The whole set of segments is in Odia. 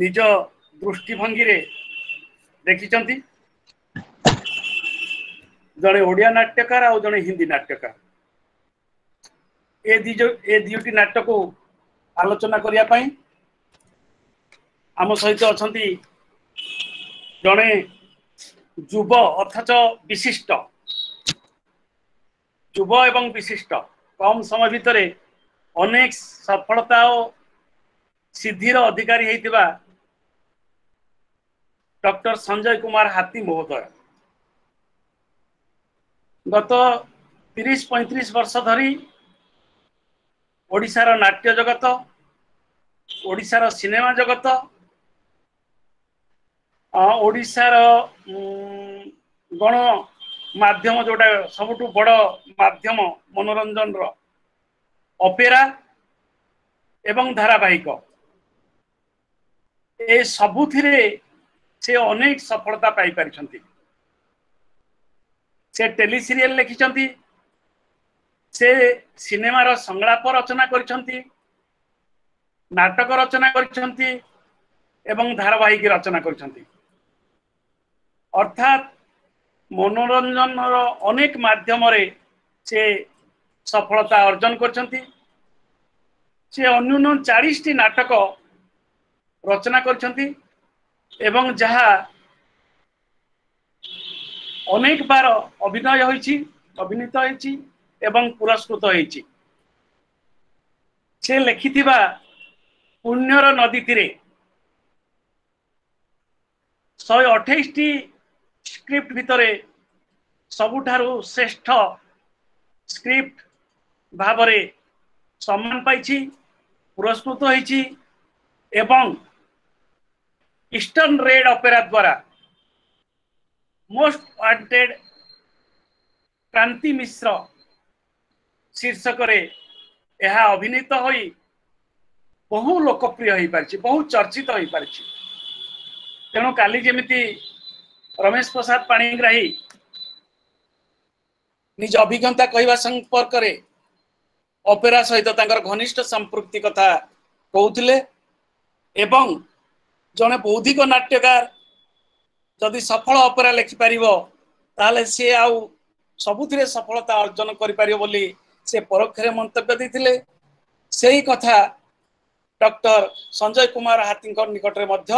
ନିଜ ଦୃଷ୍ଟିଭଙ୍ଗୀରେ ଦେଖିଛନ୍ତି। ଜଣେ ଓଡ଼ିଆ ନାଟ୍ୟକାର ଆଉ ଜଣେ ହିନ୍ଦୀ ନାଟ୍ୟକାର, ଏ ଦୁଇଟି ନାଟକୁ ଆଲୋଚନା କରିବା ପାଇଁ ଆମ ସହିତ ଅଛନ୍ତି ଜଣେ ଯୁବ ଅଥଚ ବିଶିଷ୍ଟ, ଯୁବ ଏବଂ ବିଶିଷ୍ଟ, କମ ସମୟ ଭିତରେ ଅନେକ ସଫଳତା ଓ ସିଦ୍ଧିର ଅଧିକାରୀ ହେଇଥିବା ଡକ୍ଟର ସଞ୍ଜୟ କୁମାର ହାତୀ ମହୋଦୟ। ଗତ 30-35 ବର୍ଷ ଧରି ଓଡ଼ିଶାର ନାଟ୍ୟ ଜଗତ, ଓଡ଼ିଶାର ସିନେମା ଜଗତ, ଓଡ଼ିଶାର ଗଣ ମାଧ୍ୟମ, ଯୋଉଟା ସବୁଠୁ ବଡ଼ ମାଧ୍ୟମ ମନୋରଞ୍ଜନର, ଅପେରା ଏବଂ ଧାରାବାହିକ, ଏ ସବୁଥିରେ ସେ ଅନେକ ସଫଳତା ପାଇପାରିଛନ୍ତି। ସେ ଟେଲି ସିରିଏଲ ଲେଖିଛନ୍ତି, ସେ ସିନେମାର ସଂଳାପ ରଚନା କରିଛନ୍ତି, ନାଟକ ରଚନା କରିଛନ୍ତି ଏବଂ ଧାରାବାହିକ ରଚନା କରିଛନ୍ତି। ଅର୍ଥାତ୍ ମନୋରଞ୍ଜନର ଅନେକ ମାଧ୍ୟମରେ ସେ ସଫଳତା ଅର୍ଜନ କରିଛନ୍ତି। ସେ ଅନ୍ୟୁନ 40ଟି ନାଟକ ରଚନା କରିଛନ୍ତି ଏବଂ ଯାହା ଅନେକ ବାର ଅଭିନୟ ହୋଇଛି, ଅଭିନୀତ ହୋଇଛି ଏବଂ ପୁରସ୍କୃତ ହୋଇଛି। ସେ ଲେଖିଥିବା ପୁଣ୍ୟର ନଦୀ ତୀରେ 128ଟି ସ୍କ୍ରିପ୍ଟ ଭିତରେ ସବୁଠାରୁ ଶ୍ରେଷ୍ଠ ସ୍କ୍ରିପ୍ଟ ଭାବରେ ସମ୍ମାନ ପାଇଛି, ପୁରସ୍କୃତ ହୋଇଛି ଏବଂ ଇଷ୍ଟର୍ଣ୍ଣ ରେଡ୍ ଅପେରା ଦ୍ୱାରା ମୋଷ୍ଟ ୱାଣ୍ଟେଡ୍ କ୍ରାନ୍ତି ମିଶ୍ର ଶୀର୍ଷକରେ ଏହା ଅଭିନୀତ ହୋଇ ବହୁ ଲୋକପ୍ରିୟ ହୋଇପାରିଛି, ବହୁ ଚର୍ଚ୍ଚିତ ହୋଇପାରିଛି। ତେଣୁ କାଲି ଯେମିତି ରମେଶ ପ୍ରସାଦ ପାଣିଗ୍ରାହୀ ନିଜ ଅଭିଜ୍ଞତା କହିବା ସମ୍ପର୍କରେ ଅପେରା ସହିତ ତାଙ୍କର ଘନିଷ୍ଠ ସମ୍ପୃକ୍ତି କଥା କହୁଥିଲେ ଏବଂ ଜଣେ ବୌଦ୍ଧିକ ନାଟ୍ୟକାର ଯଦି ସଫଳ ଅପେରା ଲେଖିପାରିବ ତାହେଲେ ସିଏ ଆଉ ସବୁଥିରେ ସଫଳତା ଅର୍ଜନ କରିପାରିବ ବୋଲି ସେ ପରୋକ୍ଷରେ ମନ୍ତବ୍ୟ ଦେଇଥିଲେ। ସେଇ କଥା ଡକ୍ଟର ସଞ୍ଜୟ କୁମାର ହାତୀଙ୍କ ନିକଟରେ ମଧ୍ୟ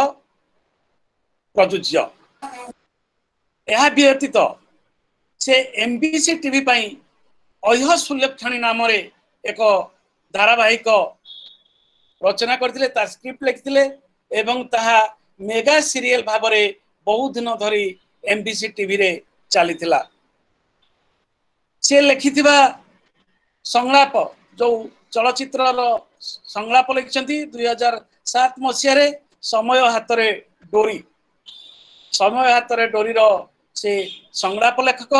ପ୍ରଯୁଜ୍ୟ। ଏହା ବ୍ୟତୀତ ସେ ଏମବିସି ଟିଭି ପାଇଁ ଅହ୍ୟ ସୁଲକ୍ଷଣୀ ନାମରେ ଏକ ଧାରାବାହିକ ରଚନା କରିଥିଲେ, ତାର ସ୍କ୍ରିପ୍ଟ ଲେଖିଥିଲେ ଏବଂ ତାହା ମେଗା ସିରିଏଲ ଭାବରେ ବହୁ ଦିନ ଧରି ଏମବିସି ଟିଭିରେ ଚାଲିଥିଲା। ସେ ଲେଖିଥିବା ସଂଳାପ, ଯୋଉ ଚଳଚ୍ଚିତ୍ରର ସଂଳାପ ଲେଖିଛନ୍ତି 2007 ମସିହାରେ ସମୟ ହାତରେ ଡୋରି, ସମୟ ହାତରେ ଡୋରିର ସେ ସଂଳାପ ଲେଖକ,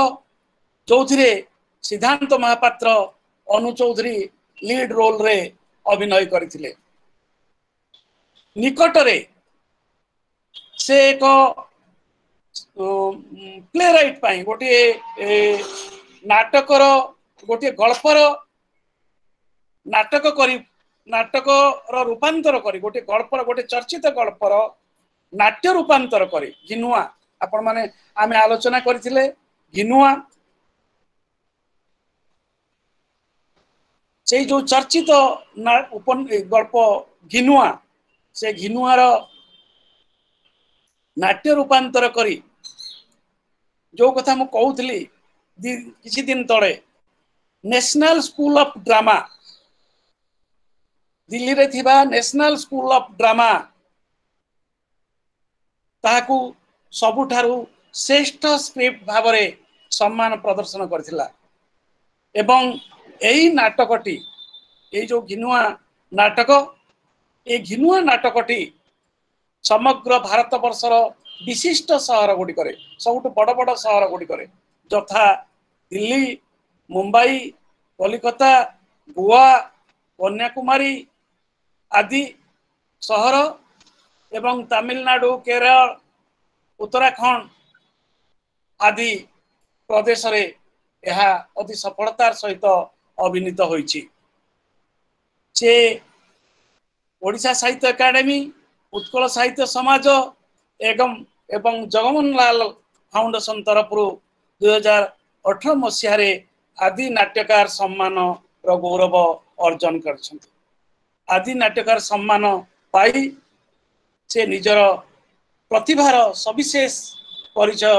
ଯୋଉଥିରେ ସିଦ୍ଧାନ୍ତ ମହାପାତ୍ର, ଅନୁ ଚୌଧୁରୀ ଲିଡ୍ ରୋଲରେ ଅଭିନୟ କରିଥିଲେ। ନିକଟରେ ସେ ଏକ ପ୍ଲେ ରାଇଟ୍ ପାଇଁ ଗୋଟିଏ ନାଟକର, ଗୋଟିଏ ଗଳ୍ପର ନାଟକ କରି, ନାଟକର ରୂପାନ୍ତର କରି, ଗୋଟିଏ ଗଳ୍ପର, ଗୋଟିଏ ଚର୍ଚ୍ଚିତ ଗଳ୍ପର ନାଟ୍ୟ ରୂପାନ୍ତର କରି ଘିନୁଆ, ଆପଣମାନେ ଆମେ ଆଲୋଚନା କରିଥିଲେ ଘିନୁଆ, ସେଇ ଯୋଉ ଚର୍ଚ୍ଚିତ ଗଳ୍ପ ଘିନୁଆ, ସେ ଘିନୁଆର ନାଟ୍ୟ ରୂପାନ୍ତର କରି, ଯୋଉ କଥା ମୁଁ କହୁଥିଲି କିଛି ଦିନ ତଳେ, ନ୍ୟାସନାଲ ସ୍କୁଲ ଅଫ ଡ୍ରାମା, ଦିଲ୍ଲୀରେ ଥିବା ନ୍ୟାସନାଲ ସ୍କୁଲ ଅଫ ଡ୍ରାମା ତାହାକୁ ସବୁଠାରୁ ଶ୍ରେଷ୍ଠ ସ୍କ୍ରିପ୍ଟ ଭାବରେ ସମ୍ମାନ ପ୍ରଦର୍ଶନ କରିଥିଲା। ଏବଂ ଏଇ ନାଟକଟି, ଏଇ ଯୋଉ ଘିନୁଆ ନାଟକ, ଏଇ ଘିନୁଆ ନାଟକଟି ସମଗ୍ର ଭାରତବର୍ଷର ବିଶିଷ୍ଟ ସହର ଗୁଡ଼ିକରେ, ସବୁଠୁ ବଡ଼ ବଡ଼ ସହର ଗୁଡ଼ିକରେ, ଯଥା ଦିଲ୍ଲୀ, ମୁମ୍ବାଇ, କଲିକତା, ଗୋଆ, କନ୍ୟାକୁମାରୀ ଆଦି ସହର ଏବଂ ତାମିଲନାଡୁ, କେରଳ, ଉତ୍ତରାଖଣ୍ଡ ଆଦି ପ୍ରଦେଶରେ ଏହା ଅତି ସଫଳତାର ସହିତ ଅଭିନୀତ ହୋଇଛି। ସେ ଓଡ଼ିଶା ସାହିତ୍ୟ ଏକାଡେମୀ ଉତ୍କଳ ସାହିତ୍ୟ ସମାଜ ଏବଂ ଏବଂ ଜଗମୋହନ ଲାଲ ଫାଉଣ୍ଡେସନ ତରଫରୁ 2018 ମସିହାରେ ଆଦି ନାଟ୍ୟକାର ସମ୍ମାନର ଗୌରବ ଅର୍ଜନ କରିଛନ୍ତି। ଆଦି ନାଟ୍ୟକାର ସମ୍ମାନ ପାଇ ସେ ନିଜର ପ୍ରତିଭାର ସବିଶେଷ ପରିଚୟ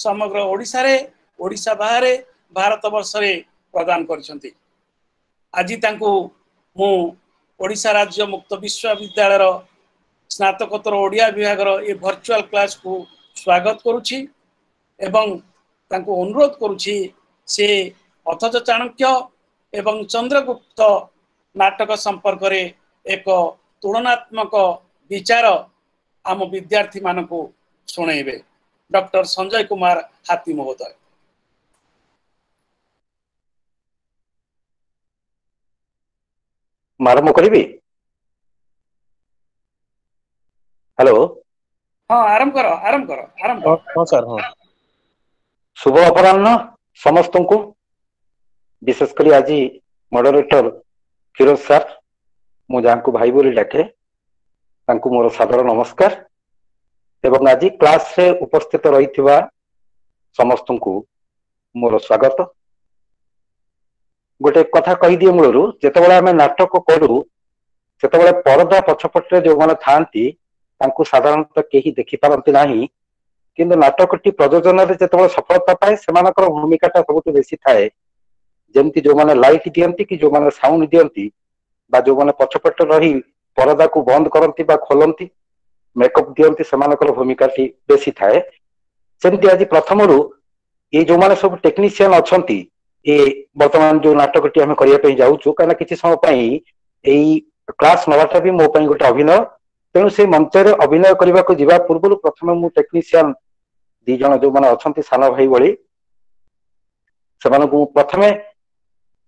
ସମଗ୍ର ଓଡ଼ିଶାରେ, ଓଡ଼ିଶା ବାହାରେ, ଭାରତ ବର୍ଷରେ ପ୍ରଦାନ କରିଛନ୍ତି। ଆଜି ତାଙ୍କୁ ମୁଁ ଓଡ଼ିଶା ରାଜ୍ୟ ମୁକ୍ତ ବିଶ୍ୱବିଦ୍ୟାଳୟର ସ୍ନାତକୋତ୍ତର ଓଡ଼ିଆ ବିଭାଗର ଏ ଭର୍ଚୁଆଲ କ୍ଲାସକୁ ସ୍ୱାଗତ କରୁଛି ଏବଂ ତାଙ୍କୁ ଅନୁରୋଧ କରୁଛି ସେ ଅଥଚ ଚାଣକ୍ୟ ଏବଂ ଚନ୍ଦ୍ରଗୁପ୍ତ ନାଟକ ସମ୍ପର୍କରେ ଏକ ତୁଳନାତ୍ମକ ବିଚାର ଆମ ବିଦ୍ୟାର୍ଥୀମାନଙ୍କୁ ଶୁଣେଇବେ। ଡକ୍ଟର ସଞ୍ଜୟ କୁମାର ହାତୀ ମହୋଦୟ। ମୁଁ ଆରମ୍ଭ କରିବି? ହ୍ୟାଲୋ। ହଁ, ଆରମ୍ଭ କର, ଆରମ୍ଭ କର, ଆରମ୍ଭ କର। ହଁ ସାର୍, ହଁ। ଶୁଭ ଅପରାହ୍ନ ସମସ୍ତଙ୍କୁ, ବିଶେଷ କରି ଆଜି ମଡରେଟର ଫିରୋଜ ସାର୍, ମୁଁ ଯାହାଙ୍କୁ ଭାଇ ବୋଲି ଡାକେ, ତାଙ୍କୁ ମୋର ସାଦର ନମସ୍କାର ଏବଂ ଆଜି କ୍ଲାସରେ ଉପସ୍ଥିତ ରହିଥିବା ସମସ୍ତଙ୍କୁ ମୋର ସ୍ୱାଗତ। ଗୋଟେ କଥା କହିଦିଏ ମୂଳରୁ, ଯେତେବେଳେ ଆମେ ନାଟକ କରୁ ସେତେବେଳେ ପରଦା ପଛପଟରେ ଯୋଉମାନେ ଥାଆନ୍ତି ତାଙ୍କୁ ସାଧାରଣତଃ କେହି ଦେଖିପାରନ୍ତି ନାହିଁ, କିନ୍ତୁ ନାଟକଟି ପ୍ରଯୋଜନାରେ ଯେତେବେଳେ ସଫଳତା ପାଏ ସେମାନଙ୍କର ଭୂମିକାଟା ସବୁଠୁ ବେଶୀ ଥାଏ। ଯେମିତି ଯୋଉମାନେ ଲାଇଟ୍ ଦିଅନ୍ତି କି ଯୋଉମାନେ ସାଉଣ୍ଡ ଦିଅନ୍ତି ବା ଯୋଉମାନେ ପଛପଟେ ରହି ପରଦାକୁ ବନ୍ଦ କରନ୍ତି ବା ଖୋଲନ୍ତି, ମେକଅପ୍ ଦିଅନ୍ତି, ସେମାନଙ୍କର ଭୂମିକାଟି ବେଶୀ ଥାଏ। ସେମିତି ଆଜି ପ୍ରଥମରୁ ଏଇ ଯୋଉମାନେ ସବୁ ଟେକ୍ନିସିଆନ ଅଛନ୍ତି, ଏ ବର୍ତ୍ତମାନ ଯୋଉ ନାଟକଟି ଆମେ କରିବା ପାଇଁ ଯାଉଛୁ, କାହିଁକିନା କିଛି ସମୟ ପାଇଁ ଏଇ କ୍ଲାସ ନବାଟା ବି ମୋ ପାଇଁ ଗୋଟେ ଅଭିନୟ, ତେଣୁ ସେଇ ମଞ୍ଚରେ ଅଭିନୟ କରିବାକୁ ଯିବା ପୂର୍ବରୁ ପ୍ରଥମେ ମୁଁ ଟେକ୍ନିସିଆନ ଦି ଜଣ ଯୋଉମାନେ ଅଛନ୍ତି ସାନ ଭାଇ ଭଳି, ସେମାନଙ୍କୁ ମୁଁ ପ୍ରଥମେ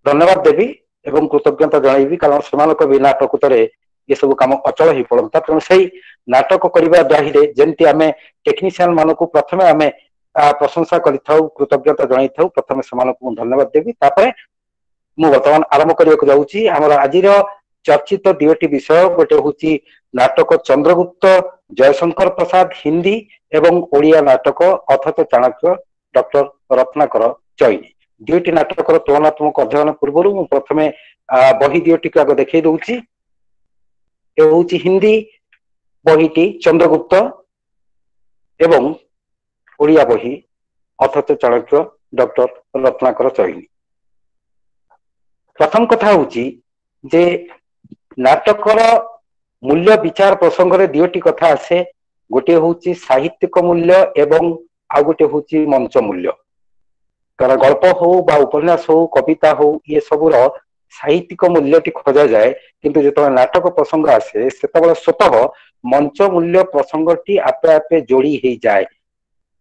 ଧନ୍ୟବାଦ ଦେବି ଏବଂ କୃତଜ୍ଞତା ଜଣାଇବି, କାରଣ ସେମାନଙ୍କ ବିନା ପ୍ରକୃତରେ ଏସବୁ କାମ ଅଚଳ ହେଇ ପଡନ୍ତା। ତେଣୁ ସେଇ ନାଟକ କରିବା ଦାହିରେ ଯେମିତି ଆମେ ଟେକ୍ନିସିଆନ ମାନଙ୍କୁ ପ୍ରଥମେ ଆମେ ପ୍ରଶଂସା କରିଥାଉ, କୃତଜ୍ଞତା ଜଣାଇଥାଉ, ପ୍ରଥମେ ସେମାନଙ୍କୁ ମୁଁ ଧନ୍ୟବାଦ ଦେବି। ତାପରେ ମୁଁ ବର୍ତ୍ତମାନ ଆରମ୍ଭ କରିବାକୁ ଯାଉଛି ଆମର ଆଜିର ଚର୍ଚ୍ଚିତ ଦୁଇଟି ବିଷୟ। ଗୋଟେ ହଉଛି ନାଟକ ଚନ୍ଦ୍ରଗୁପ୍ତ ଜୟଶଙ୍କର ପ୍ରସାଦ ହିନ୍ଦୀ ଏବଂ ଓଡ଼ିଆ ନାଟକ ଅଥଚ ଚାଣକ୍ୟ ଡକ୍ଟର ରତ୍ନାକର ଚଇନି। ଦୁଇଟି ନାଟକର ତୁଳନାତ୍ମକ ଅଧ୍ୟୟନ ପୂର୍ବରୁ ମୁଁ ପ୍ରଥମେ ବହି ଦୁଇଟିକୁ ଆଗ ଦେଖେଇ ଦଉଛି। ଏ ହଉଛି ହିନ୍ଦୀ ବହିଟି ଚନ୍ଦ୍ରଗୁପ୍ତ ଏବଂ ଓଡ଼ିଆ ବହି ଅଥଚ ଚାଣକ୍ୟ ଡକ୍ଟର ରତ୍ନାକର ଚଇନି। ପ୍ରଥମ କଥା ହଉଛି ଯେ ନାଟକର ମୂଲ୍ୟ ବିଚାର ପ୍ରସଙ୍ଗରେ ଦୁଇଟି କଥା ଆସେ। ଗୋଟିଏ ହଉଛି ସାହିତ୍ୟିକ ମୂଲ୍ୟ ଏବଂ ଆଉ ଗୋଟେ ହଉଛି ମଞ୍ଚ ମୂଲ୍ୟ। କାରଣ ଗଳ୍ପ ହଉ ବା ଉପନ୍ୟାସ ହଉ, କବିତା ହଉ, ଇଏ ସବୁର ସାହିତ୍ୟିକ ମୂଲ୍ୟଟି ଖୋଜାଯାଏ, କିନ୍ତୁ ଯେତେବେଳେ ନାଟକ ପ୍ରସଙ୍ଗ ଆସେ ସେତେବେଳେ ସ୍ୱତଃ ମଞ୍ଚ ମୂଲ୍ୟ ପ୍ରସଙ୍ଗଟି ଆପେ ଆପେ ଯୋଡି ହେଇଯାଏ।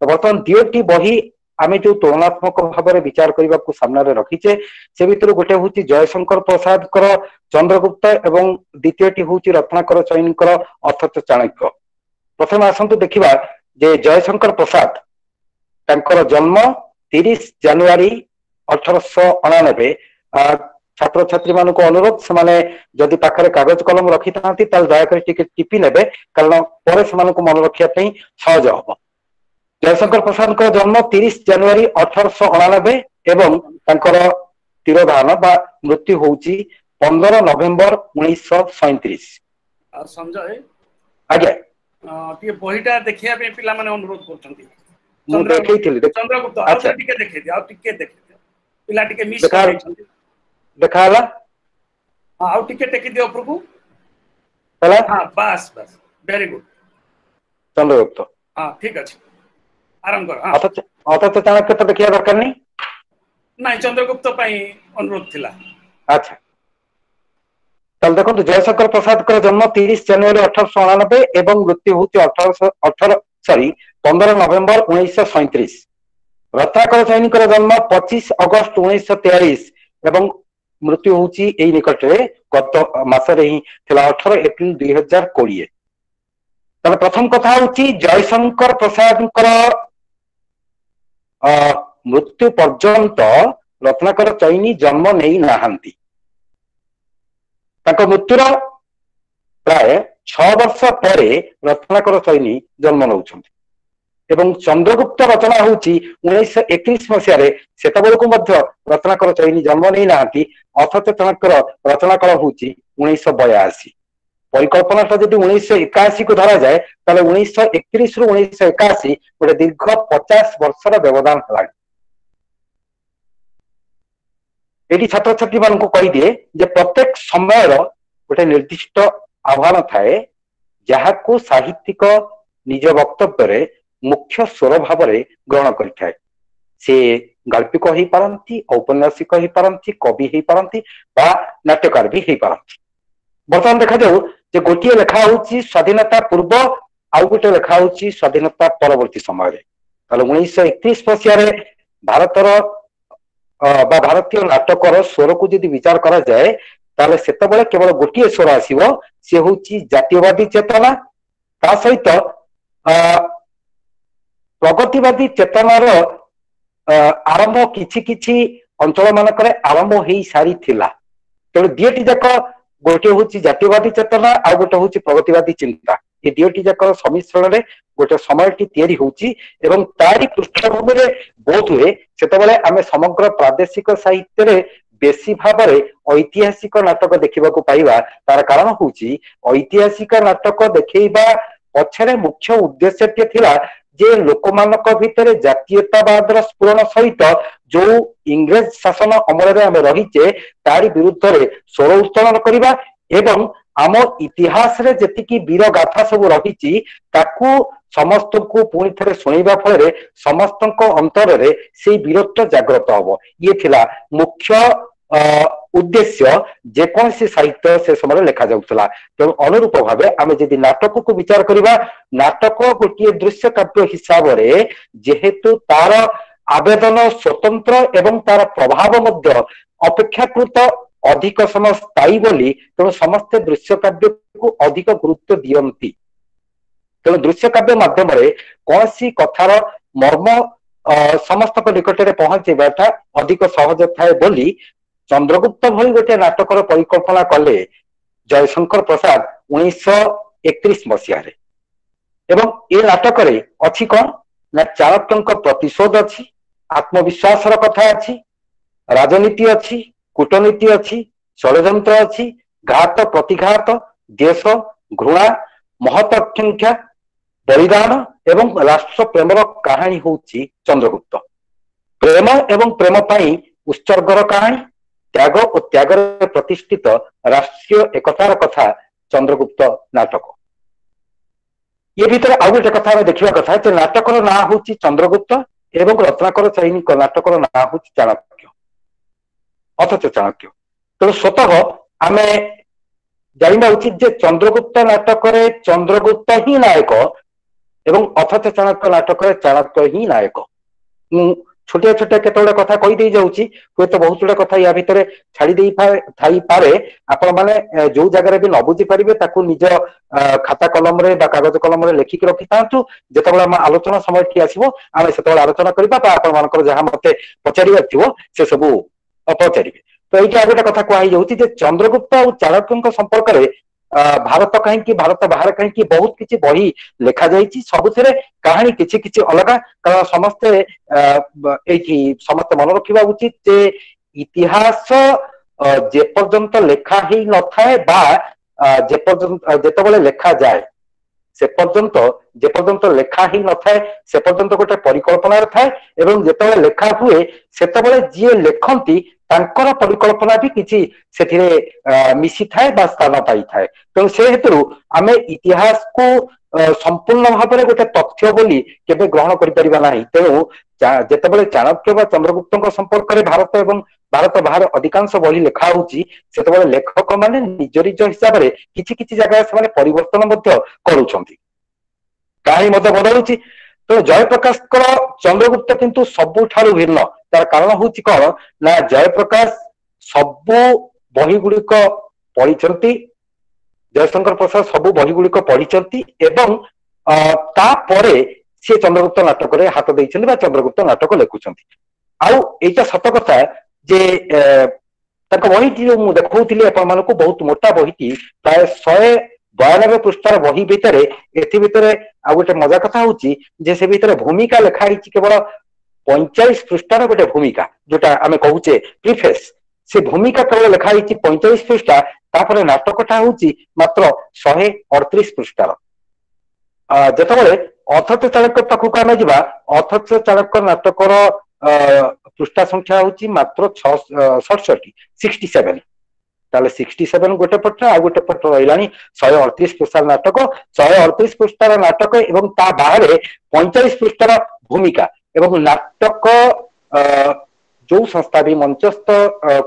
ତ ବର୍ତ୍ତମାନ ଦୁଇଟି ବହି ଆମେ ଯୋଉ ତୁଳନାତ୍ମକ ଭାବରେ ବିଚାର କରିବାକୁ ସାମ୍ନାରେ ରଖିଛେ, ସେ ଭିତରୁ ଗୋଟେ ହଉଛି ଜୟଶଙ୍କର ପ୍ରସାଦଙ୍କର ଚନ୍ଦ୍ରଗୁପ୍ତ ଏବଂ ଦ୍ୱିତୀୟଟି ହଉଛି ରତ୍ନାକର ଚଇନିଙ୍କର ଅଥଚ ଚାଣକ୍ୟ। ପ୍ରଥମେ ଆସନ୍ତୁ ଦେଖିବା ଯେ ଜୟଶଙ୍କର ପ୍ରସାଦ, ତାଙ୍କର ଜନ୍ମ 30 ଜାନୁଆରୀ 1889। ଛାତ୍ରଛାତ୍ରୀ ମାନଙ୍କୁ ଅନୁରୋଧ, ସେମାନେ ଯଦି ପାଖରେ କାଗଜ କଲମ ରଖିଥାନ୍ତି ତାହେଲେ ଦୟାକରି ଟିକେ ଟିପି ନେବେ, କାରଣ ପରେ ସେମାନଙ୍କୁ ମନେ ରଖିବା ପାଇଁ ସହଜ ହବ। ଜୟଶଙ୍କର ପ୍ରସାଦଙ୍କର ଜନ୍ମ 30 ଜାନୁଆରୀ 1889 ଏବଂ ତାଙ୍କର ତିରୋଧାନ ବା ମୃତ୍ୟୁ ହଉଛି 15 ନଭେମ୍ବର 1937। ଆଉ ସଞ୍ଜୟ ଆଜ୍ଞା, ଟିକେ ବହିଟା ଦେଖିବା ପାଇଁ ପିଲାମାନେ ଅନୁରୋଧ କରୁଛନ୍ତି। ମୁଁ ଦେଖେଇଥିଲି ଚନ୍ଦ୍ରଗୁପ୍ତ। ଆଚ୍ଛା, ଟିକେ ଦେଖେଇ ଦିଅ, ଆଉ ଟିକେ ଦେଖେଇ ଦିଅ, ପିଲା ଟିକେ ମିସ୍ କରିଯାଇଛନ୍ତି। ଦେଖା ହେଲା? ହଁ, ଆଉ ଟିକେ ଟେକି ଦିଅ ଉପରକୁ। ହେଲା? ହଁ, ବାସ୍ ବାସ୍, ଭେରି ଗୁଡ୍। ଚନ୍ଦ୍ରଗୁପ୍ତ। ହଁ, ଠିକ ଅଛି, ଆରମ୍ଭ କର। ଅଥଚ ଚାଣକ୍ୟ ତ ଦେଖିବା ଦରକାର ନାହିଁ। ନାଇଁ, ଚନ୍ଦ୍ରଗୁପ୍ତ ପାଇଁ ଅନୁରୋଧ ଥିଲା। ଆଚ୍ଛା, ତାହେଲେ ଦେଖନ୍ତୁ, ଜୟଶଙ୍କର ପ୍ରସାଦଙ୍କର ଜନ୍ମ 30 ଜାନୁଆରୀ 1889 ଏବଂ ମୃତ୍ୟୁ ହଉଛି 15 ନଭେମ୍ବର 1937। ରତ୍ନାକର ଚଇନିଙ୍କର ଜନ୍ମ 25 ଅଗଷ୍ଟ 1943 ଏବଂ ମୃତ୍ୟୁ ହଉଛି ଏଇ ନିକଟରେ, ଗତ ମାସରେ ହିଁ ଥିଲା, 18 ଏପ୍ରିଲ 2020। ତାହେଲେ ପ୍ରଥମ କଥା ହଉଛି ଜୟଶଙ୍କର ପ୍ରସାଦଙ୍କର ମୃତ୍ୟୁ ପର୍ଯ୍ୟନ୍ତ ରତ୍ନାକର ଚଇନି ଜନ୍ମ ନେଇ ନାହାନ୍ତି। ତାଙ୍କ ମୃତ୍ୟୁର ପ୍ରାୟ 6 ବର୍ଷ ପରେ ରତ୍ନାକର ସୈନୀ ଜନ୍ମ ନେଉଛନ୍ତି ଏବଂ ଚନ୍ଦ୍ରଗୁପ୍ତ ରଚନା ହଉଛି 1931 ମସିହାରେ। ସେତେବେଳକୁ ମଧ୍ୟ ରତ୍ନାକର ଚୈନୀ ଜନ୍ମ ନେଇନାହାନ୍ତି, ଅଥଚ ତାଙ୍କର ରଚନା କାଳ ହଉଛି 1982। ପରିକଳ୍ପନାଟା ଯଦି 1981 କୁ ଧରାଯାଏ, ତାହେଲେ 1931 ରୁ 1981 ଗୋଟେ ଦୀର୍ଘ 50 ବର୍ଷର ବ୍ୟବଧାନ ହେଲାଣି। ଏଠି ଛାତ୍ରଛାତ୍ରୀ ମାନଙ୍କୁ କହିଦିଏ ଯେ ପ୍ରତ୍ୟେକ ସମୟର ଗୋଟେ ନିର୍ଦ୍ଦିଷ୍ଟ ଆହ୍ୱାନ ଥାଏ, ଯାହାକୁ ସାହିତ୍ୟିକ ନିଜ ବକ୍ତବ୍ୟରେ ମୁଖ୍ୟ ସ୍ୱର ଭାବରେ ଗ୍ରହଣ କରିଥାଏ। ସେ ଗାଳ୍ପିକ ହେଇପାରନ୍ତି, ଔପନ୍ୟାସିକ ହେଇପାରନ୍ତି, କବି ହେଇପାରନ୍ତି ବା ନାଟ୍ୟକାର ବି ହେଇପାରନ୍ତି। ବର୍ତ୍ତମାନ ଦେଖାଯାଉ ଯେ ଗୋଟିଏ ଲେଖା ହଉଛି ସ୍ୱାଧୀନତା ପୂର୍ବ, ଆଉ ଗୋଟେ ଲେଖା ହଉଛି ସ୍ୱାଧୀନତା ପରବର୍ତ୍ତୀ ସମୟରେ। ତାହେଲେ 1931 ମସିହାରେ ଭାରତର ବା ଭାରତୀୟ ନାଟକର ସ୍ୱରକୁ ଯଦି ବିଚାର କରାଯାଏ, ତାହେଲେ ସେତେବେଳେ କେବଳ ଗୋଟିଏ ସ୍ୱର ଆସିବ, ସେ ହଉଛି ଜାତୀୟବାଦୀ ଚେତନା। ତା ସହିତ ପ୍ରଗତିବାଦୀ ଚେତନାର ଆରମ୍ଭ କିଛି କିଛି ଅଞ୍ଚଳ ମାନଙ୍କରେ ଆରମ୍ଭ ହେଇ ସାରିଥିଲା। ତେଣୁ ଦିଓଟି ଯାକ, ଗୋଟିଏ ହଉଛି ଜାତୀୟବାଦୀ ଚେତନା ଆଉ ଗୋଟେ ହଉଛି ପ୍ରଗତିବାଦୀ ଚିନ୍ତା, ଏ ଦିଓଟି ଯାକର ସମ୍ମିଶ୍ରଣରେ ଗୋଟେ ସମୟଟି ତିଆରି ହଉଛି ଏବଂ ତାରି ପୃଷ୍ଠଭୂମିରେ ବୋଧ ହୁଏ ସେତେବେଳେ ଆମେ ସମଗ୍ର ପ୍ରାଦେଶିକ ସାହିତ୍ୟରେ ବେଶୀ ଭାବରେ ଐତିହାସିକ ନାଟକ ଦେଖିବାକୁ ପାଇବା। ତାର କାରଣ ହଉଛି ଐତିହାସିକ ନାଟକ ଦେଖେଇବା ପଛରେ ମୁଖ୍ୟ ଉଦ୍ଦେଶ୍ୟଟି ଥିଲା ଯେ ଲୋକମାନଙ୍କ ଭିତରେ ଜାତୀୟତାବାଦର ସ୍ଫୁରଣ ସହିତ ଯୋଉ ଇଂରେଜ ଶାସନ ଅମଳରେ ଆମେ ରହିଛେ ତାରି ବିରୁଦ୍ଧରେ ସ୍ୱର ଉତ୍ତୋଳନ କରିବା ଏବଂ ଆମ ଇତିହାସରେ ଯେତିକି ବୀର ଗାଥା ସବୁ ରହିଛି ତାକୁ ସମସ୍ତଙ୍କୁ ପୁଣି ଥରେ ଶୁଣେଇବା ଫଳରେ ସମସ୍ତଙ୍କ ଅନ୍ତରରେ ସେଇ ବୀରତ୍ୱ ଜାଗ୍ରତ ହବ। ଇଏ ଥିଲା ମୁଖ୍ୟ ଉଦ୍ଦେଶ୍ୟ ଯେକୌଣସି ସାହିତ୍ୟ ସେ ସମୟରେ ଲେଖାଯାଉଥିଲା। ତେଣୁ ଅନୁରୂପ ଭାବେ ଆମେ ଯଦି ନାଟକକୁ ବିଚାର କରିବା, ନାଟକ ଗୋଟିଏ ଦୃଶ୍ୟ କାବ୍ୟ ହିସାବରେ ଯେହେତୁ ତାର ଆବେଦନ ସ୍ୱତନ୍ତ୍ର ଏବଂ ତାର ପ୍ରଭାବ ମଧ୍ୟ ଅପେକ୍ଷାକୃତ ଅଧିକ ସମୟ ସ୍ଥାୟୀ ବୋଲି, ତେଣୁ ସମସ୍ତେ ଦୃଶ୍ୟ କାବ୍ୟକୁ ଅଧିକ ଗୁରୁତ୍ୱ ଦିଅନ୍ତି। ତେଣୁ ଦୃଶ୍ୟ କାବ୍ୟ ମାଧ୍ୟମରେ କୌଣସି କଥାର ମର୍ମ ସମସ୍ତଙ୍କ ନିକଟରେ ପହଞ୍ଚେଇବାଟା ଅଧିକ ସହଜ ଥାଏ ବୋଲି ଚନ୍ଦ୍ରଗୁପ୍ତ ଭଳି ଗୋଟେ ନାଟକର ପରିକଳ୍ପନା କଲେ ଜୟଶଙ୍କର ପ୍ରସାଦ 1931 ମସିହାରେ। ଏବଂ ଏ ନାଟକରେ ଅଛି କଣ ନା ଚାଣକ୍ୟଙ୍କ ପ୍ରତିଶୋଧ ଅଛି, ଆତ୍ମବିଶ୍ୱାସର କଥା ଅଛି, ରାଜନୀତି ଅଛି, କୂଟନୀତି ଅଛି, ଷଡ଼ଯନ୍ତ୍ର ଅଛି, ଘାତ ପ୍ରତିଘାତ, ଦେଶ ଘୃଣା, ମହତ୍ୱାକାଂକ୍ଷା, ବଳିଦାନ ଏବଂ ରାଷ୍ଟ୍ର ପ୍ରେମର କାହାଣୀ ହଉଛି ଚନ୍ଦ୍ରଗୁପ୍ତ। ପ୍ରେମ ଏବଂ ପ୍ରେମ ପାଇଁ ଉତ୍ସର୍ଗର କାହାଣୀ, ତ୍ୟାଗ ଓ ତ୍ୟାଗରେ ପ୍ରତିଷ୍ଠିତ ରାଷ୍ଟ୍ରୀୟ ଏକତାର କଥା ଚନ୍ଦ୍ରଗୁପ୍ତ ନାଟକ। ଏ ଭିତରେ ଆଉ ଗୋଟେ କଥା ଆମେ ଦେଖିବା କଥା ଯେ ନାଟକର ନାଁ ହଉଛି ଚନ୍ଦ୍ରଗୁପ୍ତ ଏବଂ ରତ୍ନାକର ଚୈନୀଙ୍କ ନାଟକର ନାଁ ହଉଛି ଚାଣକ୍ୟ, ଅଥଚ ଚାଣକ୍ୟ। ତେଣୁ ସ୍ୱତଃ ଆମେ ଜାଣିବା ଉଚିତ ଯେ ଚନ୍ଦ୍ରଗୁପ୍ତ ନାଟକରେ ଚନ୍ଦ୍ରଗୁପ୍ତ ହିଁ ନାୟକ ଏବଂ ଅଥଚ ଚାଣକ୍ୟ ନାଟକରେ ଚାଣକ୍ୟ ହିଁ ନାୟକ। ମୁଁ ଛୋଟିଆ ଛୋଟିଆ କେତେ ଗୁଡେ କଥା କହିଦେଇ ଯାଉଛି, ହୁଏତ ବହୁତ ଗୁଡେ କଥା ୟା ଭିତରେ ଛାଡି ଦେଇ ଥାଇପାରେ। ଆପଣ ମାନେ ଯୋଉ ଜାଗାରେ ବି ନ ବୁଝି ପାରିବେ ତାକୁ ନିଜ ଖାତା କଲମରେ ବା କାଗଜ କଲମରେ ଲେଖିକି ରଖିଥାନ୍ତୁ। ଯେତେବେଳେ ଆମ ଆଲୋଚନା ସମୟଟି ଆସିବ ଆମେ ସେତେବେଳେ ଆଲୋଚନା କରିବା ବା ଆପଣ ମାନଙ୍କର ଯାହା ମତେ ପଚାରିବାର ଥିବ ସେ ସବୁ ପଚାରିବେ। ତ ଏଇଠି ଆଉ ଗୋଟେ କଥା କୁହା ହେଇଯାଉଛି ଯେ ଚନ୍ଦ୍ରଗୁପ୍ତ ଆଉ ଚାଣକ୍ୟଙ୍କ ସମ୍ପର୍କରେ ଭାରତ କାହିଁକି ଭାରତ ବାହାରେ କାହିଁକି ବହୁତ କିଛି ବହି ଲେଖାଯାଇଛି, ସବୁଥିରେ କାହାଣୀ କିଛି କିଛି ଅଲଗା। କାରଣ ସମସ୍ତେ ଏଇଠି ସମସ୍ତେ ମନେ ରଖିବା ଉଚିତ ଯେ ଇତିହାସ ଯେପର୍ଯ୍ୟନ୍ତ ଲେଖା ହେଇ ନଥାଏ ବା ଯେପର୍ଯ୍ୟନ୍ତ ଯେତେବେଳେ ଲେଖାଯାଏ ସେ ପର୍ଯ୍ୟନ୍ତ, ଯେପର୍ଯ୍ୟନ୍ତ ଲେଖା ହେଇ ନଥାଏ ସେ ପର୍ଯ୍ୟନ୍ତ ଗୋଟେ ପରିକଳ୍ପନାରେ ଥାଏ ଏବଂ ଯେତେବେଳେ ଲେଖା ହୁଏ ସେତେବେଳେ ଯିଏ ଲେଖନ୍ତି ତାଙ୍କର ପରିକଳ୍ପନା ବି କିଛି ସେଥିରେ ମିଶିଥାଏ ବା ସ୍ଥାନ ପାଇଥାଏ। ତେଣୁ ସେ ହେତୁରୁ ଆମେ ଇତିହାସକୁ ସମ୍ପୂର୍ଣ୍ଣ ଭାବରେ ଗୋଟେ ତଥ୍ୟ ବୋଲି କେବେ ଗ୍ରହଣ କରିପାରିବା ନାହିଁ। ତେଣୁ ଯେତେବେଳେ ଚାଣକ୍ୟ ବା ଚନ୍ଦ୍ରଗୁପ୍ତଙ୍କ ସମ୍ପର୍କରେ ଭାରତ ଏବଂ ଭାରତ ବାହାରେ ଅଧିକାଂଶ ବହି ଲେଖା ହଉଛି, ସେତେବେଳେ ଲେଖକ ମାନେ ନିଜ ନିଜ ହିସାବରେ କିଛି କିଛି ଜାଗାରେ ସେମାନେ ପରିବର୍ତ୍ତନ ମଧ୍ୟ କରୁଛନ୍ତି, କାହାଣୀ ମଧ୍ୟ ବଦଳୁଛି। ତେଣୁ ଜୟପ୍ରକାଶଙ୍କର ଚନ୍ଦ୍ରଗୁପ୍ତ କିନ୍ତୁ ସବୁଠାରୁ ଭିନ୍ନ। ତାର କାରଣ ହଉଛି କଣ ନା ଜୟପ୍ରକାଶ ସବୁ ବହି ଗୁଡିକ ପଢିଛନ୍ତି, ଜୟଶଙ୍କର ପ୍ରସାଦ ସବୁ ବହି ଗୁଡିକ ପଢିଛନ୍ତି ଏବଂ ତାପରେ ସିଏ ଚନ୍ଦ୍ରଗୁପ୍ତ ନାଟକରେ ହାତ ଦେଇଛନ୍ତି ବା ଚନ୍ଦ୍ରଗୁପ୍ତ ନାଟକ ଲେଖୁଛନ୍ତି। ଆଉ ଏଇଟା ସତ କଥା ଯେ ତାଙ୍କ ବହିଟି ଯୋଉ ମୁଁ ଦେଖଉଥିଲି ଆପଣ ମାନଙ୍କୁ, ବହୁତ ମୋଟା ବହିଟି, ପ୍ରାୟ 92 ପୃଷ୍ଠାର ବହି ଭିତରେ, ଏଥି ଭିତରେ ଆଉ ଗୋଟେ ମଜା କଥା ହଉଛି ଯେ ସେ ଭିତରେ ଭୂମିକା ଲେଖା ହେଇଛି କେବଳ 45 ପୃଷ୍ଠାର ଗୋଟେ ଭୂମିକା, ଯୋଉଟା ଆମେ କହୁଛେ ପ୍ରିଫେସ୍, ସେ ଭୂମିକା କେବଳ ଲେଖା ହେଇଛି 45 ପୃଷ୍ଠା। ତାପରେ ନାଟକଟା ହଉଛି ମାତ୍ର 138 ପୃଷ୍ଠାର। ଯେତେବେଳେ ଅଥଚ ଚାଣକ୍ୟ ପାଖକୁ ଆମେ ଯିବା, ଅଥଚ ଚାଣକ୍ୟ ନାଟକର ପୃଷ୍ଠା ସଂଖ୍ୟା ହଉଛି ମାତ୍ର 67, 67। ତାହେଲେ 67 ଗୋଟେ ପଟ, ଆଉ ଗୋଟେ ପଟ ରହିଲାଣି 138 ପୃଷ୍ଠାର ନାଟକ। 138 ପୃଷ୍ଠାର ନାଟକ ଏବଂ ତା ବାହାରେ 45 ପୃଷ୍ଠାର ଭୂମିକା। ଏବଂ ନାଟକ ଯୋଉ ସଂସ୍ଥା ବି ମଞ୍ଚସ୍ଥ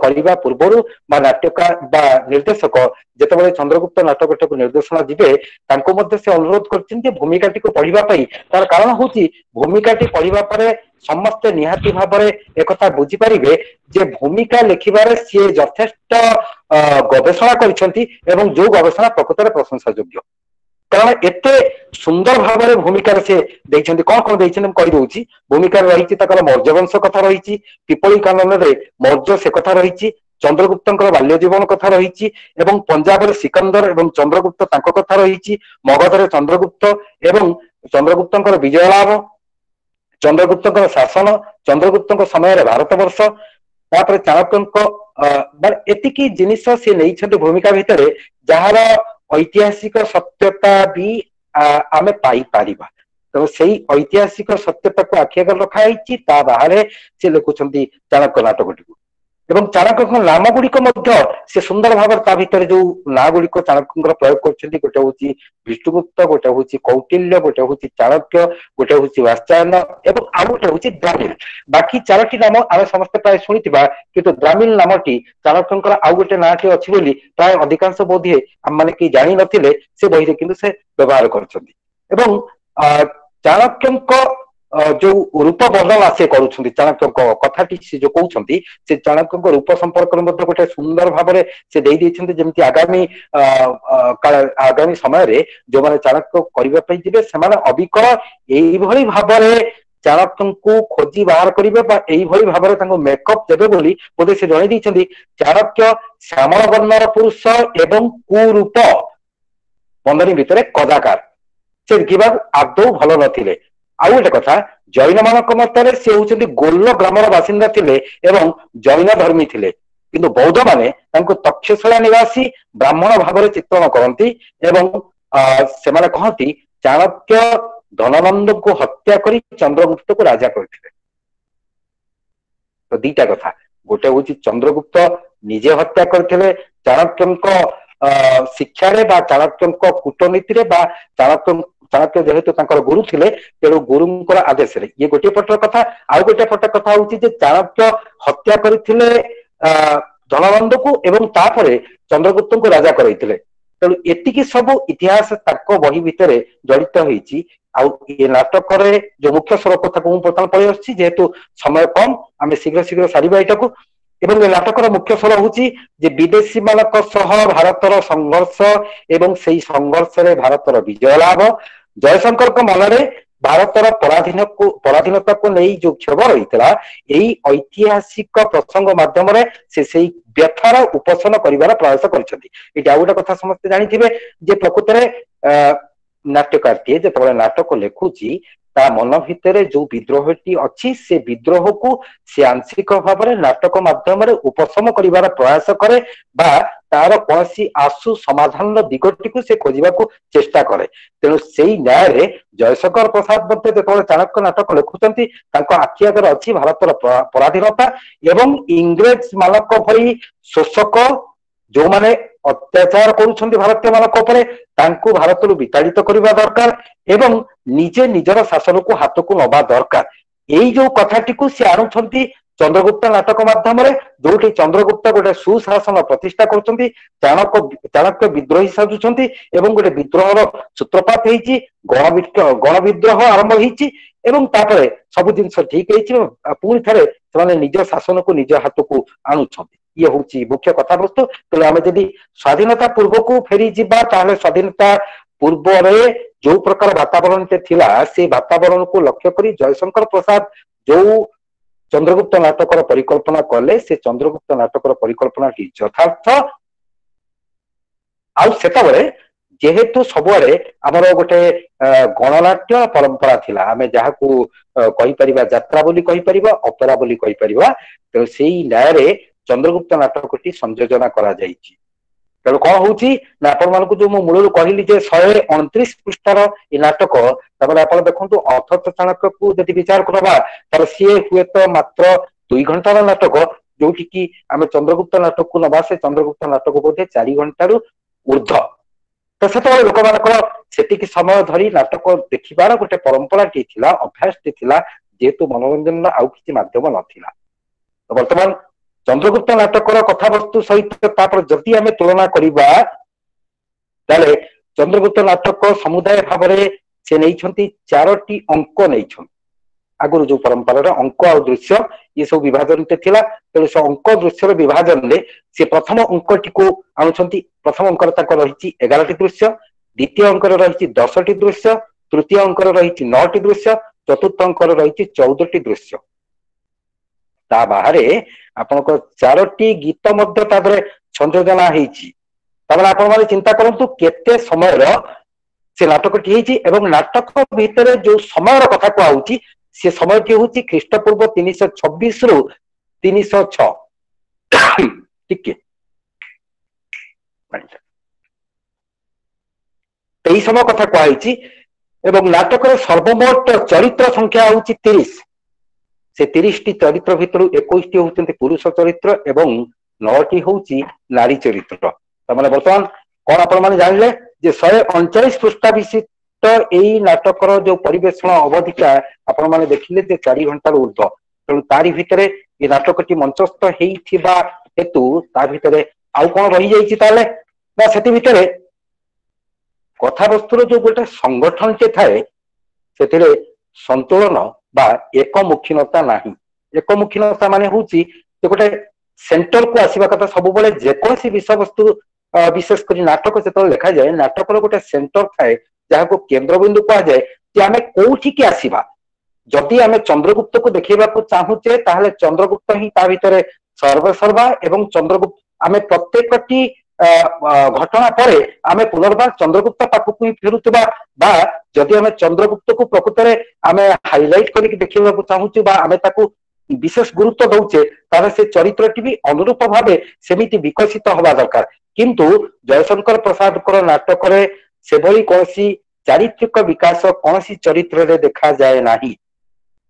କରିବା ପୂର୍ବରୁ ବା ନାଟ୍ୟକାର ବା ନିର୍ଦ୍ଦେଶକ ଯେତେବେଳେ ଚନ୍ଦ୍ରଗୁପ୍ତ ନାଟକଟାକୁ ନିର୍ଦ୍ଦେଶନା ଯିବେ, ତାଙ୍କୁ ମଧ୍ୟ ସେ ଅନୁରୋଧ କରିଛନ୍ତି ଭୂମିକାଟିକୁ ପଢିବା ପାଇଁ। ତାର କାରଣ ହଉଛି ଭୂମିକାଟି ପଢିବା ପରେ ସମସ୍ତେ ନିହାତି ଭାବରେ ଏକଥା ବୁଝିପାରିବେ ଯେ ଭୂମିକା ଲେଖିବାରେ ସିଏ ଯଥେଷ୍ଟ ଗବେଷଣା କରିଛନ୍ତି, ଏବଂ ଯୋଉ ଗବେଷଣା ପ୍ରକୃତରେ ପ୍ରଶଂସା ଯୋଗ୍ୟ। କାରଣ ଏତେ ସୁନ୍ଦର ଭାବରେ ଭୂମିକାରେ ସେ ଦେଇଛନ୍ତି। କଣ କଣ ଦେଇଛନ୍ତି ମୁଁ କହିଦଉଛି। ଭୂମିକାରେ ରହିଛି ତାଙ୍କର ମୌର୍ଯ୍ୟବଂଶ କଥା ରହିଛି, ପିପଳି କାନନରେ ମୌର୍ଯ୍ୟ ସେ କଥା ରହିଛି, ଚନ୍ଦ୍ରଗୁପ୍ତଙ୍କର ବାଲ୍ୟ ଜୀବନ କଥା ରହିଛି, ଏବଂ ପଞ୍ଜାବରେ ସିକନ୍ଦର ଏବଂ ଚନ୍ଦ୍ରଗୁପ୍ତ ତାଙ୍କ କଥା ରହିଛି, ମଗଧରେ ଚନ୍ଦ୍ରଗୁପ୍ତ ଏବଂ ଚନ୍ଦ୍ରଗୁପ୍ତଙ୍କର ବିଜୟ ଲାଭ, ଚନ୍ଦ୍ରଗୁପ୍ତଙ୍କର ଶାସନ, ଚନ୍ଦ୍ରଗୁପ୍ତଙ୍କ ସମୟରେ ଭାରତବର୍ଷ, ତାପରେ ଚାଣକ୍ୟଙ୍କ, ମାନେ ଏତିକି ଜିନିଷ ସେ ନେଇଛନ୍ତି ଭୂମିକା ଭିତରେ, ଯାହାର ଐତିହାସିକ ସତ୍ୟତା ବି ଆମେ ପାଇପାରିବା। ତେଣୁ ସେଇ ଐତିହାସିକ ସତ୍ୟତାକୁ ଆଖି ଆଗରେ ରଖା ହେଇଛି। ତା ବାହାରେ ସେ ଲେଖୁଛନ୍ତି ଚାଣକ୍ୟ ନାଟକଟିକୁ, ଏବଂ ଚାଣକ୍ୟଙ୍କ ନାମ ଗୁଡିକ ମଧ୍ୟ ସେ ସୁନ୍ଦର ଭାବରେ ତା ଭିତରେ ଯୋଉ ନାଁ ଗୁଡିକ ଚାଣକ୍ୟଙ୍କର ପ୍ରୟୋଗ କରୁଛନ୍ତି, ଗୋଟେ ହଉଛି ବିଷ୍ଣୁଗୁପ୍ତ, ଗୋଟେ ହଉଛି କୌଟିଲ୍ୟ, ଗୋଟେ ହଉଛି ଚାଣକ୍ୟ, ଗୋଟେ ହଉଛି ବାତ୍ସାୟନ, ଏବଂ ଆଉ ଗୋଟେ ହଉଛି ଦ୍ରାମିଲ। ବାକି 4ଟି ନାମ ଆମେ ସମସ୍ତେ ପ୍ରାୟ ଶୁଣିଥିବା, କିନ୍ତୁ ଦ୍ରାମିଲ ନାମଟି ଚାଣକ୍ୟଙ୍କର ଆଉ ଗୋଟେ ନାଁଟି ଅଛି ବୋଲି ପ୍ରାୟ ଅଧିକାଂଶ ବୋଧହୁଏ ଆମମାନେ କେହି ଜାଣିନଥିଲେ। ସେ ବହିରେ କିନ୍ତୁ ସେ ବ୍ୟବହାର କରିଛନ୍ତି। ଏବଂ ଚାଣକ୍ୟଙ୍କ ଯୋଉ ରୂପ ବର୍ଣ୍ଣନା ସେ କରୁଛନ୍ତି, ଚାଣକ୍ୟଙ୍କ କଥାଟି ସେ ଯୋଉ କହୁଛନ୍ତି, ସେ ଚାଣକ୍ୟଙ୍କ ରୂପ ସମ୍ପର୍କରେ ମଧ୍ୟ ଗୋଟେ ସୁନ୍ଦର ଭାବରେ ସେ ଦେଇ ଦେଇଛନ୍ତି, ଯେମିତି ଆଗାମୀ ସମୟରେ ଯୋଉମାନେ ଚାଣକ୍ୟ କରିବା ପାଇଁ ଯିବେ ସେମାନେ ଅବିକଳ ଏଇଭଳି ଭାବରେ ଚାଣକ୍ୟଙ୍କୁ ଖୋଜି ବାହାର କରିବେ ବା ଏଇଭଳି ଭାବରେ ତାଙ୍କୁ ମେକଅପ୍ ଦେବେ ବୋଲି ବୋଧେ ସେ ଜଣେଇ ଦେଇଛନ୍ତି। ଚାଣକ୍ୟ ଶ୍ୟାମଳ ବର୍ଣ୍ଣର ପୁରୁଷ ଏବଂ କୁରୂପ, ବନ୍ଧନୀ ଭିତରେ କଦାକାର, ସେ ଦେଖିବାକୁ ଆଦୌ ଭଲ ନଥିଲେ। ଆଉ ଗୋଟେ କଥା, ଜୈନ ମାନଙ୍କ ମତରେ ସେ ହଉଛନ୍ତି ଗୋଲ ଗ୍ରାମର ବାସିନ୍ଦା ଥିଲେ ଏବଂ ଜୈନ ଧର୍ମୀ ଥିଲେ, କିନ୍ତୁ ବୌଦ୍ଧ ମାନେ ତାଙ୍କୁ ତକ୍ଷଶିଳା ନିବାସୀ ବ୍ରାହ୍ମଣ ଭାବରେ ଚିତ୍ରଣ କରନ୍ତି, ଏବଂ ସେମାନେ କହନ୍ତି ଚାଣକ୍ୟ ଧନନନ୍ଦଙ୍କୁ ହତ୍ୟା କରି ଚନ୍ଦ୍ରଗୁପ୍ତକୁ ରାଜା କରିଥିଲେ। ତ ଦିଟା କଥା, ଗୋଟେ ହଉଛି ଚନ୍ଦ୍ରଗୁପ୍ତ ନିଜେ ହତ୍ୟା କରିଥିଲେ ଚାଣକ୍ୟଙ୍କ ଶିକ୍ଷାରେ ବା ଚାଣକ୍ୟଙ୍କ କୂଟନୀତିରେ, ବା ଚାଣକ୍ୟ ଯେହେତୁ ତାଙ୍କର ଗୁରୁ ଥିଲେ ତେଣୁ ଗୁରୁଙ୍କର ଆଦେଶରେ, ଇଏ ଗୋଟିଏ ପଟର କଥା। ଆଉ ଗୋଟେ ପଟ କଥା ହଉଛି ଯେ ଚାଣକ୍ୟ ହତ୍ୟା କରିଥିଲେ ଧନନନ୍ଦକୁ ଏବଂ ତାପରେ ଚନ୍ଦ୍ରଗୁପ୍ତଙ୍କୁ ରାଜା କରାଇଥିଲେ। ତେଣୁ ଏତିକି ସବୁ ଇତିହାସ ତାଙ୍କ ବହି ଭିତରେ ଜଡିତ ହେଇଛି। ଆଉ ଏ ନାଟକରେ ଯୋଉ ମୁଖ୍ୟ ସ୍ୱର କଥାକୁ ମୁଁ ବର୍ତ୍ତମାନ ପଳେଇ ଆସୁଛି, ଯେହେତୁ ସମୟ କମ ଆମେ ଶୀଘ୍ର ଶୀଘ୍ର ସାରିବା ଏଇଟାକୁ। ଏବଂ ଏ ନାଟକର ମୁଖ୍ୟ ସ୍ୱର ହଉଛି ଯେ ବିଦେଶୀ ମାନଙ୍କ ସହ ଭାରତର ସଂଘର୍ଷ ଏବଂ ସେଇ ସଂଘର୍ଷରେ ଭାରତର ବିଜୟ ଲାଭ। ଜୟଶଙ୍କରଙ୍କ ମନରେ ଭାରତର ପରାଧୀନତାକୁ ନେଇ ଯୋଉ କ୍ଷୋଭ ରହିଥିଲା, ଏଇ ଐତିହାସିକ ପ୍ରସଙ୍ଗ ମାଧ୍ୟମରେ ସେ ସେଇ ବ୍ୟଥାର ଉପଶମ କରିବାର ପ୍ରୟାସ କରିଛନ୍ତି। ଏଇଠି ଆଉ ଗୋଟେ କଥା ସମସ୍ତେ ଜାଣିଥିବେ ଯେ ପ୍ରକୃତରେ ନାଟ୍ୟକାରଟିଏ ଯେତେବେଳେ ନାଟକ ଲେଖୁଛି ତା ମନ ଭିତରେ ଯୋଉ ବିଦ୍ରୋହଟି ଅଛି ସେ ବିଦ୍ରୋହକୁ ସେ ଆଂଶିକ ଭାବରେ ନାଟକ ମାଧ୍ୟମରେ ଉପଶମ କରିବାର ପ୍ରୟାସ କରେ ବା ତାର କୌଣସି ଆଶୁ ସମାଧାନର ଦିଗଟିକୁ ସେ ଖୋଜିବାକୁ ଚେଷ୍ଟା କରେ। ତେଣୁ ସେଇ ନ୍ୟାୟରେ ଜୟଶଙ୍କର ପ୍ରସାଦ ମଧ୍ୟ ଯେତେବେଳେ ଚାଣକ୍ୟ ନାଟକ ଲେଖୁଛନ୍ତି ତାଙ୍କ ଆଖି ଆଗରେ ଅଛି ଭାରତର ପରାଧୀନତା ଏବଂ ଇଂରେଜ ମାନଙ୍କ ଭଳି ଶୋଷକ ଯୋଉମାନେ ଅତ୍ୟାଚାର କରୁଛନ୍ତି ଭାରତୀୟ ମାନଙ୍କ ଉପରେ, ତାଙ୍କୁ ଭାରତରୁ ବିତାଡ଼ିତ କରିବା ଦରକାର ଏବଂ ନିଜେ ନିଜର ଶାସନକୁ ହାତକୁ ନବା ଦରକାର। ଏଇ ଯୋଉ କଥାଟିକୁ ସେ ଆଣୁଛନ୍ତି ଚନ୍ଦ୍ରଗୁପ୍ତ ନାଟକ ମାଧ୍ୟମରେ, ଯୋଉଠି ଚନ୍ଦ୍ରଗୁପ୍ତ ଗୋଟେ ସୁଶାସନ ପ୍ରତିଷ୍ଠା କରୁଛନ୍ତି, ଚାଣକ୍ୟ ବିଦ୍ରୋହୀ ସାଜୁଛନ୍ତି ଏବଂ ଗୋଟେ ବିଦ୍ରୋହର ସୂତ୍ରପାତ ହେଇଛି, ଗଣବିଦ୍ରୋହ ଆରମ୍ଭ ହେଇଛି ଏବଂ ତାପରେ ସବୁ ଜିନିଷ ଠିକ ହେଇଛି, ପୁଣି ଥରେ ସେମାନେ ନିଜ ଶାସନକୁ ନିଜ ହାତକୁ ଆଣୁଛନ୍ତି। ଇଏ ହଉଛି ମୁଖ୍ୟ କଥାବସ୍ତୁ। ତେଣୁ ଆମେ ଯଦି ସ୍ୱାଧୀନତା ପୂର୍ବକୁ ଫେରିଯିବା ତାହେଲେ ସ୍ୱାଧୀନତା ପୂର୍ବରେ ଯୋଉ ପ୍ରକାର ବାତାବରଣଟି ଥିଲା ସେ ବାତାବରଣକୁ ଲକ୍ଷ୍ୟ କରି ଜୟଶଙ୍କର ପ୍ରସାଦ ଯୋଉ ଚନ୍ଦ୍ରଗୁପ୍ତ ନାଟକର ପରିକଳ୍ପନା କଲେ, ସେ ଚନ୍ଦ୍ରଗୁପ୍ତ ନାଟକର ପରିକଳ୍ପନାଟି ଯଥାର୍ଥ। ଆଉ ସେତେବେଳେ ଯେହେତୁ ସବୁଆଡେ ଆମର ଗୋଟେ ଗଣନାଟ୍ୟ ପରମ୍ପରା ଥିଲା, ଆମେ ଯାହାକୁ କହିପାରିବା ଯାତ୍ରା ବୋଲି କହିପାରିବା, ଅପେରା ବୋଲି କହିପାରିବା, ତେଣୁ ସେଇ ନ୍ୟାୟରେ ଚନ୍ଦ୍ରଗୁପ୍ତ ନାଟକଟି ସଂଯୋଜନା କରାଯାଇଛି। ତେଣୁ କଣ ହଉଛି ନା ଆପଣ ମାନଙ୍କୁ ଯୋଉ ମୁଁ ମୂଳରୁ କହିଲି ଯେ 129 ପୃଷ୍ଠାର ଏ ନାଟକ, ତାପରେ ଆପଣ ଦେଖନ୍ତୁ ଅଥଚ ଚାଣକ୍ୟକୁ ଯଦି ବିଚାର କରିବା ତାହେଲେ ସିଏ ହୁଏତ ମାତ୍ର 2 ଘଣ୍ଟାର ନାଟକ, ଯୋଉଠି କି ଆମେ ଚନ୍ଦ୍ରଗୁପ୍ତ ନାଟକକୁ ନବା, ସେ ଚନ୍ଦ୍ରଗୁପ୍ତ ନାଟକ ବୋଧେ 4 ଘଣ୍ଟାରୁ ଉର୍ଦ୍ଧ୍ୱ। ତ ସେତେବେଳେ ଲୋକମାନଙ୍କର ସେତିକି ସମୟ ଧରି ନାଟକ ଦେଖିବାର ଗୋଟେ ପରମ୍ପରାଟି ଥିଲା, ଅଭ୍ୟାସଟି ଥିଲା, ଯେହେତୁ ମନୋରଞ୍ଜନର ଆଉ କିଛି ମାଧ୍ୟମ ନଥିଲା। ତ ବର୍ତ୍ତମାନ ଚନ୍ଦ୍ରଗୁପ୍ତ ନାଟକର କଥାବସ୍ତୁ ସହିତ ତାପରେ ଯଦି ଆମେ ତୁଳନା କରିବା, ତାହେଲେ ଚନ୍ଦ୍ରଗୁପ୍ତ ନାଟକ ସମୁଦାୟ ଭାବରେ ସେ ନେଇଛନ୍ତି 4ଟି ଅଙ୍କ ନେଇଛନ୍ତି। ଆଗରୁ ଯୋଉ ପରମ୍ପରାରେ ଅଙ୍କ ଆଉ ଦୃଶ୍ୟ ଏ ସବୁ ବିଭାଜନଟେ ଥିଲା, ତେଣୁ ସେ ଅଙ୍କ ଦୃଶ୍ୟର ବିଭାଜନରେ ସେ ପ୍ରଥମ ଅଙ୍କଟିକୁ ଆଣୁଛନ୍ତି। ପ୍ରଥମ ଅଙ୍କରେ ତାଙ୍କର ରହିଛି 11ଟି ଦୃଶ୍ୟ, ଦ୍ୱିତୀୟ ଅଙ୍କରେ ରହିଛି 10ଟି ଦୃଶ୍ୟ, ତୃତୀୟ ଅଙ୍କରେ ରହିଛି 9ଟି ଦୃଶ୍ୟ, ଚତୁର୍ଥ ଅଙ୍କରେ ରହିଛି 14ଟି ଦୃଶ୍ୟ। ତା ବାହାରେ ଆପଣଙ୍କ 4ଟି ଗୀତ ମଧ୍ୟ ତା ଦେହରେ ସଂଯୋଜନା ହେଇଛି। ତାମାନେ ଆପଣ ମାନେ ଚିନ୍ତା କରନ୍ତୁ କେତେ ସମୟର ସେ ନାଟକଟି ହେଇଛି, ଏବଂ ନାଟକ ଭିତରେ ଯୋଉ ସମୟର କଥା କୁହାହଉଛି ସେ ସମୟଟି ହଉଛି ଖ୍ରୀଷ୍ଟପୂର୍ବ 326 ରୁ 306। ଟିକେ ଏଇ ସମୟ କଥା କୁହାହେଇଛି। ଏବଂ ନାଟକର ସର୍ବମୋଟ ଚରିତ୍ର ସଂଖ୍ୟା ହଉଛି 30। ସେ 30ଟି ଚରିତ୍ର ଭିତରୁ 21ଟି ହଉଛନ୍ତି ପୁରୁଷ ଚରିତ୍ର ଏବଂ 9ଟି ହଉଛି ନାରୀ ଚରିତ୍ର। ତାମାନେ ବର୍ତ୍ତମାନ କଣ ଆପଣ ମାନେ ଜାଣିଲେ ଯେ 139 ପୃଷ୍ଠା ବିଶିଷ୍ଟ ଏଇ ନାଟକର ଯୋଉ ପରିବେଷଣ ଅବଧିଟା ଆପଣ ମାନେ ଦେଖିଲେ ଯେ 4 ଘଣ୍ଟାରୁ ଉର୍ଦ୍ଧ୍ୱ। ତେଣୁ ତାରି ଭିତରେ ଏ ନାଟକଟି ମଞ୍ଚସ୍ଥ ହେଇଥିବା ହେତୁ ତା ଭିତରେ ଆଉ କଣ ରହିଯାଇଛି ତାହେଲେ ନା ସେଥି ଭିତରେ କଥାବସ୍ତୁର ଯୋଉ ଗୋଟେ ସଂଗଠନଟେ ଥାଏ ସେଥିରେ ସନ୍ତୁଳନ ବା ଏକମୁଖୀନତା ନାହିଁ। ଏକମୁଖୀନତା ମାନେ ହଉଛି ଯେ ଗୋଟେ ସେଣ୍ଟରକୁ ଆସିବା କଥା। ସବୁବେଳେ ଯେକୌଣସି ବିଷୟବସ୍ତୁ ବିଶେଷ କରି ନାଟକ ଯେତେବେଳେ ଲେଖାଯାଏ, ନାଟକର ଗୋଟେ ସେଣ୍ଟର ଥାଏ ଯାହାକୁ କେନ୍ଦ୍ରବିନ୍ଦୁ କୁହାଯାଏ, ଯେ ଆମେ କୋଉଠିକି ଆସିବା। ଯଦି ଆମେ ଚନ୍ଦ୍ରଗୁପ୍ତକୁ ଦେଖେଇବାକୁ ଚାହୁଁଛେ ତାହେଲେ ଚନ୍ଦ୍ରଗୁପ୍ତ ହିଁ ତା ଭିତରେ ସର୍ବସର୍ବା, ଏବଂ ଚନ୍ଦ୍ରଗୁପ୍ତ ଆମେ ପ୍ରତ୍ୟେକଟି ଘଟଣା ପରେ ଆମେ ପୁନର୍ବାର ଚନ୍ଦ୍ରଗୁପ୍ତ ପାଖକୁ ହିଁ ଫେରୁଥିବା, ବା ଯଦି ଆମେ ଚନ୍ଦ୍ରଗୁପ୍ତକୁ ପ୍ରକୃତରେ ଆମେ ହାଇଲାଇଟ କରିକି ଦେଖିବାକୁ ଚାହୁଁଛୁ ବା ଆମେ ତାକୁ ବିଶେଷ ଗୁରୁତ୍ୱ ଦଉଛେ, ତାହେଲେ ସେ ଚରିତ୍ରଟି ବି ଅନୁରୂପ ଭାବେ ସେମିତି ବିକଶିତ ହବା ଦରକାର। କିନ୍ତୁ ଜୟଶଙ୍କର ପ୍ରସାଦଙ୍କର ନାଟକରେ ସେଭଳି କୌଣସି ଚାରିତ୍ରିକ ବିକାଶ କୌଣସି ଚରିତ୍ରରେ ଦେଖାଯାଏ ନାହିଁ,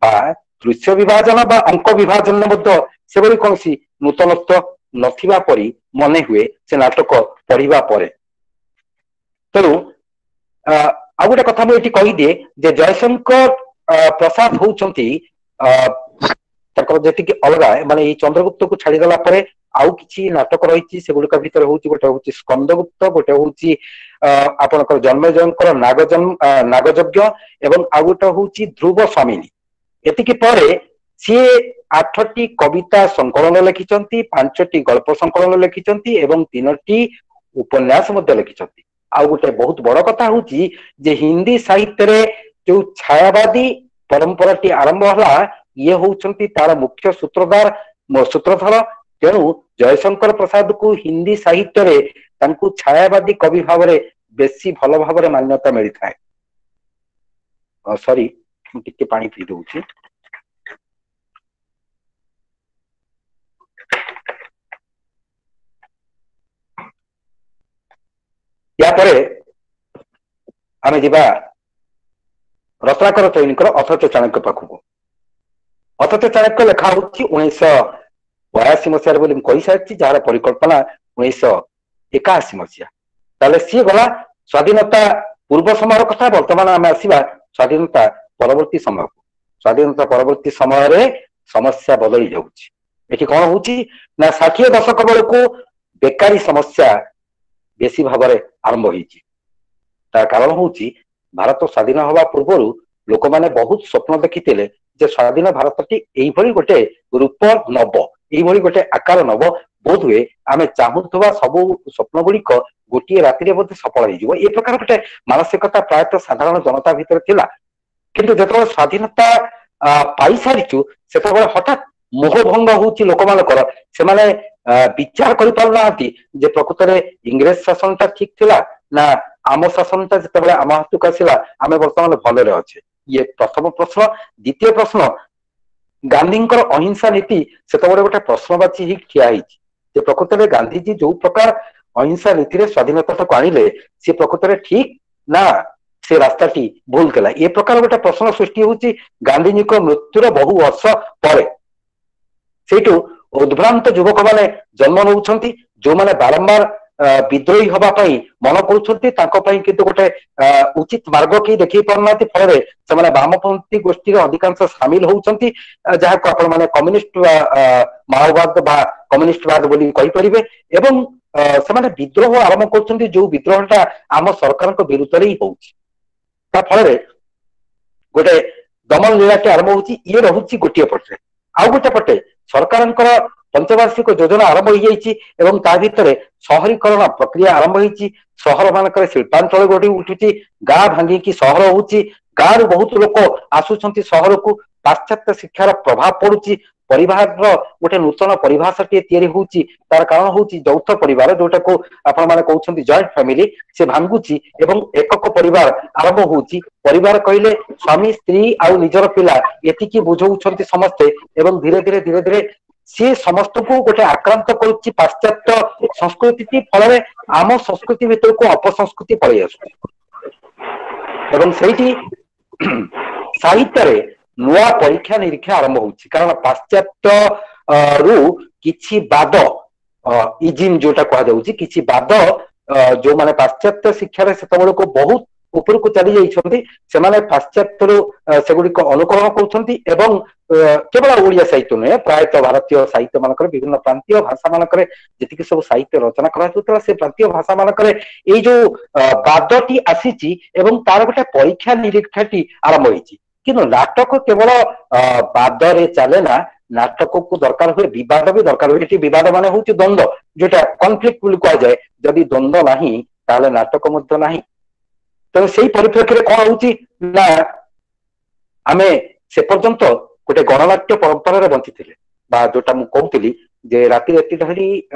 ବା ଦୃଶ୍ୟ ବିଭାଜନ ବା ଅଙ୍କ ବିଭାଜନ ମଧ୍ୟ ସେଭଳି କୌଣସି ନୂତନତ୍ୱ ନଥିବା ପରି ମନେ ହୁଏ ସେ ନାଟକ ପଢିବା ପରେ। ତେଣୁ ଆଉ ଗୋଟେ କଥା ମୁଁ ଏଠି କହିଦିଏ ଯେ ଜୟଶଙ୍କର ପ୍ରସାଦ ହଉଛନ୍ତି ତାଙ୍କର ଯେତିକି ଅଲଗା, ମାନେ ଏଇ ଚନ୍ଦ୍ରଗୁପ୍ତକୁ ଛାଡିଦେଲା ପରେ ଆଉ କିଛି ନାଟକ ରହିଛି, ସେଗୁଡିକ ଭିତରେ ହଉଛି ଗୋଟେ ହଉଛି ସ୍କନ୍ଦଗୁପ୍ତ, ଗୋଟେ ହଉଛି ଆପଣଙ୍କର ଜନ୍ମେଜୟଙ୍କର ନାଗଯଜ୍ଞ, ଏବଂ ଆଉ ଗୋଟେ ହଉଛି ଧ୍ରୁବ ସ୍ୱାମିନୀ। ଏତିକି ପରେ ସିଏ 8ଟି କବିତା ସଂକଳନ ଲେଖିଛନ୍ତି, 5ଟି ଗଳ୍ପ ସଂକଳନ ଲେଖିଛନ୍ତି ଏବଂ 3ଟି ଉପନ୍ୟାସ ମଧ୍ୟ ଲେଖିଛନ୍ତି। ଆଉ ଗୋଟେ ବହୁତ ବଡ କଥା ହଉଛି ଯେ ହିନ୍ଦୀ ସାହିତ୍ୟରେ ଯୋଉ ଛାୟାବାଦୀ ପରମ୍ପରାଟି ଆରମ୍ଭ ହେଲା, ଇଏ ହଉଛନ୍ତି ତାର ମୁଖ୍ୟ ସୂତ୍ରଧର। ତେଣୁ ଜୟଶଙ୍କର ପ୍ରସାଦକୁ ହିନ୍ଦୀ ସାହିତ୍ୟରେ ତାଙ୍କୁ ଛାୟାବାଦୀ କବି ଭାବରେ ବେଶୀ ଭଲ ଭାବରେ ମାନ୍ୟତା ମିଳିଥାଏ। ସରି, ମୁଁ ଟିକେ ପାଣି ପିଇ ଦଉଛି। ୟା ପରେ ଆମେ ଯିବା ରତ୍ନାକର ଚୈନୀଙ୍କର ଅଥଚ ଚାଣକ୍ୟ ପାଖକୁ। ଅଥଚ ଚାଣକ୍ୟ ଲେଖା ହଉଛି 1982 ମସିହାରେ ବୋଲି ମୁଁ କହିସାରିଛି, ଯାହାର ପରିକଳ୍ପନା 1981 ମସିହା। ତାହେଲେ ସିଏ ଗଲା ସ୍ୱାଧୀନତା ପୂର୍ବ ସମୟର କଥା। ବର୍ତ୍ତମାନ ଆମେ ଆସିବା ସ୍ୱାଧୀନତା ପରବର୍ତ୍ତୀ ସମୟକୁ। ସ୍ୱାଧୀନତା ପରବର୍ତ୍ତୀ ସମୟରେ ସମସ୍ୟା ବଦଳି ଯାଉଛି। ଏଠି କଣ ହଉଛି ନା 60 ଦଶକ ବେଳକୁ ବେକାରୀ ସମସ୍ୟା ବେଶୀ ଭାବରେ ଆରମ୍ଭ ହେଇଛି। ତାର କାରଣ ହଉଛି ଭାରତ ସ୍ୱାଧୀନ ହବା ପୂର୍ବରୁ ଲୋକମାନେ ବହୁତ ସ୍ୱପ୍ନ ଦେଖିଥିଲେ ଯେ ସ୍ୱାଧୀନ ଭାରତଟି ଏଇଭଳି ଗୋଟେ ରୂପ ନବ, ଏଇଭଳି ଗୋଟେ ଆକାର ନବ, ବୋଧହୁଏ ଆମେ ଚାହୁଁଥିବା ସବୁ ସ୍ୱପ୍ନ ଗୁଡିକ ଗୋଟିଏ ରାତିରେ ବୋଧେ ସଫଳ ହେଇଯିବ। ଏ ପ୍ରକାର ଗୋଟେ ମାନସିକତା ପ୍ରାୟତଃ ସାଧାରଣ ଜନତା ଭିତରେ ଥିଲା। କିନ୍ତୁ ଯେତେବେଳେ ସ୍ୱାଧୀନତା ପାଇସାରିଛୁ ସେତେବେଳେ ହଠାତ୍ ମୋହଭଙ୍ଗ ହଉଛି ଲୋକମାନଙ୍କର। ସେମାନେ ବିଚାର କରିପାରୁନାହାନ୍ତି ଯେ ପ୍ରକୃତରେ ଇଂରେଜ ଶାସନଟା ଠିକ ଥିଲା ନା ଆମ ଶାସନଟା ଯେତେବେଳେ ଆମ ହାତକୁ ଆସିଲା ଆମେ ବର୍ତ୍ତମାନ ଭଲରେ ଅଛେ? ଇଏ ପ୍ରଥମ ପ୍ରଶ୍ନ। ଦ୍ୱିତୀୟ ପ୍ରଶ୍ନ, ଗାନ୍ଧୀଙ୍କର ଅହିଂସା ନୀତି ସେତେବେଳେ ଗୋଟେ ପ୍ରଶ୍ନବାଚୀ ହେଇକି ଠିଆ ହେଇଛି ଯେ ପ୍ରକୃତରେ ଗାନ୍ଧିଜୀ ଯୋଉ ପ୍ରକାର ଅହିଂସା ନୀତିରେ ସ୍ୱାଧୀନତାଟାକୁ ଆଣିଲେ ସେ ପ୍ରକୃତରେ ଠିକ ନା ସେ ରାସ୍ତାଟି ଭୁଲ ଥିଲା? ଏ ପ୍ରକାର ଗୋଟେ ପ୍ରଶ୍ନ ସୃଷ୍ଟି ହଉଛି ଗାନ୍ଧିଜୀଙ୍କ ମୃତ୍ୟୁର ବହୁ ବର୍ଷ ପରେ। ସେଇଠୁ ଉଦ୍ଭ୍ରାନ୍ତ ଯୁବକ ମାନେ ଜନ୍ମ ନଉଛନ୍ତି, ଯୋଉମାନେ ବାରମ୍ବାର ବିଦ୍ରୋହୀ ହବା ପାଇଁ ମନ କରୁଛନ୍ତି। ତାଙ୍କ ପାଇଁ କିନ୍ତୁ ଗୋଟେ ଉଚିତ ମାର୍ଗ କେହି ଦେଖେଇ ପାରୁନାହାନ୍ତି। ଫଳରେ ସେମାନେ ବାମପନ୍ଥୀ ଗୋଷ୍ଠୀରେ ଅଧିକାଂଶ ସାମିଲ ହଉଛନ୍ତି, ଯାହାକୁ ଆପଣ ମାନେ କମ୍ୟୁନିଷ୍ଟ ମାଓବାଦ ବା କମ୍ୟୁନିଷ୍ଟବାଦ ବୋଲି କହିପାରିବେ, ଏବଂ ସେମାନେ ବିଦ୍ରୋହ ଆରମ୍ଭ କରୁଛନ୍ତି, ଯୋଉ ବିଦ୍ରୋହଟା ଆମ ସରକାରଙ୍କ ବିରୁଦ୍ଧରେ ହିଁ ହଉଛି। ତା ଫଳରେ ଗୋଟେ ଦମନ ଲୀଳାଟି ଆରମ୍ଭ ହଉଛି। ଇଏ ରହୁଛି ଗୋଟିଏ ପଟରେ। ଆଉ ଗୋଟେ ପଟେ ସରକାରଙ୍କର ପଞ୍ଚବାର୍ଷିକ ଯୋଜନା ଆରମ୍ଭ ହେଇଯାଇଛି ଏବଂ ତା ଭିତରେ ସହରୀକରଣ ପ୍ରକ୍ରିୟା ଆରମ୍ଭ ହେଇଛି। ସହର ମାନଙ୍କରେ ଶିଳ୍ପାଞ୍ଚଳ ଗଢି ଉଠୁଛି, ଗାଁ ଭାଙ୍ଗିକି ସହର ହଉଛି, ଗାଁରୁ ବହୁତ ଲୋକ ଆସୁଛନ୍ତି ସହରକୁ, ପାଶ୍ଚାତ୍ୟ ଶିକ୍ଷାର ପ୍ରଭାବ ପଡୁଛି, ପରିବାରର ଗୋଟେ ନୂତନ ପରିଭାଷାଟିଏ ତିଆରି ହଉଛି। ତାର କାରଣ ହଉଛି ଯୌଥ ପରିବାର, ଯୋଉଟାକୁ ଆପଣ ମାନେ କହୁଛନ୍ତି ଜଏଣ୍ଟ ଫ୍ୟାମିଲି, ସେ ଭାଙ୍ଗୁଛି ଏବଂ ଏକକ ପରିବାର ଆରମ୍ଭ ହଉଛି। ପରିବାର କହିଲେ ସ୍ୱାମୀ, ସ୍ତ୍ରୀ ଆଉ ନିଜର ପିଲା, ଏତିକି ବୁଝଉଛନ୍ତି ସମସ୍ତେ। ଏବଂ ଧୀରେ ଧୀରେ ଧୀରେ ଧୀରେ ସିଏ ସମସ୍ତଙ୍କୁ ଗୋଟେ ଆକ୍ରାନ୍ତ କରୁଛି ପାଶ୍ଚାତ୍ୟ ସଂସ୍କୃତି। ଫଳରେ ଆମ ସଂସ୍କୃତି ଭିତରକୁ ଅପସଂସ୍କୃତି ପଳେଇ ଆସୁଛି ଏବଂ ସେଇଠି ସାହିତ୍ୟରେ ନୂଆ ପରୀକ୍ଷା ନିରୀକ୍ଷା ଆରମ୍ଭ ହଉଛି। କାରଣ ପାଶ୍ଚାତ୍ୟ ରୁ କିଛି ବାଦ, ଇଜିମ୍ ଯୋଉଟା କୁହାଯାଉଛି, କିଛି ବାଦ, ଯୋଉମାନେ ପାଶ୍ଚାତ୍ୟ ଶିକ୍ଷାରେ ସେତେବେଳକୁ ବହୁତ ଉପରକୁ ଚାଲି ଯାଇଛନ୍ତି, ସେମାନେ ପାଶ୍ଚାତ୍ୟରୁ ସେଗୁଡିକ ଅନୁକରଣ କରୁଛନ୍ତି। ଏବଂ କେବଳ ଓଡିଆ ସାହିତ୍ୟ ନୁହେଁ, ପ୍ରାୟତଃ ଭାରତୀୟ ସାହିତ୍ୟ ମାନଙ୍କରେ ବିଭିନ୍ନ ପ୍ରାନ୍ତୀୟ ଭାଷା ମାନଙ୍କରେ ଯେତିକି ସବୁ ସାହିତ୍ୟ ରଚନା କରାଯାଉଥିଲା, ସେ ପ୍ରାନ୍ତୀୟ ଭାଷା ମାନଙ୍କରେ ଏଇ ଯୋଉ ବାଦଟି ଆସିଛି ଏବଂ ତାର ଗୋଟେ ପରୀକ୍ଷା ନିରୀକ୍ଷାଟି ଆରମ୍ଭ ହେଇଛି। କିନ୍ତୁ ନାଟକ କେବଳ ବାଦରେ ଚାଲେ ନା, ନାଟକକୁ ଦରକାର ହୁଏ ବିବାଦ ବି ଦରକାର ହୁଏ। ଏଠି ବିବାଦ ମାନେ ହଉଛି ଦ୍ୱନ୍ଦ୍ୱ, ଯୋଉଟା କନଫ୍ଲିକ୍ଟ ବୋଲି କୁହାଯାଏ। ଯଦି ଦ୍ୱନ୍ଦ୍ୱ ନାହିଁ ତାହେଲେ ନାଟକ ମଧ୍ୟ ନାହିଁ। ତେଣୁ ସେଇ ପରିପ୍ରେକ୍ଷୀରେ କଣ ହଉଛି ନା, ଆମେ ସେ ପର୍ଯ୍ୟନ୍ତ ଗୋଟେ ଗଣନାଟ୍ୟ ପରମ୍ପରାରେ ବଞ୍ଚିଥିଲେ, ବା ଯୋଉଟା ମୁଁ କହୁଥିଲି ଯେ ରାତି ରାତି ଧରି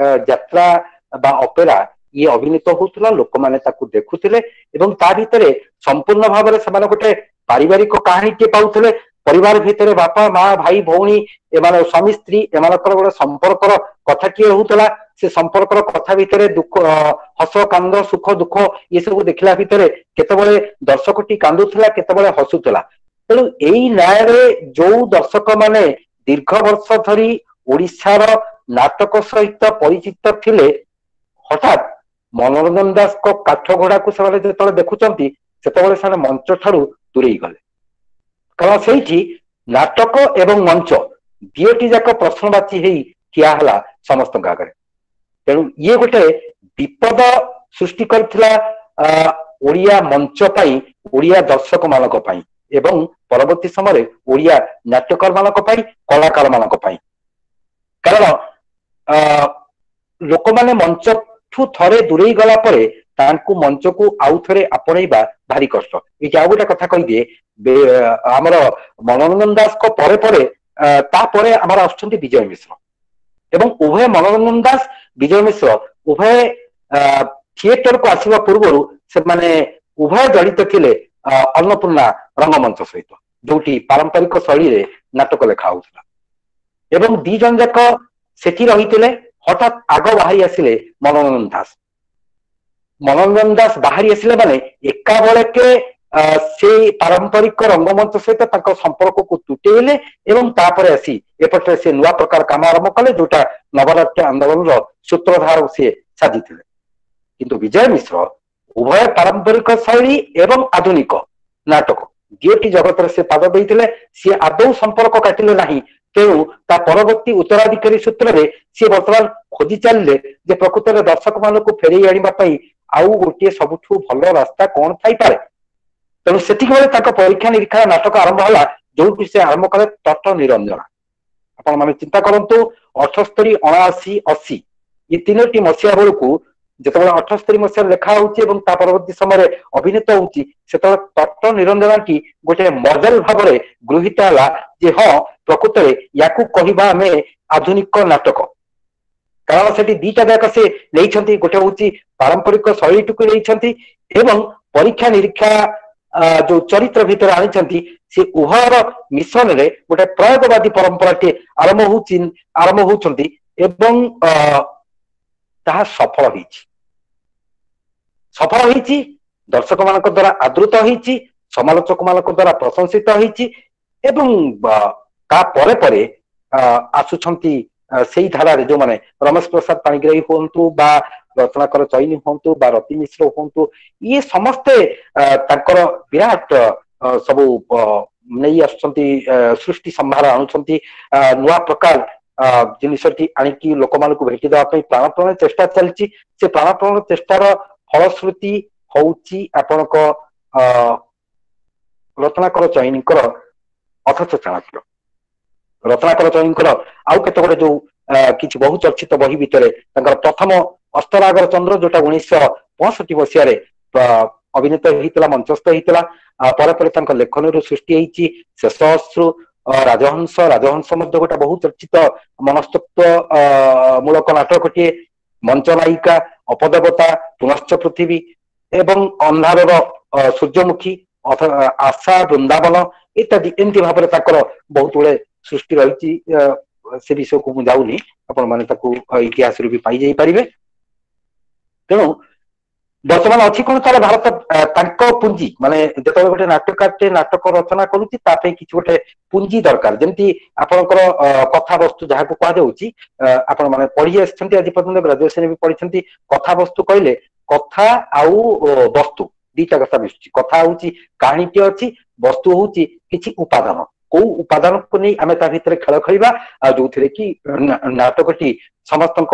ଯାତ୍ରା ବା ଅପେରା ଇଏ ଅଭିନୀତ ହଉଥିଲା, ଲୋକମାନେ ତାକୁ ଦେଖୁଥିଲେ ଏବଂ ତା ଭିତରେ ସମ୍ପୂର୍ଣ୍ଣ ଭାବରେ ସେମାନେ ଗୋଟେ ପାରିବାରିକ କାହାଣୀଟିଏ ପାଉଥିଲେ। ପରିବାର ଭିତରେ ବାପା, ମା, ଭାଇ, ଭଉଣୀ, ଏମାନେ ସ୍ୱାମୀ, ସ୍ତ୍ରୀ, ଏମାନଙ୍କର ଗୋଟେ ସମ୍ପର୍କର କଥାଟିଏ ହଉଥିଲା। ସେ ସମ୍ପର୍କର କଥା ଭିତରେ ଦୁଃଖ, ହସ, କାନ୍ଦ, ସୁଖ, ଦୁଃଖ ଏସବୁ ଦେଖିଲା ଭିତରେ କେତେବେଳେ ଦର୍ଶକଟି କାନ୍ଦୁଥିଲା, କେତେବେଳେ ହସୁଥିଲା। ତେଣୁ ଏଇ ନ୍ୟାୟରେ ଯୋଉ ଦର୍ଶକ ମାନେ ଦୀର୍ଘ ବର୍ଷ ଧରି ଓଡିଶାର ନାଟକ ସହିତ ପରିଚିତ ଥିଲେ, ହଠାତ୍ ମନୋରଞ୍ଜନ ଦାସଙ୍କ କାଠଘୋଡାକୁ ସେମାନେ ଯେତେବେଳେ ଦେଖୁଛନ୍ତି, ସେତେବେଳେ ସେମାନେ ମଞ୍ଚ ଠାରୁ ଦୂରେଇ ଗଲେ। କାରଣ ସେଇଠି ନାଟକ ଏବଂ ମଞ୍ଚ ଦିଓଟି ଯାକ ପ୍ରଶ୍ନବାଚୀ ହେଇ ଠିଆ ହେଲା ସମସ୍ତଙ୍କ ଆଗରେ। ତେଣୁ ଇଏ ଗୋଟେ ବିପଦ ସୃଷ୍ଟି କରିଥିଲା ଓଡିଆ ମଞ୍ଚ ପାଇଁ, ଓଡିଆ ଦର୍ଶକ ମାନଙ୍କ ପାଇଁ ଏବଂ ପରବର୍ତ୍ତୀ ସମୟରେ ଓଡିଆ ନାଟ୍ୟକାର ମାନଙ୍କ ପାଇଁ, କଳାକାର ମାନଙ୍କ ପାଇଁ। କାରଣ ଲୋକମାନେ ମଞ୍ଚଠୁ ଥରେ ଦୂରେଇ ଗଲା ପରେ ତାଙ୍କୁ ମଞ୍ଚକୁ ଆଉ ଥରେ ଆପଣେଇବା ଭାରି କଷ୍ଟ। ଏଇଠି ଆଉ ଗୋଟେ କଥା କହିଦିଏ, ଆମର ମନୋରଞ୍ଜନ ଦାସଙ୍କ ପରେ ପରେ ତାପରେ ଆମର ଆସୁଛନ୍ତି ବିଜୟ ମିଶ୍ର। ଏବଂ ଉଭୟ ମନୋରଞ୍ଜନ ଦାସ, ବିଜୟ ମିଶ୍ର ଉଭୟ ଥିଏଟରକୁ ଆସିବା ପୂର୍ବରୁ ସେମାନେ ଉଭୟ ଜଡ଼ିତ ଥିଲେ ଅନ୍ନପୂର୍ଣ୍ଣା ରଙ୍ଗମଞ୍ଚ ସହିତ, ଯୋଉଠି ପାରମ୍ପରିକ ଶୈଳୀରେ ନାଟକ ଲେଖା ହଉଥିଲା, ଏବଂ ଦି ଜଣ ଯାକ ସେଠି ରହିଥିଲେ। ହଠାତ୍ ଆଗ ବାହାରି ଆସିଲେ ମନୋରଞ୍ଜନ ଦାସ। ମନୋରଞ୍ଜନ ଦାସ ବାହାରି ଆସିଲେ ମାନେ ଏକା ବେଳକେ ସେଇ ପାରମ୍ପରିକ ରଙ୍ଗମଞ୍ଚ ସହିତ ତାଙ୍କ ସମ୍ପର୍କକୁ ତୁଟେଇଲେ ଏବଂ ତାପରେ ଆସି ଏପଟରେ ସେ ନୂଆ ପ୍ରକାର କାମ ଆରମ୍ଭ କଲେ, ଯୋଉଟା ନବନାଟ୍ୟ ଆନ୍ଦୋଳନର ସୂତ୍ରଧାର ସିଏ ସାଜିଥିଲେ। କିନ୍ତୁ ବିଜୟ ମିଶ୍ର ଉଭୟ ପାରମ୍ପରିକ ଶୈଳୀ ଏବଂ ଆଧୁନିକ ନାଟକ ଦିଓଟି ଜଗତରେ ସେ ପାଦ ଦେଇଥିଲେ, ସିଏ ଆଦୌ ସମ୍ପର୍କ କାଟିଲେ ନାହିଁ। ତେଣୁ ତା ପରବର୍ତ୍ତୀ ଉତ୍ତରାଧିକାରୀ ସୂତ୍ରରେ ସିଏ ବର୍ତ୍ତମାନ ଖୋଜି ଚାଲିଲେ ଯେ ପ୍ରକୃତରେ ଦର୍ଶକ ମାନଙ୍କୁ ଫେରେଇ ଆଣିବା ପାଇଁ ଆଉ ଗୋଟିଏ ସବୁଠୁ ଭଲ ରାସ୍ତା କଣ ଥାଇପାରେ। ତେଣୁ ସେତିକି ବେଳେ ତାଙ୍କ ପରୀକ୍ଷା ନିରୀକ୍ଷା ନାଟକ ଆରମ୍ଭ ହେଲା, ଯୋଉଠି ସେ ଆରମ୍ଭ କଲେ ତଟ ନିରଞ୍ଜନା। ଆପଣ ମାନେ ଚିନ୍ତା କରନ୍ତୁ, 78, 79, 80 ଏ ତିନୋଟି ମସିହା ବେଳକୁ ଯେତେବେଳେ 78 ମସିହାରେ ଲେଖା ହଉଛି ଏବଂ ତା ପରବର୍ତ୍ତୀ ସମୟରେ ଅଭିନୀତ ହଉଛି, ସେତେବେଳେ ତଟ ନିରଞ୍ଜନାଟି ଗୋଟେ ମଡେଲ ଭାବରେ ଗୃହୀତ ହେଲା ଯେ ହଁ, ପ୍ରକୃତରେ ୟାକୁ କହିବା ଆମେ ଆଧୁନିକ ନାଟକ। କାରଣ ସେଠି ଦିଟା ଯାକ ସେ ନେଇଛନ୍ତି, ଗୋଟେ ହଉଛି ପାରମ୍ପରିକ ଶୈଳୀଟିକୁ ନେଇଛନ୍ତି ଏବଂ ପରୀକ୍ଷା ନିରୀକ୍ଷା ଯୋଉ ଚରିତ୍ର ଭିତରେ ଆଣିଛନ୍ତି, ସେ ଉଭୟର ମିଶ୍ରଣରେ ଗୋଟେ ପ୍ରୟୋଗବାଦୀ ପରମ୍ପରାଟିଏ ଆରମ୍ଭ ହଉଛି, ଆରମ୍ଭ ହଉଛନ୍ତି ଏବଂ ତାହା ସଫଳ ହେଇଛି। ସଫଳ ହେଇଛି, ଦର୍ଶକ ମାନଙ୍କ ଦ୍ଵାରା ଆଦୃତ ହେଇଛି, ସମାଲୋଚକ ମାନଙ୍କ ଦ୍ଵାରା ପ୍ରଶଂସିତ ହେଇଛି। ଏବଂ ତା ପରେ ପରେ ଆସୁଛନ୍ତି ସେଇ ଧାରାରେ ଯୋଉମାନେ ରମେଶ ପ୍ରସାଦ ପାଣିଗ୍ରାହୀ ହୁଅନ୍ତୁ ବା ରତ୍ନାକର ଚଇନି ହୁଅନ୍ତୁ ବା ରତି ମିଶ୍ର ହୁଅନ୍ତୁ, ଇଏ ସମସ୍ତେ ତାଙ୍କର ବିରାଟ ସବୁ ନେଇ ଆସୁଛନ୍ତି, ସୃଷ୍ଟି ସମ୍ଭାର ଆଣୁଛନ୍ତି, ନୂଆ ପ୍ରକାର ଜିନିଷଟି ଆଣିକି ଲୋକମାନଙ୍କୁ ଭେଟି ଦେବା ପାଇଁ ପ୍ରାଣପଣ ଚେଷ୍ଟା ଚାଲିଛି। ସେ ପ୍ରାଣପଣ ଚେଷ୍ଟାର ଫଳଶ୍ରୁତି ହଉଛି ଆପଣଙ୍କ ରତ୍ନାକର ଚଇନିଙ୍କର ଅଥଚ ଚାଣକ୍ୟ। ରତ୍ନାକର ଚଇନିଙ୍କର ଆଉ କେତେ ଗୁଡେ ଯୋଉ କିଛି ବହୁ ଚର୍ଚ୍ଚିତ ବହି ଭିତରେ ତାଙ୍କର ପ୍ରଥମ ଅସ୍ତରାଗର ଚନ୍ଦ୍ର, ଯୋଉଟା 1965 ମସିହାରେ ଅଭିନୀତ ହେଇଥିଲା, ମଞ୍ଚସ୍ଥ ହେଇଥିଲା। ପରେ ପରେ ତାଙ୍କ ଲେଖନୀରୁ ସୃଷ୍ଟି ହେଇଛି ଶେଷ ଅଶ୍ରୁ, ରାଜହଂସ। ରାଜହଂସ ମଧ୍ୟ ଗୋଟେ ବହୁ ଚର୍ଚ୍ଚିତ ମନସ୍ତତ୍ଵ ମୂଳକ ନାଟକଟିଏ। ମଞ୍ଚ ନାୟିକା, ଅପଦେବତା, ପୁନଶ୍ଚ ପୃଥିବୀ ଏବଂ ଅନ୍ଧାରର ସୂର୍ଯ୍ୟମୁଖୀ, ଆଶା, ବୃନ୍ଦାବନ ଇତ୍ୟାଦି, ଏମିତି ଭାବରେ ତାଙ୍କର ବହୁତ ଗୁଡେ ସୃଷ୍ଟି ରହିଛି। ସେ ବିଷୟକୁ ମୁଁ ଯାଉନି, ଆପଣ ମାନେ ତାକୁ ଇତିହାସରୁ ବି ପାଇଯାଇ ପାରିବେ। ତେଣୁ ବର୍ତ୍ତମାନ ଅଛି କଣ ତାହେଲେ ଭାରତ ତାଙ୍କ ପୁଞ୍ଜି, ମାନେ ଯେତେବେଳେ ଗୋଟେ ନାଟ୍ୟକାରଟେ ନାଟକ ରଚନା କରୁଛି, ତା ପାଇଁ କିଛି ଗୋଟେ ପୁଞ୍ଜି ଦରକାର। ଯେମିତି ଆପଣଙ୍କର କଥାବସ୍ତୁ ଯାହାକୁ କୁହାଯାଉଛି, ଆପଣ ମାନେ ପଢି ଆସିଛନ୍ତି ଆଜି ପର୍ଯ୍ୟନ୍ତ, ଗ୍ରାଜୁଏସନ ବି ପଢିଛନ୍ତି। କଥାବସ୍ତୁ କହିଲେ କଥା ଆଉ ବସ୍ତୁ ଦିଟା କଥା ମିଶୁଛି। କଥା ହଉଛି କାହାଣୀଟି ଅଛି, ବସ୍ତୁ ହଉଛି କିଛି ଉପାଦାନ। କୋଉ ଉପାଦାନକୁ ନେଇ ଆମେ ତା ଭିତରେ ଖେଳ ଖେଳିବା, ଆଉ ଯୋଉଥିରେ କି ନାଟକଟି ସମସ୍ତଙ୍କ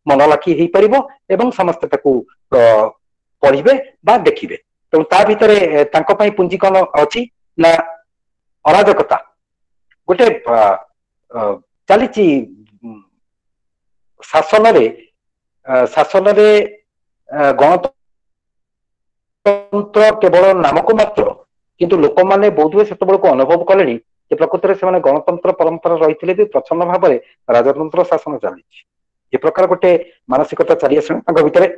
ମନ ଲାଖି ହେଇପାରିବ ଏବଂ ସମସ୍ତେ ତାକୁ ପଢିବେ ବା ଦେଖିବେ। ତେଣୁ ତା ଭିତରେ ତାଙ୍କ ପାଇଁ ପୁଞ୍ଜି କଣ ଅଛି ନା ଅରାଜକତା ଗୋଟେ ଚାଲିଛି ଶାସନରେ। ଶାସନରେ ଗଣତନ୍ତ୍ର କେବଳ ନାମକୁ ମାତ୍ର, କିନ୍ତୁ ଲୋକମାନେ ବୋଧହୁଏ ସେତେବେଳକୁ ଅନୁଭବ କଲେଣି ଯେ ପ୍ରକୃତରେ ସେମାନେ ଗଣତନ୍ତ୍ର ପରମ୍ପରା ରହିଥିଲେ ବି ପ୍ରଚ୍ଛନ୍ନ ଭାବରେ ରାଜତନ୍ତ୍ର ଶାସନ ଚାଲିଛି। ଏ ପ୍ରକାର ଗୋଟେ ମାନସିକତା ଚାଲି ଆସିଲାଣି ତାଙ୍କ ଭିତରେ।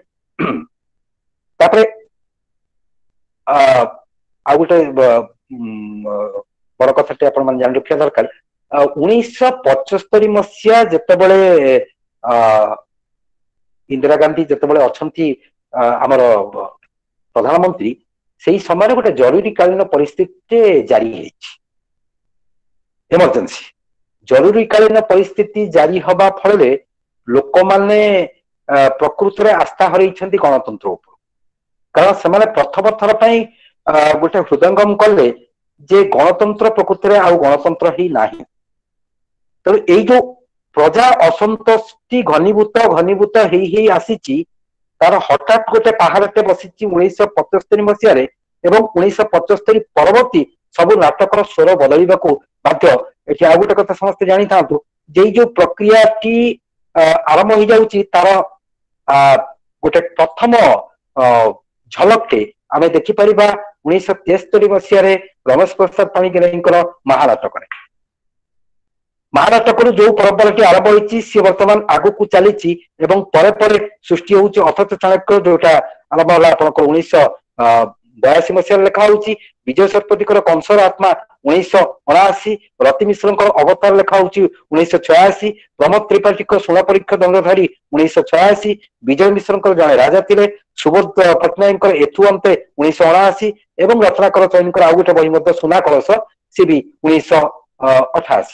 ତାପରେ ଆଉ ଗୋଟେ ବଡ କଥାଟି ଆପଣ ମାନେ ଜାଣି ରଖିବା ଦରକାର, 1975 ମସିହା ଯେତେବେଳେ ଇନ୍ଦିରା ଗାନ୍ଧୀ ଯେତେବେଳେ ଅଛନ୍ତି ଆମର ପ୍ରଧାନମନ୍ତ୍ରୀ, ସେଇ ସମୟରେ ଗୋଟେ ଜରୁରୀକାଳୀନ ପରିସ୍ଥିତି ଜାରି ହେଇଛି, ଏମର୍ଜେନ୍ସି। ଜରୁରୀକାଳୀନ ପରିସ୍ଥିତି ଜାରି ହବା ଫଳରେ ଲୋକମାନେ ପ୍ରକୃତରେ ଆସ୍ଥା ହରେଇଛନ୍ତି ଗଣତନ୍ତ୍ର ଉପରୁ, କାରଣ ସେମାନେ ପ୍ରଥମ ଥର ପାଇଁ ଗୋଟେ ହୃଦୟଙ୍ଗମ କଲେ ଯେ ଗଣତନ୍ତ୍ର ପ୍ରକୃତରେ ଆଉ ଗଣତନ୍ତ୍ର ହିଁ ନାହିଁ। ତେଣୁ ଏଇ ଯୋଉ ପ୍ରଜା ଅସନ୍ତୋଷଟି ଘନୀଭୂତ ଘନୀଭୂତ ହେଇ ହେଇ ଆସିଛି, ତାର ହଠାତ୍ ଗୋଟେ ପାହାଡଟେ ବସିଛି 1975 ମସିହାରେ, ଏବଂ 1975 ପରବର୍ତ୍ତୀ ସବୁ ନାଟକର ସ୍ୱର ବଦଳିବାକୁ ବାଧ୍ୟ। ଏଠି ଆଉ ଗୋଟେ କଥା ସମସ୍ତେ ଜାଣିଥାନ୍ତୁ ଯେ ଏଇ ଯୋଉ ପ୍ରକ୍ରିୟାଟି ଆରମ୍ଭ ହେଇଯାଉଛି, ତାର ଗୋଟେ ପ୍ରଥମ ଝଲକଟେ ଆମେ ଦେଖିପାରିବା 1973 ମସିହାରେ ରମେଶ ପ୍ରସାଦ ପାଣିଗ୍ରାହୀଙ୍କର ମହାନାଟକରେ। ମହାନାଟକରୁ ଯୋଉ ପରମ୍ପରାଟି ଆରମ୍ଭ ହେଇଛି ସିଏ ବର୍ତ୍ତମାନ ଆଗକୁ ଚାଲିଛି ଏବଂ ପରେ ପରେ ସୃଷ୍ଟି ହଉଛି ଅଥଚ ଚାଣକ୍ୟ, ଯୋଉଟା ଆରମ୍ଭ ହେଲା ଆପଣଙ୍କର 1982 ମସିହାରେ ଲେଖା ହଉଛି। ବିଜୟ ଶତପଥୀଙ୍କର କଂସର ଆତ୍ମା 1979, ରତି ମିଶ୍ରଙ୍କର ଅବତାର ଲେଖା ହଉଛି 1986, ପ୍ରମୋଦ ତ୍ରିପାଠୀଙ୍କ ଶୁଣ ପରୀକ୍ଷା ଦଣ୍ଡଧାରୀ 1986, ବିଜୟ ମିଶ୍ରଙ୍କର ଜଣେ ରାଜା ଥିଲେ, ସୁବୋଧ ପଟ୍ଟନାୟକଙ୍କର ଏଥୁ ଅନ୍ତେ 1979, ଏବଂ ରତ୍ନାକର ଚୈନଙ୍କର ଆଉ ଗୋଟେ ବହି ମଧ୍ୟ ସୁନା କଳସ, ସେ ବି 1988।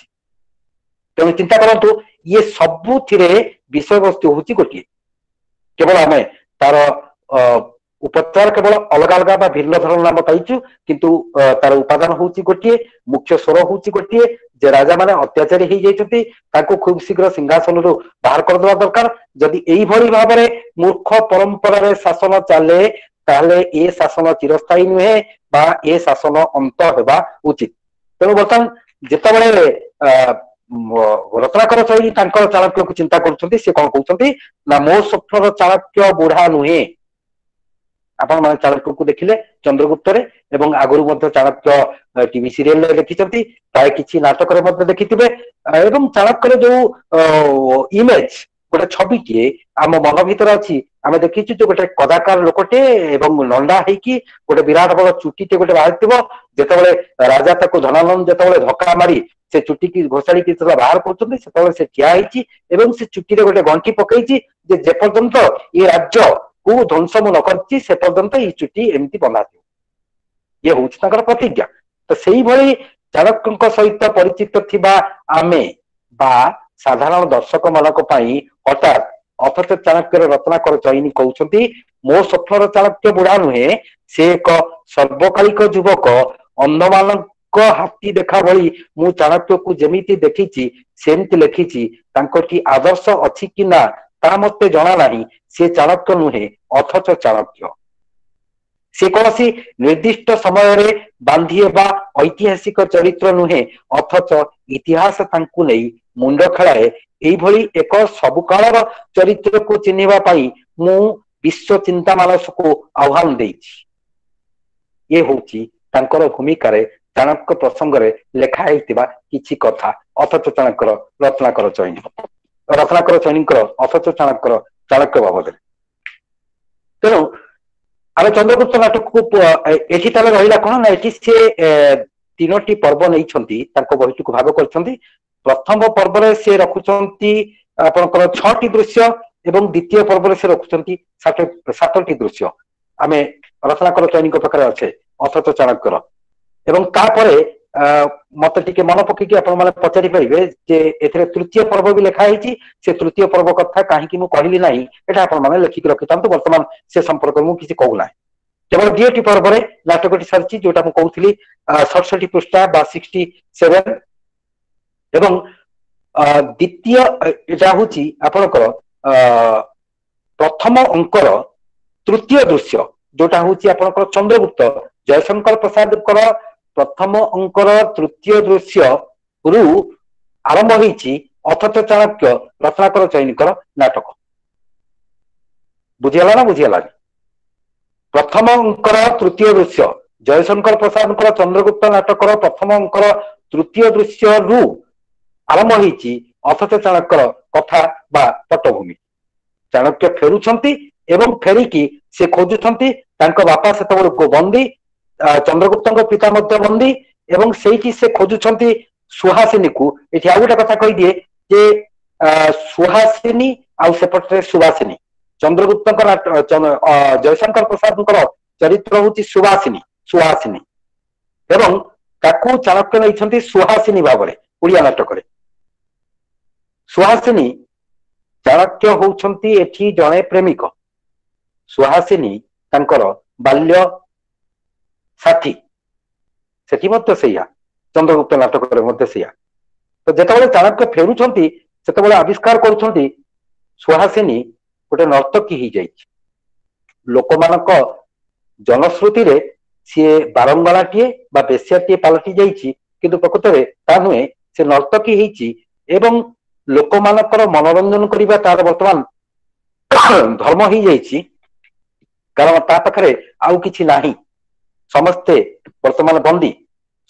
ତେଣୁ ଚିନ୍ତା କରନ୍ତୁ, ଇଏ ସବୁଥିରେ ବିଷୟବସ୍ତୁ ହଉଛି ଗୋଟିଏ, କେବଳ ଆମେ ତାର ଉପଚାର କେବଳ ଅଲଗା ଅଲଗା ବା ଭିନ୍ନ ଧରଣର ନାମ ପାଇଛୁ, କିନ୍ତୁ ତାର ଉପାଦାନ ହଉଛି ଗୋଟିଏ, ମୁଖ୍ୟ ସ୍ୱର ହଉଛି ଗୋଟିଏ, ଯେ ରାଜା ମାନେ ଅତ୍ୟାଚାରୀ ହେଇଯାଇଛନ୍ତି, ତାଙ୍କୁ ଖୁବ ଶୀଘ୍ର ସିଂହାସନରୁ ବାହାର କରିଦେବା ଦରକାର। ଯଦି ଏଇଭଳି ଭାବରେ ମୂର୍ଖ ପରମ୍ପରାରେ ଶାସନ ଚାଲେ, ତାହେଲେ ଏ ଶାସନ ଚିରସ୍ଥାୟୀ ନୁହେଁ ବା ଏ ଶାସନ ଅନ୍ତ ହେବା ଉଚିତ। ତେଣୁ ବର୍ତ୍ତମାନ ଯେତେବେଳେ ରତ୍ନାକର ଚୈନୀ ତାଙ୍କର ଚାଣକ୍ୟକୁ ଚିନ୍ତା କରୁଛନ୍ତି, ସେ କଣ କହୁଛନ୍ତି ନା ମୋ ସ୍ୱପ୍ନର ଚାଣକ୍ୟ ବୁଢା ନୁହେଁ। ଆପଣ ମାନେ ଚାଣକ୍ୟକୁ ଦେଖିଲେ ଚନ୍ଦ୍ରଗୁପ୍ତରେ, ଏବଂ ଆଗରୁ ମଧ୍ୟ ଚାଣକ୍ୟ ଟିଭି ସିରିଏଲରେ ଦେଖିଛନ୍ତି, ପ୍ରାୟ କିଛି ନାଟକରେ ମଧ୍ୟ ଦେଖିଥିବେ। ଏବଂ ଚାଣକ୍ୟର ଯୋଉ ଇମେଜ, ଗୋଟେ ଛବିଟିଏ ଆମ ମନ ଭିତରେ ଅଛି, ଆମେ ଦେଖିଛୁ ଯେ ଗୋଟେ କଦାକାର ଲୋକଟେ ଏବଂ ନଣ୍ଡା ହେଇକି ଗୋଟେ ବିରାଟ ବଡ ଚୁଟିଟେ ଗୋଟେ ବାହାରିଥିବ। ଯେତେବେଳେ ରାଜା ତାକୁ ଧନାନନ୍ଦ ଯେତେବେଳେ ଧକ୍କା ମାରି ସେ ଚୁଟିକି ଘୋଷାଡିକି ଯେତେବେଳେ ବାହାର କରୁଛନ୍ତି, ସେତେବେଳେ ସେ ଠିଆ ହେଇଛି ଏବଂ ସେ ଚୁଟିରେ ଗୋଟେ ଗଣ୍ଠି ପକେଇଛି ଯେ ଯେପର୍ଯ୍ୟନ୍ତ ଏ ରାଜ୍ୟକୁ ଧ୍ୱଂସ ମୁଁ ନ କରିଛି ସେ ପର୍ଯ୍ୟନ୍ତ ଏଇ ଚୁଟି ଏମିତି ବନ୍ଧା ଥିବ। ଇଏ ହଉଛି ତାଙ୍କର ପ୍ରତିଜ୍ଞା। ତ ସେଇଭଳି ଚାଣକ୍ୟଙ୍କ ସହିତ ପରିଚିତ ଥିବା ଆମେ ବା ସାଧାରଣ ଦର୍ଶକ ମାନଙ୍କ ପାଇଁ ହଠାତ୍ ଅଥଚ ଚାଣକ୍ୟର ରତ୍ନାକର ଚଇନି କହୁଛନ୍ତି, ମୋ ସ୍ୱପ୍ନର ଚାଣକ୍ୟ ବୁଢା ନୁହେଁ, ସେ ଏକ ସର୍ବକାଳିକ ଯୁବକ। ଅନ୍ଧମାନଙ୍କ ହାତୀ ଦେଖା ଭଳି ମୁଁ ଚାଣକ୍ୟକୁ ଯେମିତି ଦେଖିଛି ସେମିତି ଲେଖିଛି। ତାଙ୍କଠି ଆଦର୍ଶ ଅଛି କି ନା ତା ମତେ ଜଣା ନାହିଁ। ସେ ଚାଣକ୍ୟ ନୁହେଁ, ଅଥଚ ଚାଣକ୍ୟ। ସେ କୌଣସି ନିର୍ଦ୍ଦିଷ୍ଟ ସମୟରେ ବାନ୍ଧି ହେବା ଐତିହାସିକ ଚରିତ୍ର ନୁହେଁ, ଅଥଚ ଇତିହାସ ତାଙ୍କୁ ନେଇ ମୁଣ୍ଡ ଖେଳାଏ। ଏଇଭଳି ଏକ ସବୁକାଳର ଚରିତ୍ରକୁ ଚିହ୍ନିବା ପାଇଁ ମୁଁ ବିଶ୍ୱ ଚିନ୍ତା ମାନସକୁ ଆହ୍ୱାନ ଦେଇଛି। ଇଏ ହଉଛି ତାଙ୍କର ଭୂମିକାରେ ଚାଣକ୍ୟ ପ୍ରସଙ୍ଗରେ ଲେଖା ହେଇଥିବା କିଛି କଥା ଅଥଚ ଚାଣକ୍ୟର ରତ୍ନାକର ଚୈନୀ, ରତ୍ନାକର ଚୈନୀଙ୍କର ଅଥଚ ଚାଣକ୍ୟର ଚାଣକ୍ୟ ବାବଦରେ। ତେଣୁ ଆମେ ଚନ୍ଦ୍ରଗୁପ୍ତ ନାଟକକୁ ଏଠି ତାହେଲେ ରହିଲା କଣ ନା, ଏଠି ସେ ତିନୋଟି ପର୍ବ ନେଇଛନ୍ତି, ତାଙ୍କ ବହିଟିକୁ ଭାଗ କରିଛନ୍ତି। ପ୍ରଥମ ପର୍ବରେ ସେ ରଖୁଛନ୍ତି ଆପଣଙ୍କର 6ଟି ଦୃଶ୍ୟ ଏବଂ ଦ୍ୱିତୀୟ ପର୍ବରେ ସେ ରଖୁଛନ୍ତି 7ଟି ଦୃଶ୍ୟ। ଆମେ ରତ୍ନାକର ଚୈନୀଙ୍କ ପାଖରେ ଅଛେ ଅଥଚ ଚାଣକ୍ୟର। ଏବଂ ତାପରେ ମତେ ଟିକେ ମନ ପକେଇକି ଆପଣ ମାନେ ପଚାରି ପାରିବେ ଯେ ଏଥିରେ ତୃତୀୟ ପର୍ବ ବି ଲେଖା ହେଇଛି। ସେ ତୃତୀୟ ପର୍ବ କଥା କାହିଁକି ମୁଁ କହିଲି ନାହିଁ, ଏଟା ଆପଣ ମାନେ ଲେଖିକି ରଖିଥାନ୍ତୁ। ବର୍ତ୍ତମାନ ସେ ସମ୍ପର୍କରେ ମୁଁ କିଛି କହୁନାହିଁ। କେବଳ 2ଟି ପର୍ବରେ ନାଟକଟି ସାରିଛି, ଯୋଉଟା ମୁଁ କହୁଥିଲି 67 ପୃଷ୍ଠା ବା 67। ଏବଂ ଦ୍ୱିତୀୟ ଏଟା ହଉଛି ଆପଣଙ୍କର ପ୍ରଥମ ଅଙ୍କର ତୃତୀୟ ଦୃଶ୍ୟ, ଯୋଉଟା ହଉଛି ଆପଣଙ୍କର ଚନ୍ଦ୍ରଗୁପ୍ତ ଜୟଶଙ୍କର ପ୍ରସାଦଙ୍କର ପ୍ରଥମ ଅଙ୍କର ତୃତୀୟ ଦୃଶ୍ୟ ରୁ ଆରମ୍ଭ ହେଇଛି ଅଥଚ ଚାଣକ୍ୟ ରତ୍ନାକର ଚୈନୀଙ୍କର ନାଟକ। ବୁଝିଗଲା ନା ବୁଝିଗଲାନି? ପ୍ରଥମ ଅଙ୍କର ତୃତୀୟ ଦୃଶ୍ୟ ଜୟଶଙ୍କର ପ୍ରସାଦଙ୍କର ଚନ୍ଦ୍ରଗୁପ୍ତ ନାଟକର ପ୍ରଥମ ଅଙ୍କର ତୃତୀୟ ଦୃଶ୍ୟରୁ ଆରମ୍ଭ ହେଇଛି ଅଥଚ ଚାଣକ୍ୟର କଥା ବା ପଟ୍ଟଭୂମି। ଚାଣକ୍ୟ ଫେରୁଛନ୍ତି ଏବଂ ଫେରିକି ସେ ଖୋଜୁଛନ୍ତି ତାଙ୍କ ବାପା ସେତେବେଳକୁ ବନ୍ଦୀ, ଚନ୍ଦ୍ରଗୁପ୍ତଙ୍କ ପିତା ମଧ୍ୟ ବନ୍ଦୀ, ଏବଂ ସେଇଠି ସେ ଖୋଜୁଛନ୍ତି ସୁହାସିନୀକୁ। ଏଠି ଆଉ ଗୋଟେ କଥା କହିଦିଏ ଯେ ସୁହାସିନୀ ଆଉ ସେପଟରେ ସୁବାସିନୀ, ଚନ୍ଦ୍ରଗୁପ୍ତଙ୍କ ଜୟଶଙ୍କର ପ୍ରସାଦଙ୍କର ଚରିତ୍ର ହଉଛି ସୁବାସିନୀ, ସୁହାସିନୀ, ଏବଂ ତାକୁ ଚାଣକ୍ୟ ନେଇଛନ୍ତି ସୁହାସିନୀ ଭାବରେ ଓଡ଼ିଆ ନାଟକରେ। ସୁହାସିନୀ, ଚାଣକ୍ୟ ହଉଛନ୍ତି ଏଠି ଜଣେ ପ୍ରେମିକ, ସୁହାସିନୀ ତାଙ୍କର ବାଲ୍ୟ ସାଥୀ। ସେଠି ମଧ୍ୟ ସେଇଆ, ଚନ୍ଦ୍ରଗୁପ୍ତ ନାଟକରେ ମଧ୍ୟ ସେଇଆ। ତ ଯେତେବେଳେ ଚାଣକ୍ୟ ଫେରୁଛନ୍ତି ସେତେବେଳେ ଆବିଷ୍କାର କରୁଛନ୍ତି ସୁହାସିନୀ ଗୋଟେ ନର୍ତ୍ତକୀ ହେଇଯାଇଛି। ଲୋକମାନଙ୍କ ଜନଶ୍ରୁତିରେ ସିଏ ବାରଙ୍ଗଣାଟିଏ ବା ବେଶ୍ୟାଟିଏ ପାଲଟି ଯାଇଛି, କିନ୍ତୁ ପ୍ରକୃତରେ ତା ନୁହେଁ, ସେ ନର୍ତ୍ତକୀ ହେଇଛି ଏବଂ ଲୋକମାନଙ୍କର ମନୋରଞ୍ଜନ କରିବା ତାର ବର୍ତ୍ତମାନ ଧର୍ମ ହେଇଯାଇଛି। କାରଣ ତା ପାଖରେ ଆଉ କିଛି ନାହିଁ, ସମସ୍ତେ ବର୍ତ୍ତମାନ ବନ୍ଦୀ।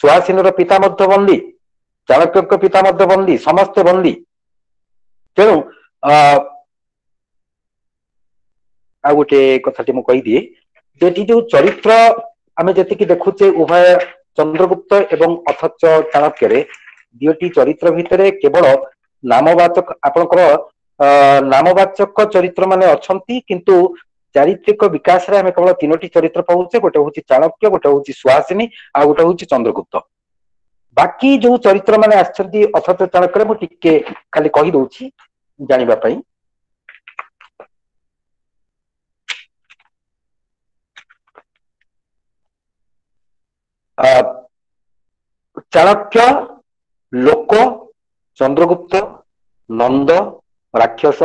ସୁହାସିନୀର ପିତା ମଧ୍ୟ ବନ୍ଦୀ, ଚାଣକ୍ୟଙ୍କ ପିତା ମଧ୍ୟ ବନ୍ଦୀ, ସମସ୍ତେ ବନ୍ଦୀ। ତେଣୁ ଆଉ ଗୋଟେ କଥାଟି ମୁଁ କହିଦିଏ ଯେ ଏଠି ଯୋଉ ଚରିତ୍ର ଆମେ ଯେତିକି ଦେଖୁଛେ ଉଭୟ ଚନ୍ଦ୍ରଗୁପ୍ତ ଏବଂ ଅଥଚ ଚାଣକ୍ୟରେ, ଦୁଇଟି ଚରିତ୍ର ଭିତରେ କେବଳ ନାମବାଚକ ଆପଣଙ୍କର ନାମବାଚକ ଚରିତ୍ର ମାନେ ଅଛନ୍ତି, କିନ୍ତୁ ଚାରିତ୍ରିକ ବିକାଶରେ ଆମେ କେବଳ 3ଟି ଚରିତ୍ର ପାଉଛେ। ଗୋଟେ ହଉଛି ଚାଣକ୍ୟ, ଗୋଟେ ହଉଛି ସୁହାସିନୀ, ଆଉ ଗୋଟେ ହଉଛି ଚନ୍ଦ୍ରଗୁପ୍ତ। ବାକି ଯୋଉ ଚରିତ୍ର ମାନେ ଆସିଛନ୍ତି ଅଥଚ ଚାଣକ୍ୟରେ ମୁଁ ଟିକେ ଖାଲି କହିଦଉଛି ଜାଣିବା ପାଇଁ। ଚାଣକ୍ୟ, ଲୋକ, ଚନ୍ଦ୍ରଗୁପ୍ତ, ନନ୍ଦ, ରାକ୍ଷସ,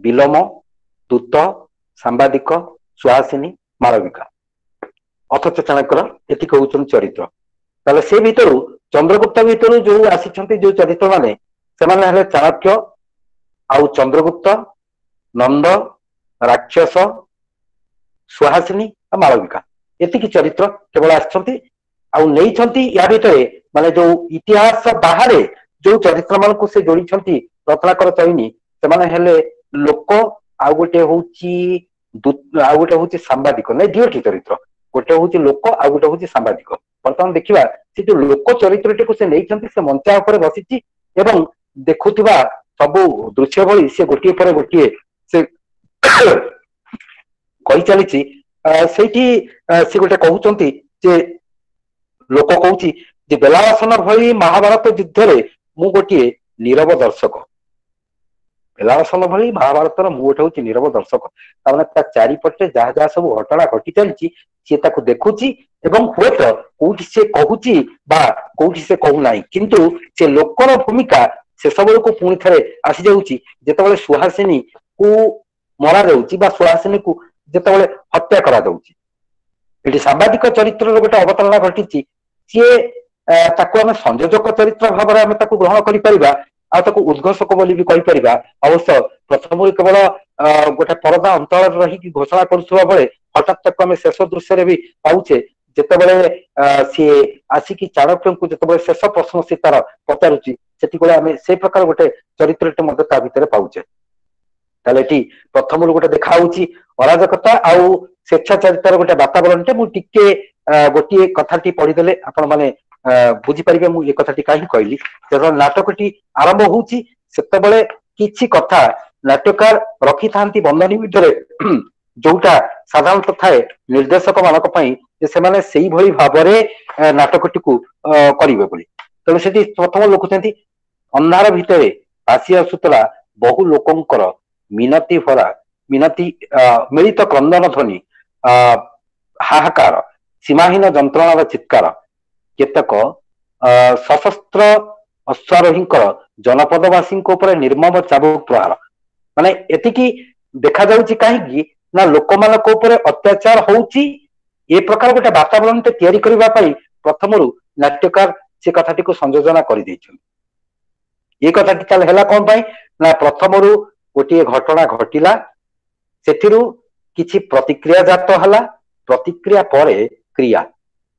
ବିଲୋମ, ଦୂତ, ସାମ୍ବାଦିକ, ସୁହାସିନୀ, ମାଳବିକା, ଅଥଚ ଚାଣକ୍ୟର ଏତିକି ହଉଛନ୍ତି ଚରିତ୍ର। ତାହେଲେ ସେ ଭିତରୁ ଚନ୍ଦ୍ରଗୁପ୍ତ ଭିତରୁ ଯୋଉ ଆସିଛନ୍ତି ଯୋଉ ଚରିତ୍ର ମାନେ, ସେମାନେ ହେଲେ ଚାଣକ୍ୟ ଆଉ ଚନ୍ଦ୍ରଗୁପ୍ତ, ନନ୍ଦ, ରାକ୍ଷସ, ସୁହାସିନୀ ଆଉ ମାଳବିକା। ଏତିକି ଚରିତ୍ର କେବଳ ଆସିଛନ୍ତି ଆଉ ନେଇଛନ୍ତି ୟା ଭିତରେ, ମାନେ ଯୋଉ ଇତିହାସ ବାହାରେ ଯୋଉ ଚରିତ୍ର ମାନଙ୍କୁ ସେ ଯୋଡିଛନ୍ତି ରତ୍ନାକର ଚୈନୀ, ସେମାନେ ହେଲେ ଲୋକ, ଆଉ ଗୋଟେ ହଉଛି ଆଉ ଗୋଟେ ହଉଛି ସାମ୍ବାଦିକ। ନାଇଁ, ଦିଓଟି ଚରିତ୍ର, ଗୋଟେ ହଉଛି ଲୋକ ଆଉ ଗୋଟେ ହଉଛି ସାମ୍ବାଦିକ। ବର୍ତ୍ତମାନ ଦେଖିବା ସେ ଯୋଉ ଲୋକ ଚରିତ୍ରଟିକୁ ସେ ନେଇଛନ୍ତି, ସେ ମଞ୍ଚା ଉପରେ ବସିଛି ଏବଂ ଦେଖୁଥିବା ସବୁ ଦୃଶ୍ୟ ଭଳି ସେ ଗୋଟିଏ ପରେ ଗୋଟିଏ ସେ କହି ଚାଲିଛି। ସେଇଠି ସେ ଗୋଟେ କହୁଛନ୍ତି ଯେ ଲୋକ କହୁଛି ଯେ ବେଲାସନ ଭଳି ମହାଭାରତ ଯୁଦ୍ଧରେ ମୁଁ ଗୋଟିଏ ନିରବ ଦର୍ଶକ। ବେଲାସନ ଭଳି ମହାଭାରତର ମୁଁ ଗୋଟେ ହଉଛି ନିରବ ଦର୍ଶକ। ତାମାନେ ତା ଚାରିପଟେ ଯାହା ଯାହା ସବୁ ଘଟଣା ଘଟି ଚାଲିଛି ସିଏ ତାକୁ ଦେଖୁଛି ଏବଂ ହୁଏତ କୋଉଠି ସେ କହୁଛି ବା କୋଉଠି ସେ କହୁନାହିଁ, କିନ୍ତୁ ସେ ଲୋକର ଭୂମିକା ଶେଷ ବେଳକୁ ପୁଣି ଥରେ ଆସିଯାଉଛି ଯେତେବେଳେ ସୁହାସିନୀ କୁ ମରାଯାଉଛି ବା ସୁହାସିନୀକୁ ଯେତେବେଳେ ହତ୍ୟା କରାଯାଉଛି। ଏଠି ସାମ୍ବାଦିକ ଚରିତ୍ରର ଗୋଟେ ଅବତାରଣା ଘଟିଛି। ସିଏ ତାକୁ ଆମେ ସଂଯୋଜକ ଚରିତ୍ର ଭାବରେ ଆମେ ତାକୁ ଗ୍ରହଣ କରିପାରିବା ଆଉ ତାକୁ ଉଦ୍ଘୋଷକ ବୋଲି ବି କହିପାରିବା। ଅବଶ୍ୟ ପ୍ରଥମରୁ କେବଳ ଗୋଟେ ପରଦା ଅନ୍ତରରେ ରହିକି ଘୋଷଣା କରୁଥିବା ବେଳେ ହଠାତ୍ ତାକୁ ଆମେ ଶେଷ ଦୃଶ୍ୟରେ ବି ପାଉଛେ, ଯେତେବେଳେ ସିଏ ଆସିକି ଚାଣକ୍ୟଙ୍କୁ ଯେତେବେଳେ ଶେଷ ପ୍ରଶ୍ନ ସେ ତାର ପଚାରୁଛି, ସେତିକିବେଳେ ଆମେ ସେଇ ପ୍ରକାର ଗୋଟେ ଚରିତ୍ରଟି ମଧ୍ୟ ତା ଭିତରେ ପାଉଛେ। ତାହେଲେ ଏଠି ପ୍ରଥମରୁ ଗୋଟେ ଦେଖା ହଉଛି ଅରାଜକତା ଆଉ ସ୍ବେଚ୍ଛାଚାରିତାର ଗୋଟେ ବାତାବରଣଟେ। ମୁଁ ଟିକେ ଗୋଟିଏ କଥାଟି ପଢିଦେଲେ ଆପଣ ମାନେ ବୁଝିପାରିବେ ମୁଁ ଏ କଥାଟି କାହିଁକି କହିଲି। ଯେତେବେଳେ ନାଟକଟି ଆରମ୍ଭ ହଉଛି ସେତେବେଳେ କିଛି କଥା ନାଟ୍ୟକାର ରଖିଥାନ୍ତି ବନ୍ଧନୀ ଭିତରେ, ଯୋଉଟା ସାଧାରଣତଃ ଥାଏ ନିର୍ଦ୍ଦେଶକ ମାନଙ୍କ ପାଇଁ ଯେ ସେମାନେ ସେଇଭଳି ଭାବରେ ନାଟକଟିକୁ କରିବେ ବୋଲି। ତେଣୁ ସେଠି ପ୍ରଥମ ଲେଖୁଛନ୍ତି, ଅନ୍ଧାର ଭିତରେ ଭାସି ଆସୁଥିଲା ବହୁ ଲୋକଙ୍କର ମିନତି ଭରା ମିନତି ମିଳିତ କ୍ରନ୍ଦନ ଧ୍ୱନି, ହାହାକାର, ସୀମାହୀନ ଯନ୍ତ୍ରଣାର ଚିତ୍କାର, କେତେକ ସଶସ୍ତ୍ର ଅଶ୍ୱାରୋହୀଙ୍କର ଜନପଦବାସୀଙ୍କ ଉପରେ ନିର୍ମମ ଚାବୁକ ପ୍ରହାର। ମାନେ ଏତିକି ଦେଖାଯାଉଛି କାହିଁକି ନା ଲୋକମାନଙ୍କ ଉପରେ ଅତ୍ୟାଚାର ହଉଛି, ଏ ପ୍ରକାର ଗୋଟେ ବାତାବରଣଟେ ତିଆରି କରିବା ପାଇଁ ପ୍ରଥମରୁ ନାଟ୍ୟକାର ସେ କଥାଟିକୁ ସଂଯୋଜନା କରିଦେଇଛନ୍ତି। ଏ କଥାଟି ତାହେଲେ ହେଲା କଣ ପାଇଁ ନା ପ୍ରଥମରୁ ଗୋଟିଏ ଘଟଣା ଘଟିଲା, ସେଥିରୁ କିଛି ପ୍ରତିକ୍ରିୟା ଜାତ ହେଲା, ପ୍ରତିକ୍ରିୟା ପରେ କ୍ରିୟା।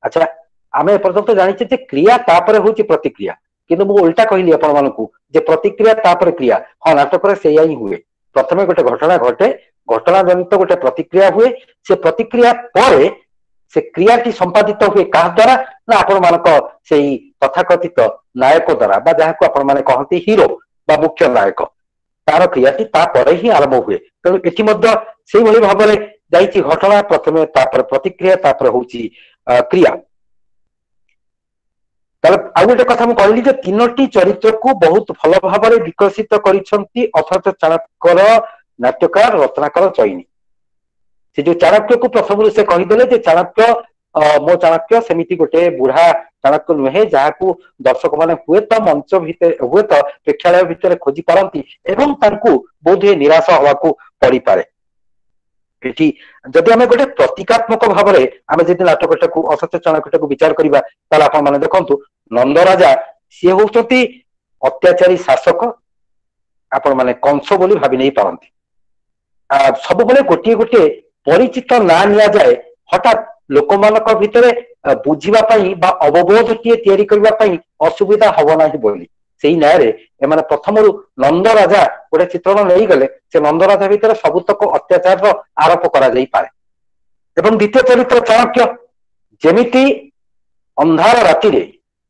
ଆଚ୍ଛା, ଆମେ ଏପର୍ଯ୍ୟନ୍ତ ଜାଣିଛେ ଯେ କ୍ରିୟା ତାପରେ ହଉଛି ପ୍ରତିକ୍ରିୟା, କିନ୍ତୁ ମୁଁ ଓଲଟା କହିଲି ଆପଣ ମାନଙ୍କୁ ଯେ ପ୍ରତିକ୍ରିୟା ତାପରେ କ୍ରିୟା। ହଁ, ନାଟକରେ ସେଇଆ ହିଁ ହୁଏ। ପ୍ରଥମେ ଗୋଟେ ଘଟଣା ଘଟେ, ଘଟଣା ଜନିତ ଗୋଟେ ପ୍ରତିକ୍ରିୟା ହୁଏ, ସେ ପ୍ରତିକ୍ରିୟା ପରେ ସେ କ୍ରିୟାଟି ସମ୍ପାଦିତ ହୁଏ କାହା ଦ୍ଵାରା ନା ଆପଣ ମାନଙ୍କ ସେଇ ତଥାକଥିତ ନାୟକ ଦ୍ଵାରା, ବା ଯାହାକୁ ଆପଣ ମାନେ କହନ୍ତି ହିରୋ ବା ମୁଖ୍ୟ ନାୟକ, ତାର କ୍ରିୟାଟି ତାପରେ ହିଁ ଆରମ୍ଭ ହୁଏ। ତେଣୁ ଏଠି ମଧ୍ୟ ସେଇଭଳି ଭାବରେ ଯାଇଛି ଘଟଣା, ପ୍ରଥମେ ତାପରେ ପ୍ରତିକ୍ରିୟା, ତାପରେ ହଉଛି କ୍ରିୟା। ତାହେଲେ ଆଉ ଗୋଟେ କଥା ମୁଁ କହିଲି ଯେ ତିନୋଟି ଚରିତ୍ରକୁ ବହୁତ ଭଲ ଭାବରେ ବିକଶିତ କରିଛନ୍ତି ଅଥଚ ଚାଣକ୍ୟର ନାଟ୍ୟକାର ରତ୍ନାକର ଚଇନି। ସେ ଯୋଉ ଚାଣକ୍ୟକୁ ପ୍ରଥମରୁ ସେ କହିଦେଲେ ଯେ ଚାଣକ୍ୟ ମୋ ଚାଣକ୍ୟ ସେମିତି ଗୋଟେ ବୁଢା ଚାଣକ୍ୟ ନୁହେଁ ଯାହାକୁ ଦର୍ଶକ ମାନେ ହୁଏତ ମଞ୍ଚ ଭିତରେ ହୁଏତ ପ୍ରେକ୍ଷାଳୟ ଭିତରେ ଖୋଜି ପାରନ୍ତି ଏବଂ ତାଙ୍କୁ ବୋଧହୁଏ ନିରାଶ ହବାକୁ ପଡିପାରେ। ଏଠି ଯଦି ଆମେ ଗୋଟେ ପ୍ରତୀକାତ୍ମକ ଭାବରେ ଆମେ ଯଦି ନାଟକଟାକୁ ଅସତ୍ୟ ଚାଣକ୍ୟଟାକୁ ବିଚାର କରିବା, ତାହେଲେ ଆପଣ ମାନେ ଦେଖନ୍ତୁ ନନ୍ଦରାଜା ସିଏ ହଉଛନ୍ତି ଅତ୍ୟାଚାରୀ ଶାସକ, ଆପଣ ମାନେ କଂସ ବୋଲି ଭାବି ନେଇ ପାରନ୍ତି। ସବୁବେଳେ ଗୋଟିଏ ଗୋଟିଏ ପରିଚିତ ନାଁ ନିଆଯାଏ ହଠାତ୍ ଲୋକମାନଙ୍କ ଭିତରେ ବୁଝିବା ପାଇଁ ବା ଅବବୋଧଟିଏ ତିଆରି କରିବା ପାଇଁ ଅସୁବିଧା ହବ ନାହିଁ ବୋଲି। ସେଇ ନ୍ୟାୟରେ ଏମାନେ ପ୍ରଥମରୁ ନନ୍ଦରାଜା ଗୋଟେ ଚିତ୍ରଣ ନେଇଗଲେ, ସେ ନନ୍ଦରାଜା ଭିତରେ ସବୁତକ ଅତ୍ୟାଚାରର ଆରୋପ କରାଯାଇପାରେ। ଏବଂ ଦ୍ୱିତୀୟ ଚରିତ୍ର ଚାଣକ୍ୟ, ଯେମିତି ଅନ୍ଧାର ରାତିରେ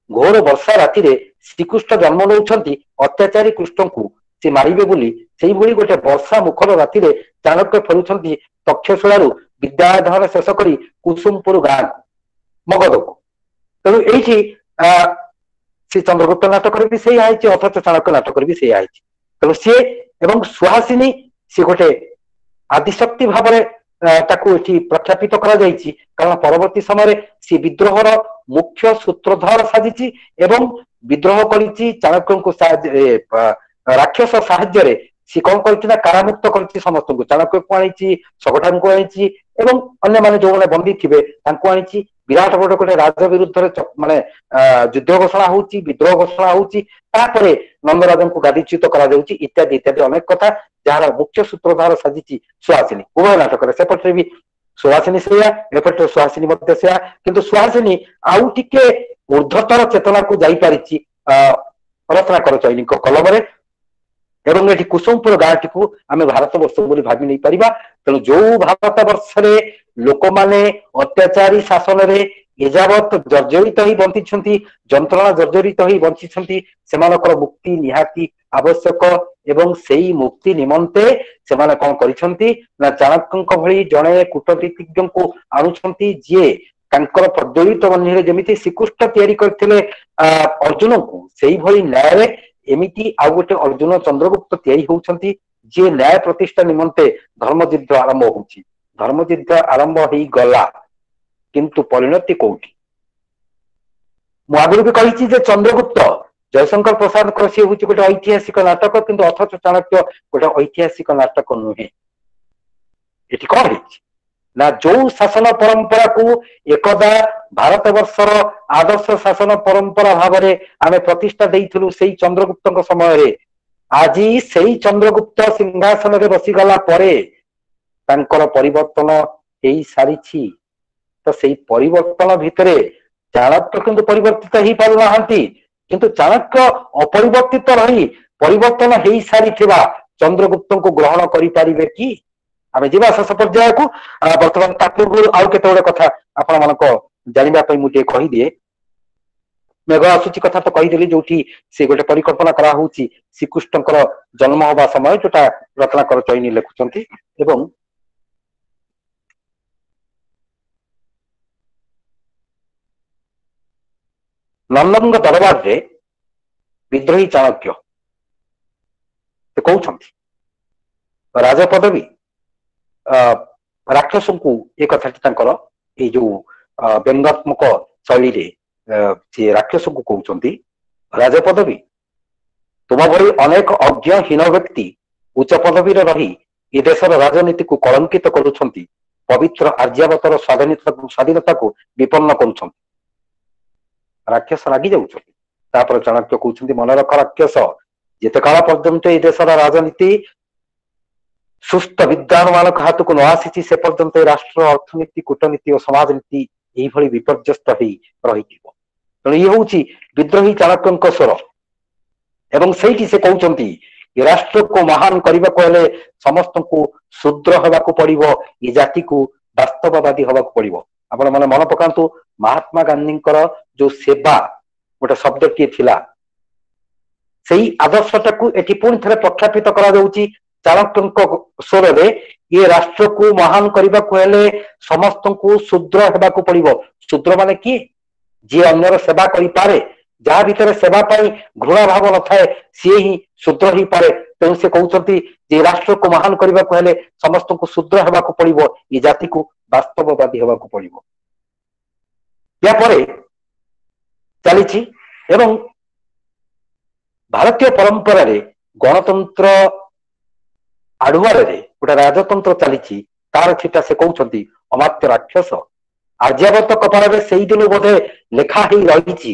ଘୋର ବର୍ଷା ରାତିରେ ଶ୍ରୀକୃଷ୍ଣ ଜନ୍ମ ନେଉଛନ୍ତି ଅତ୍ୟାଚାରୀ କୃଷ୍ଣଙ୍କୁ ସେ ମାରିବେ ବୋଲି, ସେଇଭଳି ଗୋଟେ ବର୍ଷା ମୁଖର ରାତିରେ ଚାଣକ୍ୟ ଫେରୁଛନ୍ତି ତକ୍ଷଶିଳାରୁ ବିଦ୍ୟାଧନ ଶେଷ କରି କୁସୁମପୁର ଗାଁକୁ, ମଗଧକୁ। ତେଣୁ ଏଇଠି ସେ ଚନ୍ଦ୍ରଗୁପ୍ତ ନାଟକରେ ବି ସେଇଆ ହେଇଛି, ଅଥଚ ଚାଣକ୍ୟ ନାଟକରେ ବି ସେଇଆ ହେଇଛି। ତେଣୁ ସିଏ ଏବଂ ସୁହାସିନୀ ସିଏ ଗୋଟେ ଆଦିଶକ୍ତି ଭାବରେ ତାକୁ ଏଠି ପ୍ରଖ୍ୟାପିତ କରାଯାଇଛି, କାରଣ ପରବର୍ତ୍ତୀ ସମୟରେ ସିଏ ବିଦ୍ରୋହର ମୁଖ୍ୟ ସୂତ୍ରଧର ସାଜିଛି ଏବଂ ବିଦ୍ରୋହ କରିଛି ଚାଣକ୍ୟଙ୍କୁ ରାକ୍ଷସ ସାହାଯ୍ୟରେ। ସିଏ କଣ କରିଛି ନା କାରାମୁକ୍ତ କରିଛି ସମସ୍ତଙ୍କୁ, ଚାଣକ୍ୟକୁ ଆଣିଛି, ଶକଟାଙ୍କୁ ଆଣିଛି ଏବଂ ଅନ୍ୟମାନେ ଯୋଉମାନେ ବନ୍ଦୀ ଥିବେ ତାଙ୍କୁ ଆଣିଛି। ବିରାଟ ବଡ ଗୋଟେ ରାଜ ବିରୁଦ୍ଧରେ ମାନେ ଯୁଦ୍ଧ ଘୋଷଣା ହଉଛି, ବିଦ୍ରୋହ ଘୋଷଣା ହଉଛି, ତାପରେ ନନ୍ଦରାଜଙ୍କୁ ଗାଦିଚ୍ୟୁତ କରାଯାଉଛି, ଇତ୍ୟାଦି ଇତ୍ୟାଦି ଅନେକ କଥା, ଯାହାର ମୁଖ୍ୟ ସୂତ୍ରଧାର ସାଜିଛି ସୁହାସିନୀ। ଉଭୟ ନାଟକରେ ସେପଟରେ ବି ସୁହାସିନୀ ସେଇଆ, ଏପଟରେ ସୁହାସିନୀ ମଧ୍ୟ ସେଇଆ, କିନ୍ତୁ ସୁହାସିନୀ ଆଉ ଟିକେ ଉର୍ଦ୍ଧତର ଚେତନାକୁ ଯାଇପାରିଛି ରତ୍ନାକର ଚୈନୀଙ୍କ କଲମରେ। ଏବଂ ଏଠି କୁସୁମପୁର ଗାଁଟିକୁ ଆମେ ଭାରତ ବର୍ଷ ବୋଲି ଭାବି ନେଇପାରିବା। ତେଣୁ ଯୋଉ ଭାରତ ବର୍ଷରେ ଲୋକମାନେ ଅତ୍ୟାଚାରୀ ଶାସନରେ ଏଯାବତ ଜର୍ଜରିତ ହେଇ ବଞ୍ଚିଛନ୍ତି, ଯନ୍ତ୍ରଣା ଜର୍ଜରିତ ହେଇ ବଞ୍ଚିଛନ୍ତି, ସେମାନଙ୍କର ମୁକ୍ତି ନିହାତି ଆବଶ୍ୟକ। ଏବଂ ସେଇ ମୁକ୍ତି ନିମନ୍ତେ ସେମାନେ କଣ କରିଛନ୍ତି ନା ଚାଣକ୍ୟଙ୍କ ଭଳି ଜଣେ କୂଟନୀତିଜ୍ଞଙ୍କୁ ଆଣୁଛନ୍ତି, ଯିଏ ତାଙ୍କର ପ୍ରଜ୍ୱଳିତ ବହ୍ନିରେ ଯେମିତି ଶ୍ରୀକୃଷ୍ଣ ତିଆରି କରିଥିଲେ ଅର୍ଜୁନଙ୍କୁ, ସେଇଭଳି ନ୍ୟାୟରେ ଏମିତି ଆଉ ଗୋଟେ ଅର୍ଜୁନ ଚନ୍ଦ୍ରଗୁପ୍ତ ତିଆରି ହଉଛନ୍ତି, ଯିଏ ନ୍ୟାୟ ପ୍ରତିଷ୍ଠା ନିମନ୍ତେ ଧର୍ମଯୁଦ୍ଧ ଆରମ୍ଭ ହଉଛି। ଧର୍ମଯୁଦ୍ଧ ଆରମ୍ଭ ହେଇଗଲା, କିନ୍ତୁ ପରିଣତି କୋଉଠି? ମୁଁ ଆଗରୁ ବି କହିଛି ଯେ ଚନ୍ଦ୍ରଗୁପ୍ତ ଜୟଶଙ୍କର ପ୍ରସାଦଙ୍କର ସିଏ ହଉଛି ଗୋଟେ ଐତିହାସିକ ନାଟକ, କିନ୍ତୁ ଅଥଚ ଚାଣକ୍ୟ ଗୋଟେ ଐତିହାସିକ ନାଟକ ନୁହେଁ। ଏଠି କଣ ହେଇଛି ନା ଯୋଉ ଶାସନ ପରମ୍ପରାକୁ ଏକଦା ଭାରତ ବର୍ଷର ଆଦର୍ଶ ଶାସନ ପରମ୍ପରା ଭାବରେ ଆମେ ପ୍ରତିଷ୍ଠା ଦେଇଥିଲୁ ସେଇ ଚନ୍ଦ୍ରଗୁପ୍ତଙ୍କ ସମୟରେ, ଆଜି ସେଇ ଚନ୍ଦ୍ରଗୁପ୍ତ ସିଂହାସନରେ ବସିଗଲା ପରେ ତାଙ୍କର ପରିବର୍ତ୍ତନ ହେଇସାରିଛି। ତ ସେଇ ପରିବର୍ତ୍ତନ ଭିତରେ ଚାଣକ୍ୟ କିନ୍ତୁ ପରିବର୍ତ୍ତିତ ହେଇପାରୁନାହାନ୍ତି, କିନ୍ତୁ ଚାଣକ୍ୟ ଅପରିବର୍ତ୍ତିତ ରହି ପରିବର୍ତ୍ତନ ହେଇସାରିଥିବା ଚନ୍ଦ୍ରଗୁପ୍ତଙ୍କୁ ଗ୍ରହଣ କରିପାରିବେ କି? ଆମେ ଯିବା ଶେଷ ପର୍ଯ୍ୟାୟକୁ। ବର୍ତ୍ତମାନ ତା ପୂର୍ବରୁ ଆଉ କେତେ ଗୁଡେ କଥା ଆପଣ ମାନଙ୍କ ଜାଣିବା ପାଇଁ ମୁଁ ଟିକେ କହିଦିଏ। ମେଘ ଆସୁଛି କଥା ତ କହିଦେଲି, ଯୋଉଠି ସେ ଗୋଟେ ପରିକଳ୍ପନା କରାହଉଛି ଶ୍ରୀକୃଷ୍ଣଙ୍କର ଜନ୍ମ ହବା ସମୟ, ଯୋଉଟା ରତ୍ନାକର ଚୈନି ଲେଖୁଛନ୍ତି। ଏବଂ ନନ୍ଦଙ୍କ ଦରବାରରେ ବିଦ୍ରୋହୀ ଚାଣକ୍ୟ ସେ କହୁଛନ୍ତି ରାଜପଦବୀ ରାକ୍ଷସଙ୍କୁ, ଏ କଥାଟି ତାଙ୍କର ଏଇ ଯୋଉ ବ୍ୟଙ୍ଗାତ୍ମକ ଶୈଳୀରେ ସିଏ ରାକ୍ଷସଙ୍କୁ କହୁଛନ୍ତି, ରାଜପଦବୀ ତୁମ ଭଳି ଅନେକ ଅଜ୍ଞ ହୀନ ବ୍ୟକ୍ତି ଉଚ୍ଚ ପଦବୀରେ ରହି ଏ ଦେଶର ରାଜନୀତିକୁ କଳଙ୍କିତ କରୁଛନ୍ତି, ପବିତ୍ର ଆର୍ଯ୍ୟାବତର ସ୍ୱାଧୀନତାକୁ ବିପନ୍ନ କରୁଛନ୍ତି। ରାକ୍ଷସ ରାଗି ଯାଉଛନ୍ତି। ତାପରେ ଚାଣକ୍ୟ କହୁଛନ୍ତି, ମନେ ରଖ ରାକ୍ଷସ, ଯେତେ କାଳ ପର୍ଯ୍ୟନ୍ତ ଏଇ ଦେଶର ରାଜନୀତି ସୁସ୍ଥ ବିଦ୍ୱାନ ମାନଙ୍କ ହାତକୁ ନ ଆସିଛି, ସେ ପର୍ଯ୍ୟନ୍ତ ଏ ରାଷ୍ଟ୍ର ଅର୍ଥନୀତି, କୂଟନୀତି ଓ ସମାଜନୀତି ଏଇଭଳି ବିପର୍ଯ୍ୟସ୍ତ ହେଇ ରହିଥିବ। ତେଣୁ ଇଏ ହଉଛି ବିଦ୍ରୋହୀ ଚାଣକ୍ୟଙ୍କ ସ୍ୱର। ଏବଂ ସେଇଠି ସେ କହୁଛନ୍ତି ଏ ରାଷ୍ଟ୍ରକୁ ମହାନ କରିବାକୁ ହେଲେ ସମସ୍ତଙ୍କୁ ଶୂଦ୍ର ହେବାକୁ ପଡିବ, ଏ ଜାତିକୁ ବାସ୍ତବବାଦୀ ହେବାକୁ ପଡିବ। ଆପଣ ମାନେ ମନେ ପକାନ୍ତୁ, ମହାତ୍ମା ଗାନ୍ଧୀଙ୍କର ଯୋଉ ସେବା ଗୋଟେ ଶବ୍ଦଟିଏ ଥିଲା, ସେଇ ଆଦର୍ଶଟାକୁ ଏଠି ପୁଣି ଥରେ ପ୍ରଖ୍ୟାପିତ କରାଯାଉଛି ଚାଣକ୍ୟଙ୍କ ସ୍ୱରରେ। ଇଏ ରାଷ୍ଟ୍ରକୁ ମହାନ କରିବାକୁ ହେଲେ ସମସ୍ତଙ୍କୁ ଶୂଦ୍ର ହେବାକୁ ପଡିବ। ଶୂଦ୍ର ମାନେ କିଏ? ଯିଏ ଅନ୍ୟର ସେବା କରିପାରେ, ଯାହା ଭିତରେ ସେବା ପାଇଁ ଘୃଣା ଭାବ ନଥାଏ, ସିଏ ହିଁ ଶୂଦ୍ର ହେଇପାରେ। ତେଣୁ ସେ କହୁଛନ୍ତି ଯେ ରାଷ୍ଟ୍ରକୁ ମହାନ କରିବାକୁ ହେଲେ ସମସ୍ତଙ୍କୁ ଶୂଦ୍ର ହେବାକୁ ପଡିବ, ଏ ଜାତିକୁ ବାସ୍ତବବାଦୀ ହେବାକୁ ପଡିବ। ୟା ପରେ ଚାଲିଛି। ଏବଂ ଭାରତୀୟ ପରମ୍ପରାରେ ଗଣତନ୍ତ୍ର ଆଢୁଆଳରେ ଗୋଟେ ରାଜତନ୍ତ୍ର ଚାଲିଛି, ତାର ଛିଟା ସେ କହୁଛନ୍ତି ଅମାତ୍ୟ ରାକ୍ଷସ, ଆର୍ଯ୍ୟାବର୍ତ୍ତ କପାଳରେ ସେଇଦିନୁ ବୋଧେ ଲେଖା ହେଇ ରହିଛି,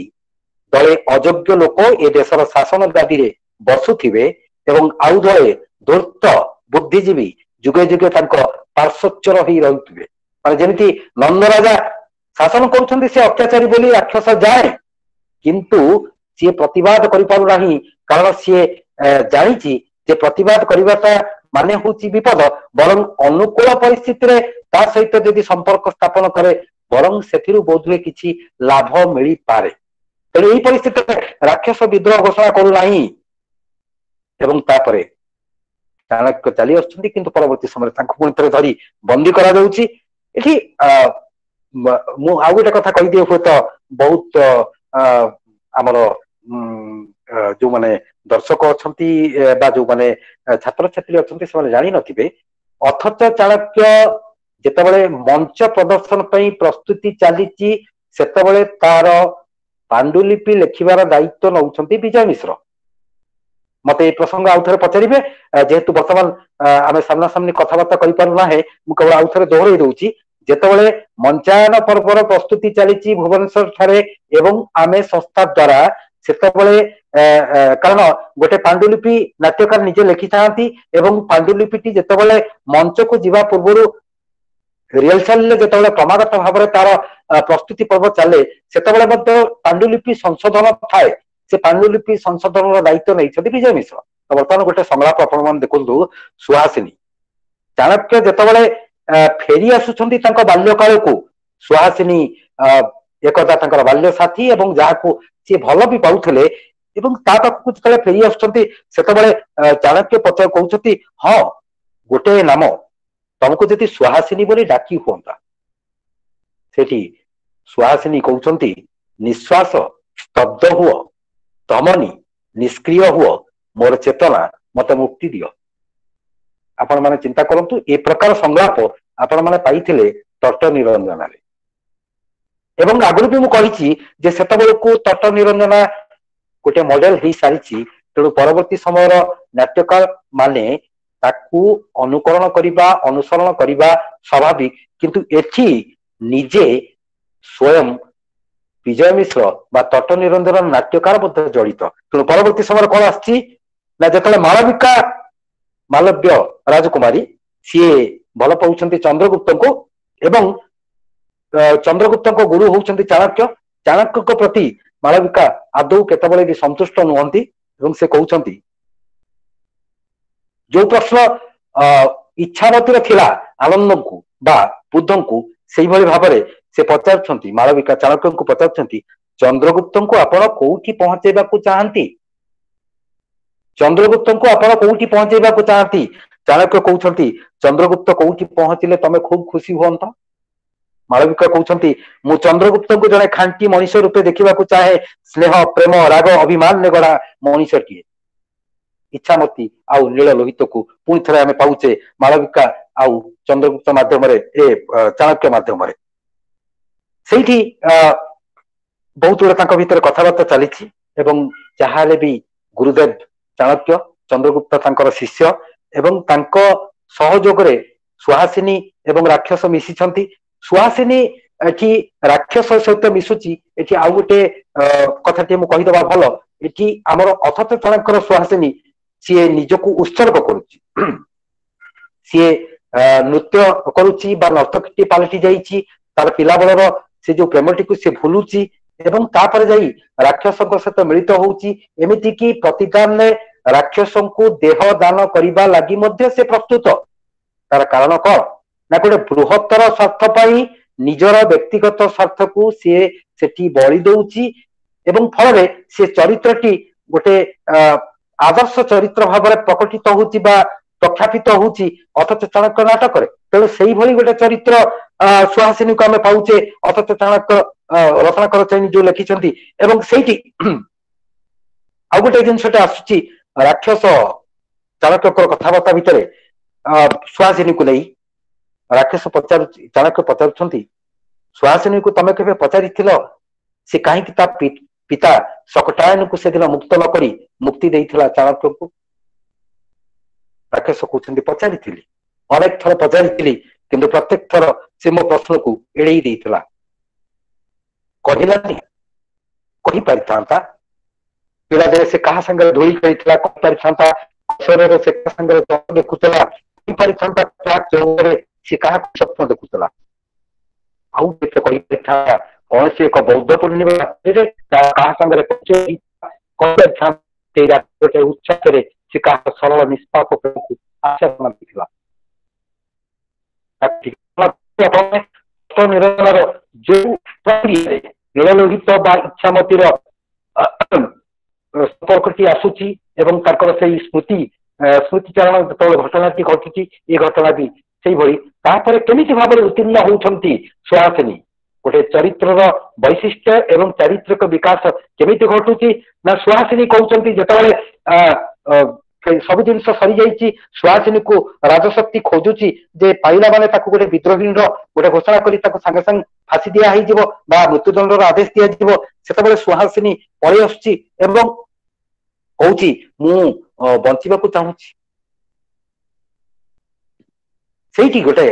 ଦଳେ ଅଯୋଗ୍ୟ ଲୋକ ଏ ଦେଶର ଶାସନ ଗାଦିରେ ବସୁଥିବେ ଏବଂ ଆଉ ଦଳେ ଧୂର୍ତ୍ତ ବୁଦ୍ଧିଜୀବୀ ଯୁଗେ ଯୁଗେ ତାଙ୍କ ପାର୍ଶ୍ୱଚର ହେଇ ରହୁଥିବେ। ମାନେ ଯେମିତି ନନ୍ଦରାଜା ଶାସନ କରୁଛନ୍ତି, ସେ ଅତ୍ୟାଚାରୀ ବୋଲି ରାକ୍ଷସ ଯାଏ, କିନ୍ତୁ ସିଏ ପ୍ରତିବାଦ କରିପାରୁନାହିଁ, କାରଣ ସିଏ ଜାଣିଛି ଯେ ପ୍ରତିବାଦ କରିବାଟା ମାନେ ହଉଛି ବିପଦ। ବରଂ ଅନୁକୂଳ ପରିସ୍ଥିତିରେ ତା ସହିତ ଯଦି ସମ୍ପର୍କ ସ୍ଥାପନ କରେ, ବରଂ ସେଥିରୁ ବୋଧହୁଏ କିଛି ଲାଭ ମିଳିପାରେ। ତେଣୁ ଏଇ ପରିସ୍ଥିତିରେ ରାକ୍ଷସ ବିଦ୍ରୋହ ଘୋଷଣା କରୁନାହିଁ। ଏବଂ ତାପରେ ଚାଣକ୍ୟ ଚାଲି ଆସୁଛନ୍ତି, କିନ୍ତୁ ପରବର୍ତ୍ତୀ ସମୟରେ ତାଙ୍କୁ ପୁଣି ଥରେ ଧରି ବନ୍ଦୀ କରାଯାଉଛି। ଏଠି ମୁଁ ଆଉ ଗୋଟେ କଥା କହିଦିଏ, ହୁଏତ ବହୁତ ଆମର ଯୋଉମାନେ ଦର୍ଶକ ଅଛନ୍ତି ବା ଯୋଉମାନେ ଛାତ୍ରଛାତ୍ରୀ ଅଛନ୍ତି ସେମାନେ ଜାଣିନଥିବେ। ଅଥଚ ଚାଣକ୍ୟ ଯେତେବେଳେ ମଞ୍ଚ ପ୍ରଦର୍ଶନ ପାଇଁ ପ୍ରସ୍ତୁତି ଚାଲିଛି, ସେତେବେଳେ ତାର ପାଣ୍ଡୁଲିପି ଲେଖିବାର ଦାୟିତ୍ୱ ନଉଛନ୍ତି ବିଜୟ ମିଶ୍ର। ମତେ ଏଇ ପ୍ରସଙ୍ଗ ଆଉ ଥରେ ପଚାରିବେ, ଯେହେତୁ ବର୍ତ୍ତମାନ ଆମେ ସାମ୍ନାସାମ୍ନି କଥାବାର୍ତ୍ତା କରିପାରୁନାହେଁ, ମୁଁ କେବଳ ଆଉ ଥରେ ଦୋହରେଇ ଦଉଛି। ଯେତେବେଳେ ମଞ୍ଚାୟନ ପର୍ବର ପ୍ରସ୍ତୁତି ଚାଲିଛି ଭୁବନେଶ୍ୱର ଠାରେ ଏବଂ ଆମେ ସଂସ୍ଥା ଦ୍ଵାରା, ସେତେବେଳେ କାରଣ ଗୋଟେ ପାଣ୍ଡୁଲିପି ନାଟ୍ୟକାର ନିଜେ ଲେଖିଥାନ୍ତି, ଏବଂ ପାଣ୍ଡୁଲିପିଟି ଯେତେବେଳେ ମଞ୍ଚକୁ ଯିବା ପୂର୍ବରୁ ରିହର୍ସାଲରେ ଯେତେବେଳେ କ୍ରମାଗତ ଭାବରେ ତାର ପ୍ରସ୍ତୁତି ପର୍ବ ଚାଲେ, ସେତେବେଳେ ମଧ୍ୟ ପାଣ୍ଡୁଲିପି ସଂଶୋଧନ ଥାଏ। ସେ ପାଣ୍ଡୁଲିପି ସଂଶୋଧନର ଦାୟିତ୍ୱ ନେଇଛନ୍ତି ବିଜୟ ମିଶ୍ର। ତ ବର୍ତ୍ତମାନ ଗୋଟେ ସଂଳାପ ଆପଣ ମାନେ ଦେଖନ୍ତୁ। ସୁହାସିନୀ, ଚାଣକ୍ୟ ଯେତେବେଳେ ଫେରି ଆସୁଛନ୍ତି ତାଙ୍କ ବାଲ୍ୟକାଳକୁ, ସୁହାସିନୀ ଏକଦା ତାଙ୍କର ବାଲ୍ୟ ସାଥୀ ଏବଂ ଯାହାକୁ ସିଏ ଭଲ ବି ପାଉଥିଲେ, ଏବଂ ତା ପାଖକୁ ଯେତେବେଳେ ଫେରି ଆସୁଛନ୍ତି ସେତେବେଳେ ଚାଣକ୍ୟ ପଚାର କହୁଛନ୍ତି, ହଁ ଗୋଟେ ନାମ ତମକୁ ଯଦି ସୁହାସିନୀ ବୋଲି ଡାକି ହୁଅନ୍ତା। ସେଠି ସୁହାସିନୀ କହୁଛନ୍ତି, ନିଶ୍ୱାସ ସ୍ତବ୍ଧ ହୁଅ, ଧମନୀ ନିଷ୍କ୍ରିୟ ହୁଅ, ମୋର ଚେତନା ମତେ ମୁକ୍ତି ଦିଅ। ଆପଣ ମାନେ ଚିନ୍ତା କରନ୍ତୁ, ଏ ପ୍ରକାର ସଂଳାପ ଆପଣ ମାନେ ପାଇଥିଲେ ତଟ ନିରଞ୍ଜନାରେ। ଏବଂ ଆଗରୁ ବି ମୁଁ କହିଛି ଯେ ସେତେବେଳକୁ ତଟ ନିରଞ୍ଜନା ଗୋଟେ ମଡେଲ ହେଇସାରିଛି, ତେଣୁ ପରବର୍ତ୍ତୀ ସମୟର ନାଟ୍ୟକାର ମାନେ ତାକୁ ଅନୁକରଣ କରିବା, ଅନୁସରଣ କରିବା ସ୍ୱାଭାବିକ। କିନ୍ତୁ ଏଠି ନିଜେ ସ୍ୱୟଂ ବିଜୟ ମିଶ୍ର ବା ତଟ ନିରଞ୍ଜନ ନାଟ୍ୟକାର ମଧ୍ୟ ଜଡ଼ିତ। ତେଣୁ ପରବର୍ତ୍ତୀ ସମୟରେ କଣ ଆସିଛି ନା, ଯେତେବେଳେ ମାଳବିକା, ମାଲବ୍ୟ ରାଜକୁମାରୀ, ସିଏ ଭଲ ପାଉଛନ୍ତି ଚନ୍ଦ୍ରଗୁପ୍ତଙ୍କୁ, ଏବଂ ଚନ୍ଦ୍ରଗୁପ୍ତଙ୍କ ଗୁରୁ ହଉଛନ୍ତି ଚାଣକ୍ୟ। ଚାଣକ୍ୟଙ୍କ ପ୍ରତି ମାଳବିକା ଆଦୌ କେତେବେଳେ ବି ସନ୍ତୁଷ୍ଟ ନୁହନ୍ତି, ଏବଂ ସେ କହୁଛନ୍ତି ଯୋଉ ପ୍ରଶ୍ନ ଇଚ୍ଛାମତୀର ଥିଲା ଆନନ୍ଦଙ୍କୁ ବା ବୁଦ୍ଧଙ୍କୁ, ସେଇଭଳି ଭାବରେ ସେ ପଚାରୁଛନ୍ତି, ମାଳବିକା ଚାଣକ୍ୟଙ୍କୁ ପଚାରୁଛନ୍ତି, ଚନ୍ଦ୍ରଗୁପ୍ତଙ୍କୁ ଆପଣ କୋଉଠି ପହଞ୍ଚେଇବାକୁ ଚାହାନ୍ତି? ଚନ୍ଦ୍ରଗୁପ୍ତଙ୍କୁ ଆପଣ କୋଉଠି ପହଞ୍ଚେଇବାକୁ ଚାହାନ୍ତି? ଚାଣକ୍ୟ କହୁଛନ୍ତି, ଚନ୍ଦ୍ରଗୁପ୍ତ କୋଉଠି ପହଞ୍ଚିଲେ ତମେ ଖୁବ ଖୁସି ହୁଅନ୍ତ? ମାଳବିକା କହୁଛନ୍ତି, ମୁଁ ଚନ୍ଦ୍ରଗୁପ୍ତଙ୍କୁ ଜଣେ ଖାଣ୍ଟି ମଣିଷ ରୂପେ ଦେଖିବାକୁ ଚାହେଁ, ସ୍ନେହ, ପ୍ରେମ, ରାଗ, ଅଭିମାନରେ ଗଢା ମଣିଷଟିଏ। ଇଚ୍ଛାମତୀ ଆଉ ନୀଳ ଲୋହିତକୁ ପୁଣି ଥରେ ଆମେ ପାଉଛେ ମାଳବିକା ଆଉ ଚନ୍ଦ୍ରଗୁପ୍ତ ମାଧ୍ୟମରେ, ଏ ଚାଣକ୍ୟ ମାଧ୍ୟମରେ। ସେଇଠି ବହୁତ ଗୁଡେ ତାଙ୍କ ଭିତରେ କଥାବାର୍ତ୍ତା ଚାଲିଛି, ଏବଂ ଯାହାହେଲେ ବି ଗୁରୁଦେବ ଚାଣକ୍ୟ, ଚନ୍ଦ୍ରଗୁପ୍ତ ତାଙ୍କର ଶିଷ୍ୟ, ଏବଂ ତାଙ୍କ ସହଯୋଗରେ ସୁହାସିନୀ ଏବଂ ରାକ୍ଷସ ମିଶିଛନ୍ତି। ସୁହାସିନୀ ଏଠି ରାକ୍ଷସ ସହିତ ମିଶୁଛି। ଏଠି ଆଉ ଗୋଟେ କଥାଟିଏ ମୁଁ କହିଦବା ଭଲ, ଏଠି ଆମର ଅଥଚ ଚାଣକ୍ୟର ସୁହାସିନୀ ସିଏ ନିଜକୁ ଉତ୍ସର୍ଗ କରୁଛି, ସିଏ ନୃତ୍ୟ କରୁଛି ବା ନର୍ତ୍ତକୀ ପାଲଟି ଯାଇଛି, ତାର ପିଲାବେଳର ସେ ଯୋଉ ପ୍ରେମଟିକୁ ସେ ଭୁଲୁଛି, ଏବଂ ତାପରେ ଯାଇ ରାକ୍ଷସଙ୍କ ସହିତ ମିଳିତ ହଉଛି। ଏମିତି କି ପ୍ରତିଦାନରେ ରାକ୍ଷସଙ୍କୁ ଦେହ ଦାନ କରିବା ଲାଗି ମଧ୍ୟ ସେ ପ୍ରସ୍ତୁତ। ତାର କାରଣ କଣ ନା, ଗୋଟେ ବୃହତ୍ତର ସ୍ୱାର୍ଥ ପାଇଁ ନିଜର ବ୍ୟକ୍ତିଗତ ସ୍ୱାର୍ଥକୁ ସିଏ ସେଠି ବଳି ଦଉଛି, ଏବଂ ଫଳରେ ସେ ଚରିତ୍ରଟି ଗୋଟେ ଆଦର୍ଶ ଚରିତ୍ର ଭାବରେ ପ୍ରକଟିତ ହଉଛି ବା ପ୍ରଖ୍ୟାପିତ ହଉଛି ଅଥଚ ଚାଣକ୍ୟ ନାଟକରେ। ତେଣୁ ସେଇଭଳି ଗୋଟେ ଚରିତ୍ର ସୁହାସିନୀକୁ ଆମେ ପାଉଛେ ଅଥଚ ଚାଣକ୍ୟ ରତ୍ନାକର ଚୈନୀ ଯୋଉ ଲେଖିଛନ୍ତି। ଏବଂ ସେଇଠି ଆଉ ଗୋଟେ ଜିନିଷଟା ଆସୁଛି, ରାକ୍ଷସ ଚାଣକ୍ୟଙ୍କର କଥାବାର୍ତ୍ତା ଭିତରେ ସୁହାସିନୀକୁ ନେଇ ରାକ୍ଷସ ପଚାରୁଛି, ଚାଣକ୍ୟ ପଚାରୁଛନ୍ତି, ସୁହାସିନୀକୁ ତମେ କେବେ ପଚାରିଥିଲ ସେ କାହିଁକି ତା ପିତା ଶକଟାୟନକୁ ସେଦିନ ମୁକ୍ତ ନ କରି ମୁକ୍ତି ଦେଇଥିଲା ଚାଣକ୍ୟଙ୍କୁ? ରାକ୍ଷସ କହୁଛନ୍ତି, ପଚାରିଥିଲି, ଅନେକ ଥର ପଚାରିଥିଲି, କିନ୍ତୁ ପ୍ରତ୍ୟେକ ଥର ସେ ମୋ ପ୍ରଶ୍ନକୁ ଏଡେଇ ଦେଇଥିଲା, କହିଲାନି। କହିପାରିଥାନ୍ତା, ପିଲାଦିନେ ସେ କାହା ସାଙ୍ଗରେ ଧୂଳି ଖେଳିଥିଲା କହିପାରିଥାନ୍ତା, କିଶୋରରେ ସେ କାହା ସାଙ୍ଗରେ ଦେଖୁଥିଲା କହିପାରିଥାନ୍ତା, ସେ କାହାକୁ ସ୍ୱପ୍ନ ଦେଖୁଥିଲା, ଆଉ କେତେ କହିପାରିଥାନ୍ତା, କୌଣସି ଏକ ବୌଦ୍ଧ ପୂର୍ଣ୍ଣିମା ରାତ୍ରିରେ କାହା ସାଙ୍ଗରେ କହିପାରିଥାନ୍ତା, ସେଇ ଗୋଟେ ଉଚ୍ଛ୍ୱାସରେ ସେ କାହା ସରଳ ନିଷ୍ପାପ ପ୍ରେମକୁ ଆଶା ଦେଇଥିଲା। ନିରଞ୍ଜନର ଯୋଉ ପ୍ରକ୍ରିୟାରେ ନୀଳଲୋହିତ ବା ଇଚ୍ଛାମତୀର ସମ୍ପର୍କଟି ଆସୁଛି, ଏବଂ ତାଙ୍କର ସେଇ ସ୍ମୃତିଚାରଣ ଯେତେବେଳେ ଘଟଣାଟି ଘଟୁଛି, ଏ ଘଟଣା ବି ସେଇଭଳି। ତାପରେ କେମିତି ଭାବରେ ଉତ୍ତୀର୍ଣ୍ଣ ହଉଛନ୍ତି ସୁହାସିନୀ, ଗୋଟେ ଚରିତ୍ରର ବୈଶିଷ୍ଟ୍ୟ ଏବଂ ଚାରିତ୍ରିକ ବିକାଶ କେମିତି ଘଟୁଛି ନା, ସୁହାସିନୀ କହୁଛନ୍ତି ଯେତେବେଳେ ସବୁ ଜିନିଷ ସରିଯାଇଛି, ସୁହାସିନୀକୁ ରାଜଶକ୍ତି ଖୋଜୁଛି ଯେ ପାଇଲା ମାନେ ତାକୁ ଗୋଟେ ବିଦ୍ରୋହୀର ଗୋଟେ ଘୋଷଣା କରି ତାକୁ ସାଙ୍ଗେ ସାଙ୍ଗେ ଫାଶୀ ଦିଆ ହେଇଯିବ ବା ମୃତ୍ୟୁଦଣ୍ଡର ଆଦେଶ ଦିଆଯିବ। ସେତେବେଳେ ସୁହାସିନୀ ପଳେଇ ଆସୁଛି ଏବଂ କହୁଛି, ମୁଁ ବଞ୍ଚିବାକୁ ଚାହୁଁଛି। ସେଇଠି ଗୋଟେ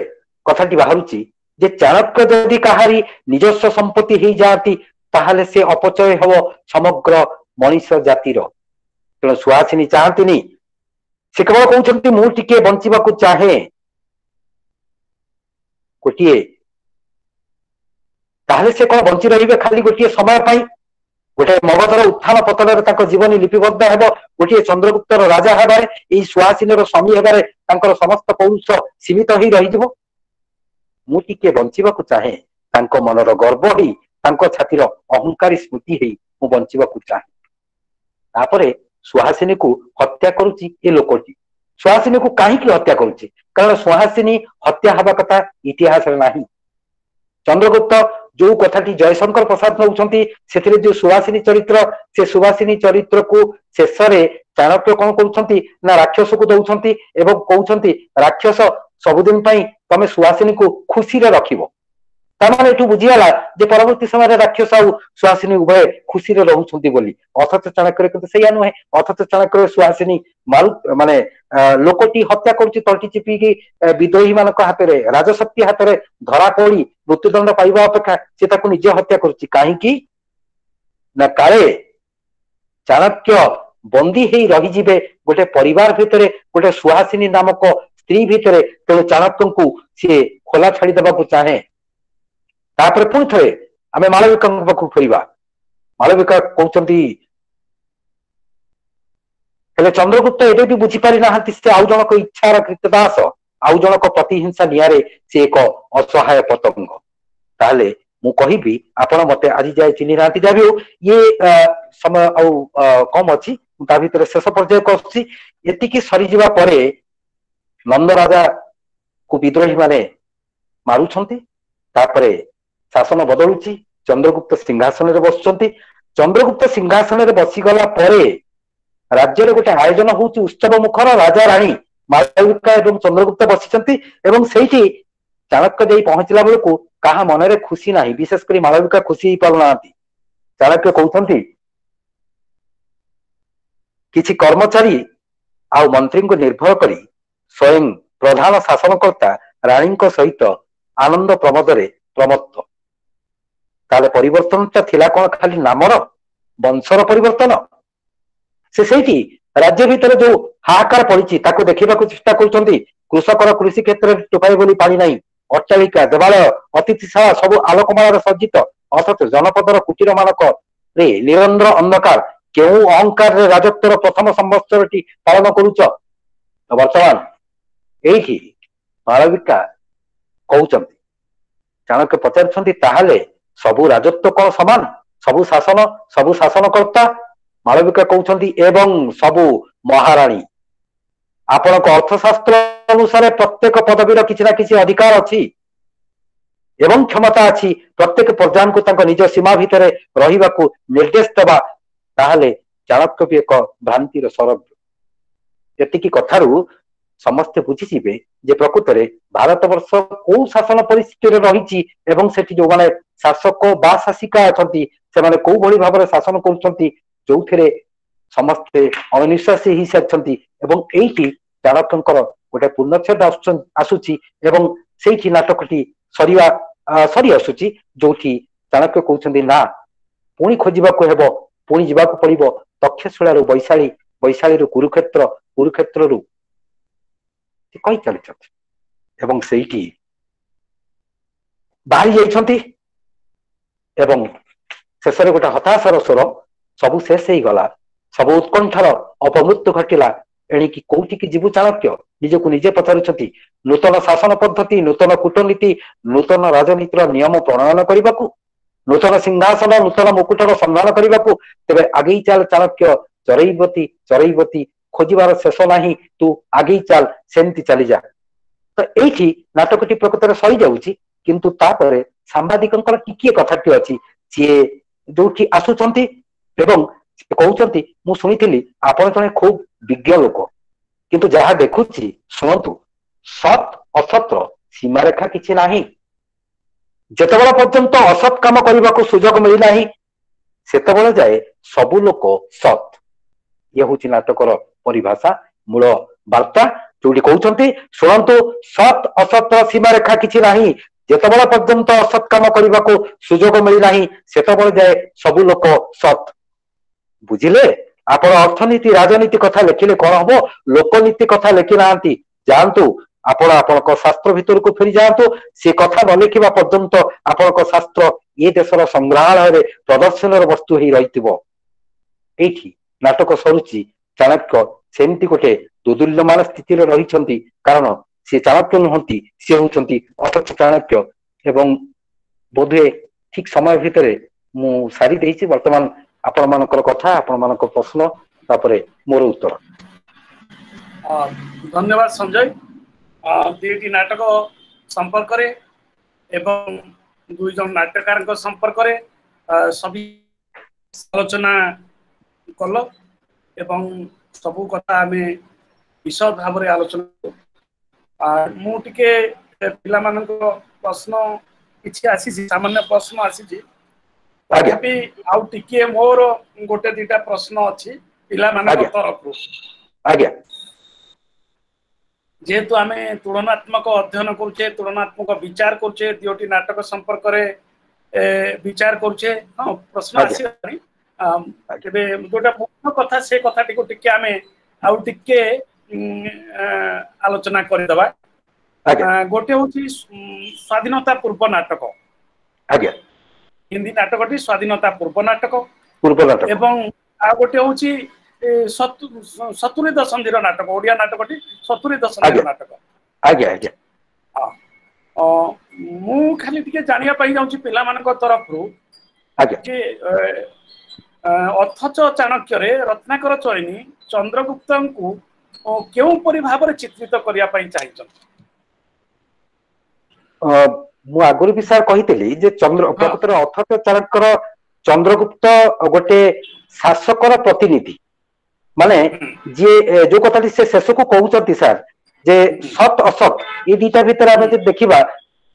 କଥାଟି ବାହାରୁଛି ଯେ ଚାଣକ୍ୟ ଯଦି କାହାରି ନିଜସ୍ୱ ସମ୍ପତ୍ତି ହେଇଯାଆନ୍ତି, ତାହେଲେ ସେ ଅପଚୟ ହେବ ସମଗ୍ର ମଣିଷ ଜାତିର। ତେଣୁ ସୁହାସିନୀ ଚାହାନ୍ତିନି, ସେ କେବଳ କହୁଛନ୍ତି ମୁଁ ଟିକେ ବଞ୍ଚିବାକୁ ଚାହେଁ ଗୋଟିଏ। ତାହେଲେ ସେ କଣ ବଞ୍ଚି ରହିବେ ଖାଲି ଗୋଟିଏ ସମୟ ପାଇଁ? ଗୋଟେ ମଗଧର ଉତ୍ଥାନ ପତନରେ ତାଙ୍କ ଜୀବନୀ ଲିପିବଦ୍ଧ ହେବ, ଗୋଟିଏ ଚନ୍ଦ୍ରଗୁପ୍ତର ରାଜା ହେବାରେ, ଏଇ ସୁହାସିନୀର ସ୍ୱାମୀ ହେବାରେ ତାଙ୍କର ସମସ୍ତ ପୌରୁଷ ସୀମିତ ହେଇ ରହିଯିବ। ମୁଁ ଟିକେ ବଞ୍ଚିବାକୁ ଚାହେଁ, ତାଙ୍କ ମନର ଗର୍ବ ହେଇ, ତାଙ୍କ ଛାତିର ଅହଙ୍କାରୀ ସ୍ମୃତି ହେଇ ମୁଁ ବଞ୍ଚିବାକୁ ଚାହେଁ। ତାପରେ ସୁହାସିନୀକୁ ହତ୍ୟା କରୁଛି ଏ ଲୋକଟି। ସୁହାସିନୀକୁ କାହିଁକି ହତ୍ୟା କରୁଛି? କାରଣ ସୁହାସିନୀ ହତ୍ୟା ହେବା କଥା ଇତିହାସରେ ନାହିଁ। ଚନ୍ଦ୍ରଗୁପ୍ତ ଯୋଉ କଥାଟି ଜୟଶଙ୍କର ପ୍ରସାଦ ନେଉଛନ୍ତି, ସେଥିରେ ଯୋଉ ସୁହାସିନୀ ଚରିତ୍ର, ସେ ସୁହାସିନୀ ଚରିତ୍ରକୁ ଶେଷରେ ଚାଣକ୍ୟ କଣ କରୁଛନ୍ତି ନା ରାକ୍ଷସକୁ ଦଉଛନ୍ତି ଏବଂ କହୁଛନ୍ତି ରାକ୍ଷସ ସବୁଦିନ ପାଇଁ ତମେ ସୁହାସିନୀକୁ ଖୁସିରେ ରଖିବ। ତାମାନେ ଏଠୁ ବୁଝିଗଲା ଯେ ପରବର୍ତ୍ତୀ ସମୟରେ ରାକ୍ଷସ ଆଉ ସୁହାସିନୀ ଉଭୟ ଖୁସିରେ ରହୁଛନ୍ତି ବୋଲି। ଅଥଚ ଚାଣକ୍ୟରେ କିନ୍ତୁ ସେଇଆ ନୁହେଁ। ଅଥଚ ଚାଣକ୍ୟରେ ସୁହାସିନୀ ମାରୁ ମାନେ ଲୋକଟି ହତ୍ୟା କରୁଛି ତଣ୍ଟି ଚିପିକି ବିଦ୍ରୋହୀ ମାନଙ୍କ ହାତରେ, ରାଜଶକ୍ତି ହାତରେ ଧରା ପଡି ମୃତ୍ୟୁଦଣ୍ଡ ପାଇବା ଅପେକ୍ଷା ସେ ତାକୁ ନିଜେ ହତ୍ୟା କରୁଛି। କାହିଁକି ନା କାଳେ ଚାଣକ୍ୟ ବନ୍ଦୀ ହେଇ ରହିଯିବେ ଗୋଟେ ପରିବାର ଭିତରେ, ଗୋଟେ ସୁହାସିନୀ ନାମକ ସ୍ତ୍ରୀ ଭିତରେ। ତେଣୁ ଚାଣକ୍ୟଙ୍କୁ ସିଏ ଖୋଲା ଛାଡିଦେବାକୁ ଚାହେଁ। ତାପରେ ପୁଣି ଥରେ ଆମେ ମାଳବିକାଙ୍କ ପାଖକୁ ଫେରିବା। ମାଳବିକା କହୁଛନ୍ତି, ହେଲେ ଚନ୍ଦ୍ରଗୁପ୍ତ ଏବେ ବି ବୁଝିପାରି ନାହାନ୍ତି ସେ ଆଉ ଜଣକ ଇଚ୍ଛାର କୃତଦାସ, ଆଉ ଜଣକ ପ୍ରତିହିଂସା ନିଆଁରେ ସେ ଏକ ଅସହାୟ ପତଙ୍ଗ। ତାହେଲେ ମୁଁ କହିବି, ଆପଣ ମତେ ଆଜି ଯାଏ ଚିହ୍ନି ନାହାନ୍ତି। ଯାହା ବି ହଉ, ଇଏ ସମୟ ଆଉ କମ ଅଛି, ମୁଁ ତା ଭିତରେ ଶେଷ ପର୍ଯ୍ୟାୟକୁ ଆସୁଛି। ଏତିକି ସରିଯିବା ପରେ ନନ୍ଦରାଜାକୁ ବିଦ୍ରୋହୀ ମାନେ ମାରୁଛନ୍ତି। ତାପରେ ଶାସନ ବଦଳୁଛି, ଚନ୍ଦ୍ରଗୁପ୍ତ ସିଂହାସନରେ ବସୁଛନ୍ତି। ଚନ୍ଦ୍ରଗୁପ୍ତ ସିଂହାସନରେ ବସିଗଲା ପରେ ରାଜ୍ୟରେ ଗୋଟେ ଆୟୋଜନ ହଉଛି ଉତ୍ସବ ମୁଖର, ରାଜା ରାଣୀ ମାଳବିକା ଏବଂ ଚନ୍ଦ୍ରଗୁପ୍ତ ବସିଛନ୍ତି। ଏବଂ ସେଇଠି ଚାଣକ୍ୟ ଯାଇ ପହଞ୍ଚିଲା ବେଳକୁ କାହା ମନରେ ଖୁସି ନାହିଁ, ବିଶେଷ କରି ମାଳବିକା ଖୁସି ହେଇପାରୁନାହାନ୍ତି। ଚାଣକ୍ୟ କହୁଛନ୍ତି କିଛି କର୍ମଚାରୀ ଆଉ ମନ୍ତ୍ରୀଙ୍କୁ ନିର୍ଭର କରି ସ୍ୱୟଂ ପ୍ରଧାନ ଶାସନକର୍ତ୍ତା ରାଣୀଙ୍କ ସହିତ ଆନନ୍ଦ ପ୍ରମୋଦରେ ପ୍ରମତ୍ତ। ତାହେଲେ ପରିବର୍ତ୍ତନଟା ଥିଲା କଣ? ଖାଲି ନାମର ବଂଶର ପରିବର୍ତ୍ତନ। ସେ ସେଇଠି ରାଜ୍ୟ ଭିତରେ ଯୋଉ ହାହାକାର ପଡିଛି ତାକୁ ଦେଖିବାକୁ ଚେଷ୍ଟା କରୁଛନ୍ତି। କୃଷକର କୃଷି କ୍ଷେତ୍ରରେ ଟୋପାଏ ବୋଲି ପାଣି ନାହିଁ, ଅଟ୍ଟାଳିକା, ଦେବାଳୟ, ଅତିଥିଶାଳା ସବୁ ଆଲୋକମାଳାରେ ସଜ୍ଜିତ, ଅଥଚ ଜନପଦର କୁଟୀର ମାନଙ୍କରେ ନିରନ୍ଧ୍ର ଅନ୍ଧକାର। କେଉଁ ଅହଙ୍କାରରେ ରାଜତ୍ୱର ପ୍ରଥମ ସମ୍ବତ୍ସରଟି ପାଳନ କରୁଛ? ବର୍ତ୍ତମାନ ଏଇଠି ମାଳବିକା କହୁଛନ୍ତି, ଚାଣକ୍ୟ ପଚାରୁଛନ୍ତି ତାହେଲେ ସବୁ ରାଜତ୍ୱ କଣ ସମାନ? ସବୁ ଶାସନ, ସବୁ ଶାସନକର୍ତ୍ତା? ମାଳବିକା କହୁଛନ୍ତି ଏବଂ ସବୁ ମହାରାଣୀ। ଆପଣଙ୍କ ଅର୍ଥଶାସ୍ତ୍ର ଅନୁସାରେ ପ୍ରତ୍ୟେକ ପଦବୀର କିଛି ନା କିଛି ଅଧିକାର ଅଛି ଏବଂ କ୍ଷମତା ଅଛି ପ୍ରତ୍ୟେକ ପ୍ରଜାଙ୍କୁ ତାଙ୍କ ନିଜ ସୀମା ଭିତରେ ରହିବାକୁ ନିର୍ଦ୍ଦେଶ ଦେବା। ତାହେଲେ ଚାଣକ୍ୟ ବି ଏକ ଭ୍ରାନ୍ତିର ସରବ୍ୟ। ଏତିକି କଥାରୁ ସମସ୍ତେ ବୁଝିଯିବେ ଯେ ପ୍ରକୃତରେ ଭାରତବର୍ଷ କୋଉ ଶାସନ ପରିସ୍ଥିତିରେ ରହିଛି ଏବଂ ସେଠି ଯୋଉମାନେ ଶାସକ ବା ଶାସିକା ଅଛନ୍ତି ସେମାନେ କୋଉ ଭଳି ଭାବରେ ଶାସନ କରୁଛନ୍ତି, ଯୋଉଥିରେ ସମସ୍ତେ ଅଣନିଶ୍ୱାସୀ ହେଇସାରିଛନ୍ତି। ଏବଂ ଏଇଠି ଚାଣକ୍ୟଙ୍କର ଗୋଟେ ପୂର୍ଣ୍ଣଚ୍ଛେଦ ଆସୁଛି ଏବଂ ସେଇଠି ନାଟକଟି ସରି ଆସୁଛି, ଯୋଉଠି ଚାଣକ୍ୟ କହୁଛନ୍ତି ନା ପୁଣି ଖୋଜିବାକୁ ହେବ, ପୁଣି ଯିବାକୁ ପଡିବ ତକ୍ଷଶିଳାରୁ ବୈଶାଳୀ, ବୈଶାଳୀରୁ କୁରୁକ୍ଷେତ୍ର, କୁରୁକ୍ଷେତ୍ରରୁ ସେ କହି ଚାଲିଛନ୍ତି ଏବଂ ସେଇଠି ବାହାରି ଯାଇଛନ୍ତି। ଏବଂ ଶେଷରେ ଗୋଟେ ହତାଶାର ସ୍ୱର, ସବୁ ଶେଷ ହେଇଗଲା, ସବୁ ଉତ୍କଣ୍ଠାର ଅପମୃତ୍ୟୁ ଘଟିଲା, ଏଣିକି କୋଉଠିକି ଯିବୁ ଚାଣକ୍ୟ? ନିଜକୁ ନିଜେ ପଚାରୁଛନ୍ତି। ନୂତନ ଶାସନ ପଦ୍ଧତି, ନୂତନ କୂଟନୀତି, ନୂତନ ରାଜନୀତିର ନିୟମ ପ୍ରଣୟନ କରିବାକୁ, ନୂତନ ସିଂହାସନ, ନୂତନ ମୁକୁଟର ସନ୍ଧାନ କରିବାକୁ। ତେବେ ଆଗେଇ ଚାଲ ଚାଣକ୍ୟ, ଚରେଇବତୀ ଚରେଇବତୀ, ଖୋଜିବାର ଶେଷ ନାହିଁ, ତୁ ଆଗେଇ ଚାଲ, ସେମିତି ଚାଲିଯା। ତ ଏଇଠି ନାଟକଟି ପ୍ରକୃତରେ ସରିଯାଉଛି। କିନ୍ତୁ ତାପରେ ସାମ୍ବାଦିକଙ୍କର ଟିକିଏ କଥାଟି ଅଛି, ସିଏ ଯୋଉଠି ଆସୁଛନ୍ତି ଏବଂ କହୁଛନ୍ତି ମୁଁ ଶୁଣିଥିଲି ଆପଣ ଜଣେ ଖୁବ ବିଜ୍ଞ ଲୋକ, କିନ୍ତୁ ଯାହା ଦେଖୁଛି ଶୁଣନ୍ତୁ, ସତ୍ ଅସତର ସୀମାରେଖା କିଛି ନାହିଁ। ଯେତେବେଳେ ପର୍ଯ୍ୟନ୍ତ ଅସତ୍ କାମ କରିବାକୁ ସୁଯୋଗ ମିଳିନାହିଁ ସେତେବେଳେ ଯାଏ ସବୁ ଲୋକ ସତ୍। ଇଏ ହଉଛି ନାଟକର ପରିଭାଷା, ମୂଳ ବାର୍ତ୍ତା, ଯୋଉଠି କହୁଛନ୍ତି ଶୁଣନ୍ତୁ ସତ୍ ଅସତର ସୀମାରେଖା କିଛି ନାହିଁ, ଯେତେବେଳେ ପର୍ଯ୍ୟନ୍ତ ଅସତ୍ କାମ କରିବାକୁ ସୁଯୋଗ ମିଳିନାହିଁ ସେତେବେଳେ ଯାଏ ସବୁ ଲୋକ ସତ୍। ବୁଝିଲେ? ଆପଣ ଅର୍ଥନୀତି ରାଜନୀତି କଥା ଲେଖିଲେ କଣ ହବ, ଲୋକନୀତି କଥା ଲେଖି ନାହାନ୍ତି। ଯାଆନ୍ତୁ ଆପଣ ଆପଣଙ୍କ ଶାସ୍ତ୍ର ଭିତରକୁ ଫେରି ଯାଆନ୍ତୁ। ସେ କଥା ନ ଲେଖିବା ପର୍ଯ୍ୟନ୍ତ ଆପଣଙ୍କ ଶାସ୍ତ୍ର ଏ ଦେଶର ସଂଗ୍ରହାଳୟରେ ପ୍ରଦର୍ଶନର ବସ୍ତୁ ହେଇ ରହିଥିବ। ଏଇଠି ନାଟକ ସରୁଛି। ଚାଣକ୍ୟ ସେମିତି ଗୋଟେ ଦୋଦୁଲ୍ୟମାନ ସ୍ଥିତିରେ ରହିଛନ୍ତି, କାରଣ ସେ ଚାଣକ୍ୟ ନୁହନ୍ତି, ସିଏ ହଉଛନ୍ତି ଅଥଚ ଚାଣକ୍ୟ। ଏବଂ ବୋଧହୁଏ ଠିକ ସମୟ ଭିତରେ ମୁଁ ସାରି ଦେଇଛି। ବର୍ତ୍ତମାନ ଆପଣ ମାନଙ୍କର କଥା, ଆପଣ ମାନଙ୍କ ପ୍ରଶ୍ନ, ତାପରେ ମୋର ଉତ୍ତର। ଧନ୍ୟବାଦ ସଞ୍ଜୟ। ଦୁଇଟି ନାଟକ ସମ୍ପର୍କରେ ଏବଂ ଦୁଇ ଜଣ ନାଟ୍ୟକାରଙ୍କ ସମ୍ପର୍କରେ ସବି ଆଲୋଚନା କଲ ଏବଂ ସବୁ କଥା ଆମେ ବିଶଦ ଭାବରେ ଆଲୋଚନା। ମୁଁ ଟିକେ ପିଲାମାନଙ୍କ ପ୍ରଶ୍ନ କିଛି ଆସିଛି, ସାମାନ୍ୟ ପ୍ରଶ୍ନ ଆସିଛି, ତଥାପି ଆଉ ଟିକିଏ ମୋର ଗୋଟେ ଦିଟା ପ୍ରଶ୍ନ ଅଛି ପିଲାମାନଙ୍କ ତରଫରୁ। ଆଜ୍ଞା। ଯେହେତୁ ଆମେ ତୁଳନାତ୍ମକ ଅଧ୍ୟୟନ କରୁଛେ, ତୁଳନାତ୍ମକ ବିଚାର କରୁଛେ, ଦୁଇଟି ନାଟକ ସମ୍ପର୍କରେ ବିଚାର କରୁଛେ, ହଁ ପ୍ରଶ୍ନ ଆସିଲାଣି। ତେବେ ଯୋଉଟା ମୁଖ୍ୟ କଥା, ସେ କଥାଟିକୁ ଟିକେ ଆମେ ଆଉ ଟିକେ ଆଲୋଚନା କରିଦେବା। ଗୋଟେ ହଉଛି ସ୍ୱାଧୀନତା ପୂର୍ବ ନାଟକ। ଆଜ୍ଞା। ହିନ୍ଦୀ ନାଟକଟି ସ୍ୱାଧୀନତା ପୂର୍ବ ନାଟକ, ପୂର୍ବ ନାଟକ, ଏବଂ ଆଉ ଗୋଟେ ହଉଛି 70 ଦଶନ୍ଧିର ନାଟକ। ଓଡିଆ ନାଟକଟି 70 ଦଶନ୍ଧିର ନାଟକ। ଆଜ୍ଞା ଆଜ୍ଞା। ହଁ, ମୁଁ ଖାଲି ଟିକେ ଜାଣିବା ପାଇଁ ଚାହୁଁଛି ପିଲାମାନଙ୍କ ତରଫରୁ ଯେ ଅଥଚ ଚାଣକ୍ୟରେ ରତ୍ନାକର ଚୟନୀ ଚନ୍ଦ୍ରଗୁପ୍ତଙ୍କୁ କେଉଁପରି ଭାବରେ ଚିତ୍ରିତ କରିବା ପାଇଁ ଚାହିଁଛନ୍ତି? ମୁଁ ଆଗରୁ ବି ସାର୍ କହିଥିଲି ଯେ ଚନ୍ଦ୍ର ପ୍ରକୃତରେ ଅଥଚ ଚାଣକ୍ୟର ଚନ୍ଦ୍ରଗୁପ୍ତ ଗୋଟେ ଶାସକର ପ୍ରତିନିଧି। ମାନେ ଯିଏ ଯୋଉ କଥାଟି ସେ ଶେଷକୁ କହୁଛନ୍ତି ସାର୍, ଯେ ସତ୍ ଅସତ୍ ଏ ଦିଟା ଭିତରେ ଆମେ ଯଦି ଦେଖିବା,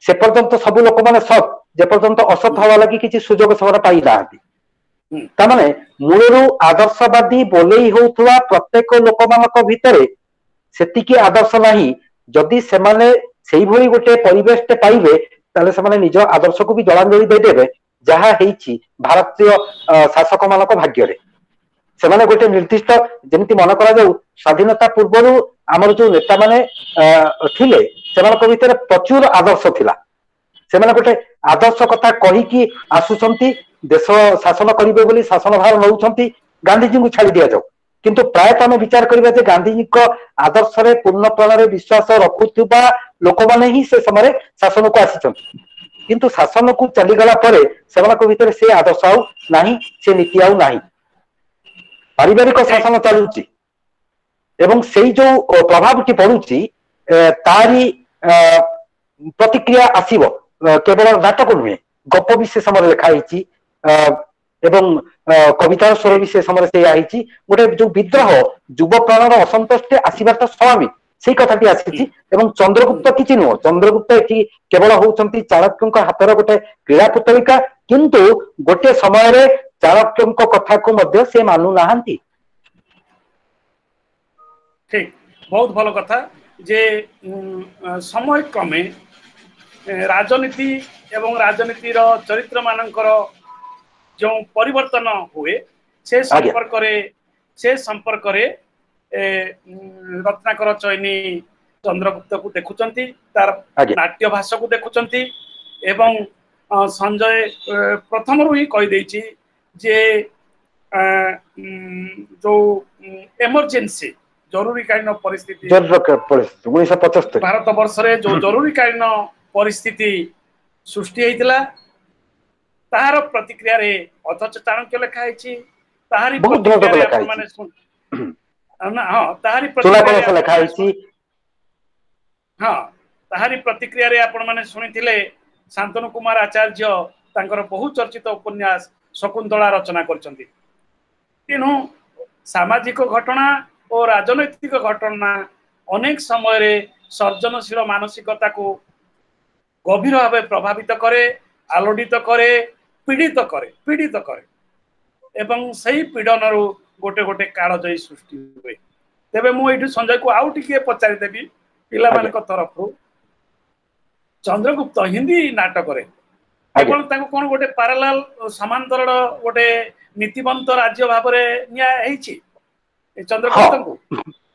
ସେ ପର୍ଯ୍ୟନ୍ତ ସବୁ ଲୋକମାନେ ସତ୍, ଯେପର୍ଯ୍ୟନ୍ତ ଅସତ୍ ହବା ଲାଗି କିଛି ସୁଯୋଗ ସେମାନେ ପାଇନାହାନ୍ତି। ତାମାନେ ମୂଳରୁ ଆଦର୍ଶବାଦୀ ବୋଲେଇ ହଉଥିବା ପ୍ରତ୍ୟେକ ଲୋକମାନଙ୍କ ଭିତରେ ସେତିକି ଆଦର୍ଶ ନାହିଁ। ଯଦି ସେମାନେ ସେଇଭଳି ଗୋଟେ ପରିବେଶଟେ ପାଇବେ, ତାହେଲେ ସେମାନେ ନିଜ ଆଦର୍ଶକୁ ବି ଜଳାଞ୍ଜଳି ଦେଇଦେବେ, ଯାହା ହେଇଛି ଭାରତୀୟ ଶାସକ ମାନଙ୍କ ଭାଗ୍ୟରେ। ସେମାନେ ଗୋଟେ ନିର୍ଦ୍ଦିଷ୍ଟ, ଯେମିତି ମନେ କରାଯାଉ ସ୍ୱାଧୀନତା ପୂର୍ବରୁ ଆମର ଯୋଉ ନେତାମାନେ ଥିଲେ, ସେମାନଙ୍କ ଭିତରେ ପ୍ରଚୁର ଆଦର୍ଶ ଥିଲା। ସେମାନେ ଗୋଟେ ଆଦର୍ଶ କଥା କହିକି ଆସୁଛନ୍ତି, ଦେଶ ଶାସନ କରିବେ ବୋଲି ଶାସନ ଭାର ନଉଛନ୍ତି। ଗାନ୍ଧିଜୀଙ୍କୁ ଛାଡି ଦିଆଯାଉ, କିନ୍ତୁ ପ୍ରାୟତଃ ଆମେ ବିଚାର କରିବା ଯେ ଗାନ୍ଧିଜୀଙ୍କ ଆଦର୍ଶରେ ପୂର୍ଣ୍ଣ ପ୍ରାଣରେ ବିଶ୍ୱାସ ରଖୁଥିବା ଲୋକମାନେ ହିଁ ସେ ସମୟରେ ଶାସନକୁ ଆସିଛନ୍ତି। କିନ୍ତୁ ଶାସନକୁ ଚାଲିଗଲା ପରେ ସେମାନଙ୍କ ଭିତରେ ସେ ଆଦର୍ଶ ଆଉ ନାହିଁ, ସେ ନୀତି ଆଉ ନାହିଁ। ପାରିବାରିକ ଶାସନ ଚାଲୁଛି ଏବଂ ସେଇ ଯୋଉ ପ୍ରଭାବଟି ପଡୁଛି, ତାରି ପ୍ରତିକ୍ରିୟା ଆସିବ। କେବଳ ନାଟକ ନୁହେଁ, ଗପ ବି ସେ ସମୟରେ ଲେଖା ହେଇଛି ଏବଂ କବିତାର ସ୍ୱର ବି ସେ ସମୟରେ ସେଇଆ ହେଇଛି। ଗୋଟେ ଯୋଉ ବିଦ୍ରୋହ, ଯୁବ ପ୍ରାଣର ଅସନ୍ତୋଷଟି ଆସିବାଟା ସ୍ୱାଭାବିକ, ସେଇ କଥାଟି ଆସିଛି। ଏବଂ ଚନ୍ଦ୍ରଗୁପ୍ତ କିଛି ନୁହଁ, ଚନ୍ଦ୍ରଗୁପ୍ତ ଏଠି କେବଳ ହଉଛନ୍ତି ଚାଣକ୍ୟଙ୍କ ହାତର ଗୋଟେ କ୍ରୀଡ଼ା ପୁତଳିକା। କିନ୍ତୁ ଗୋଟେ ସମୟରେ ଚାଣକ୍ୟଙ୍କ କଥାକୁ ମଧ୍ୟ ସେ ମାନୁନାହାନ୍ତି। ଠିକ, ବହୁତ ଭଲ କଥା ଯେ ସମୟ କ୍ରମେ ରାଜନୀତି ଏବଂ ରାଜନୀତିର ଚରିତ୍ର ମାନଙ୍କର ଯେଉଁ ପରିବର୍ତ୍ତନ ହୁଏ, ସେ ସମ୍ପର୍କରେ ରତ୍ନାକର ଚୟନୀ ଚନ୍ଦ୍ରଗୁପ୍ତକୁ ଦେଖୁଛନ୍ତି, ତାର ନାଟ୍ୟ ଭାଷାକୁ ଦେଖୁଛନ୍ତି। ଏବଂ ସଞ୍ଜୟ ପ୍ରଥମରୁ ହିଁ କହିଦେଇଛି ଯେ ଯୋଉ ଏମର୍ଜେନ୍ସି, ଜରୁରୀକାଳୀନ ପରିସ୍ଥିତି, 1975 ଭାରତ ବର୍ଷରେ ଯୋଉ ଜରୁରୀକାଳୀନ ପରିସ୍ଥିତି ସୃଷ୍ଟି ହେଇଥିଲା, ତାହାର ପ୍ରତିକ୍ରିୟାରେ ଅଥଚ ଚାଣକ୍ୟ ଲେଖା ହେଇଛି। ତାହାରି ପ୍ରତିକ୍ରିୟାରେ ଆପଣମାନେ, ହଁ, ତାହାରି ପ୍ରତିକ୍ରିୟାରେ ଲେଖା ହେଇଛି। ହଁ, ତାହାରି ପ୍ରତିକ୍ରିୟାରେ ଆପଣମାନେ ଶୁଣିଥିଲେ ଶାନ୍ତନୁ କୁମାର ଆଚାର୍ଯ୍ୟ ତାଙ୍କର ବହୁ ଚର୍ଚ୍ଚିତ ଉପନ୍ୟାସ ଶକୁନ୍ତଳା ରଚନା କରିଛନ୍ତି। ତେଣୁ ସାମାଜିକ ଘଟଣା ଓ ରାଜନୈତିକ ଘଟଣା ଅନେକ ସମୟରେ ସର୍ଜନଶୀଳ ମାନସିକତାକୁ ଗଭୀର ଭାବେ ପ୍ରଭାବିତ କରେ, ଆଲୋଡ଼ିତ କରେ, ପୀଡ଼ିତ କରେ ଏବଂ ସେଇ ପୀଡ଼ନରୁ ଗୋଟେ ଗୋଟେ କାଳଜୟୀ ସୃଷ୍ଟି ହୁଏ। ତେବେ ମୁଁ ଏଇଠୁ ସଞ୍ଜୟକୁ ଆଉ ଟିକିଏ ପଚାରିଦେବି ପିଲାମାନଙ୍କ ତରଫରୁ, ଚନ୍ଦ୍ରଗୁପ୍ତ ହିନ୍ଦୀ ନାଟକରେ କେବଳ ତାକୁ କଣ ଗୋଟେ ପାରାଲାଲ, ସମାନ୍ତରାଳ ଗୋଟେ ନୀତିବନ୍ତ ରାଜ୍ୟ ଭାବରେ ନିଆ ହେଇଛି ଚନ୍ଦ୍ରଗୁପ୍ତଙ୍କୁ?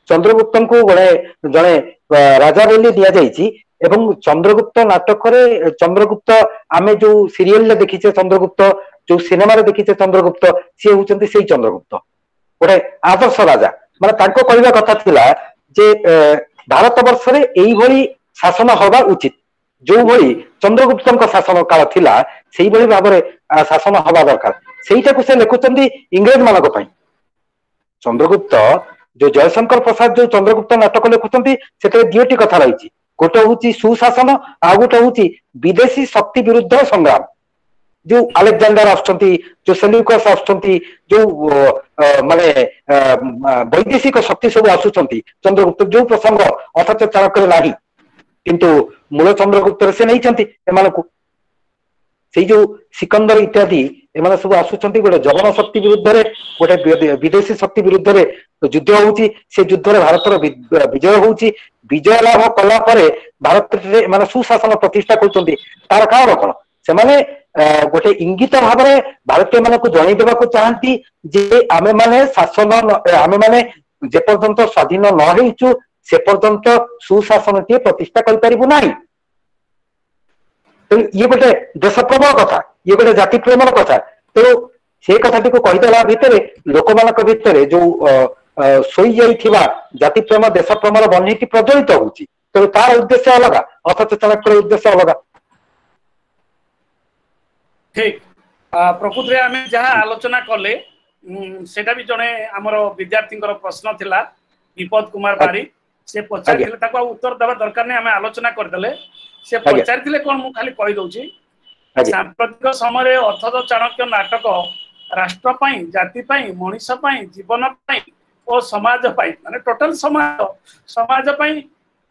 ଚନ୍ଦ୍ରଗୁପ୍ତଙ୍କୁ ଗୋଟେ ଜଣେ ରାଜା ବୋଲି ଦିଆଯାଇଛି। ଏବଂ ଚନ୍ଦ୍ରଗୁପ୍ତ ନାଟକରେ ଚନ୍ଦ୍ରଗୁପ୍ତ, ଆମେ ଯୋଉ ସିରିଏଲରେ ଦେଖିଛେ ଚନ୍ଦ୍ରଗୁପ୍ତ, ଯୋଉ ସିନେମାରେ ଦେଖିଛେ ଚନ୍ଦ୍ରଗୁପ୍ତ, ସିଏ ହଉଛନ୍ତି ସେଇ ଚନ୍ଦ୍ରଗୁପ୍ତ, ଗୋଟେ ଆଦର୍ଶ ରାଜା। ମାନେ ତାଙ୍କ କହିବା କଥା ଥିଲା ଯେ ଭାରତ ବର୍ଷରେ ଏଇଭଳି ଶାସନ ହବା ଉଚିତ, ଯୋଉଭଳି ଚନ୍ଦ୍ରଗୁପ୍ତଙ୍କ ଶାସନ କାଳ ଥିଲା ସେଇଭଳି ଭାବରେ ଶାସନ ହବା ଦରକାର। ସେଇଟାକୁ ସେ ଲେଖୁଛନ୍ତି ଇଂରେଜ ମାନଙ୍କ ପାଇଁ। ଚନ୍ଦ୍ରଗୁପ୍ତ ଯୋଉ ଜୟଶଙ୍କର ପ୍ରସାଦ ଯୋଉ ଚନ୍ଦ୍ରଗୁପ୍ତ ନାଟକ ଲେଖୁଛନ୍ତି, ସେଥିରେ 2ଟି କଥା ରହିଛି। ଗୋଟେ ହଉଛି ସୁଶାସନ, ଆଉ ଗୋଟେ ହଉଛି ବିଦେଶୀ ଶକ୍ତି ବିରୁଦ୍ଧ ସଂଗ୍ରାମ। ଯୋଉ ଆଲେକ୍ଜାଣ୍ଡାର ଆସୁଛନ୍ତି, ଯୋଉ ସେଲ୍ୟୁକସ୍ ଆସୁଛନ୍ତି, ଯୋଉ ମାନେ ବୈଦେଶିକ ଶକ୍ତି ସବୁ ଆସୁଛନ୍ତି, ଚନ୍ଦ୍ରଗୁପ୍ତ ଯୋଉ ପ୍ରସଙ୍ଗ ଅଥଚ ଚାଣକ୍ୟରେ ନାହିଁ, କିନ୍ତୁ ମୂଳ ଚନ୍ଦ୍ରଗୁପ୍ତରେ ସେ ନେଇଛନ୍ତି ଏମାନଙ୍କୁ। ସେଇ ଯୋଉ ସିକନ୍ଦର ଇତ୍ୟାଦି ଏମାନେ ସବୁ ଆସୁଛନ୍ତି, ଗୋଟେ ଜବନ ଶକ୍ତି ବିରୁଦ୍ଧରେ, ଗୋଟେ ବିଦେଶୀ ଶକ୍ତି ବିରୁଦ୍ଧରେ ଯୁଦ୍ଧ ହଉଛି। ସେ ଯୁଦ୍ଧରେ ଭାରତର ବିଜୟ ହଉଛି। ବିଜୟ ଲାଭ କଲା ପରେ ଭାରତରେ ଏମାନେ ସୁଶାସନ ପ୍ରତିଷ୍ଠା କରୁଛନ୍ତି। ତାର କାରଣ କଣ? ସେମାନେ ଗୋଟେ ଇଙ୍ଗିତ ଭାବରେ ଭାରତୀୟ ମାନଙ୍କୁ ଜଣେଇ ଦେବାକୁ ଚାହାନ୍ତି ଯେ ଆମେମାନେ ଶାସନ, ଆମେମାନେ ଯେପର୍ଯ୍ୟନ୍ତ ସ୍ୱାଧୀନ ନ ହେଇଛୁ ସେ ପର୍ଯ୍ୟନ୍ତ ସୁଶାସନଟିଏ ପ୍ରତିଷ୍ଠା କରିପାରିବୁ ନାହିଁ। ତେଣୁ ଇଏ ଗୋଟେ ଦେଶ ପ୍ରେମର କଥା, ଇଏ ଗୋଟେ ଜାତି ପ୍ରେମର କଥା। ତେଣୁ ସେ କଥାଟିକୁ କହିଦେଲା ଭିତରେ ଲୋକମାନଙ୍କ ଭିତରେ ଯୋଉ ଶୋଇଯାଇଥିବା ଜାତି ପ୍ରେମ, ଦେଶ ପ୍ରେମର ବହ୍ନିଟି ପ୍ରଜ୍ୱଳିତ ହଉଛି। ତେଣୁ ତାର ଉଦ୍ଦେଶ୍ୟ ଅଲଗା, ଅଥଚ ଚାଣକ୍ୟର ଉଦ୍ଦେଶ୍ୟ ଅଲଗା। ଠିକ। ପ୍ରକୃତରେ ଆମେ ଯାହା ଆଲୋଚନା କଲେ ସେଇଟା ବି ଜଣେ ଆମର ବିଦ୍ୟାର୍ଥୀଙ୍କର ପ୍ରଶ୍ନ ଥିଲା, ବିପଦ କୁମାର ବାରିକ, ସେ ପଚାରିଥିଲେ, ତାକୁ ଆଉ ଉତ୍ତର ଦେବା ଦରକାର ନାହିଁ, ଆମେ ଆଲୋଚନା କରିଦେଲେ। ସେ ପଚାରିଥିଲେ କଣ, ମୁଁ ଖାଲି କହିଦଉଛି। ସାମ୍ପ୍ରତିକ ସମୟରେ ଅଥଚ ଚାଣକ୍ୟ ନାଟକ ରାଷ୍ଟ୍ର ପାଇଁ, ଜାତି ପାଇଁ, ମଣିଷ ପାଇଁ, ଜୀବନ ପାଇଁ ଓ ସମାଜ ପାଇଁ, ମାନେ ଟୋଟାଲ ସମାଜ, ସମାଜ ପାଇଁ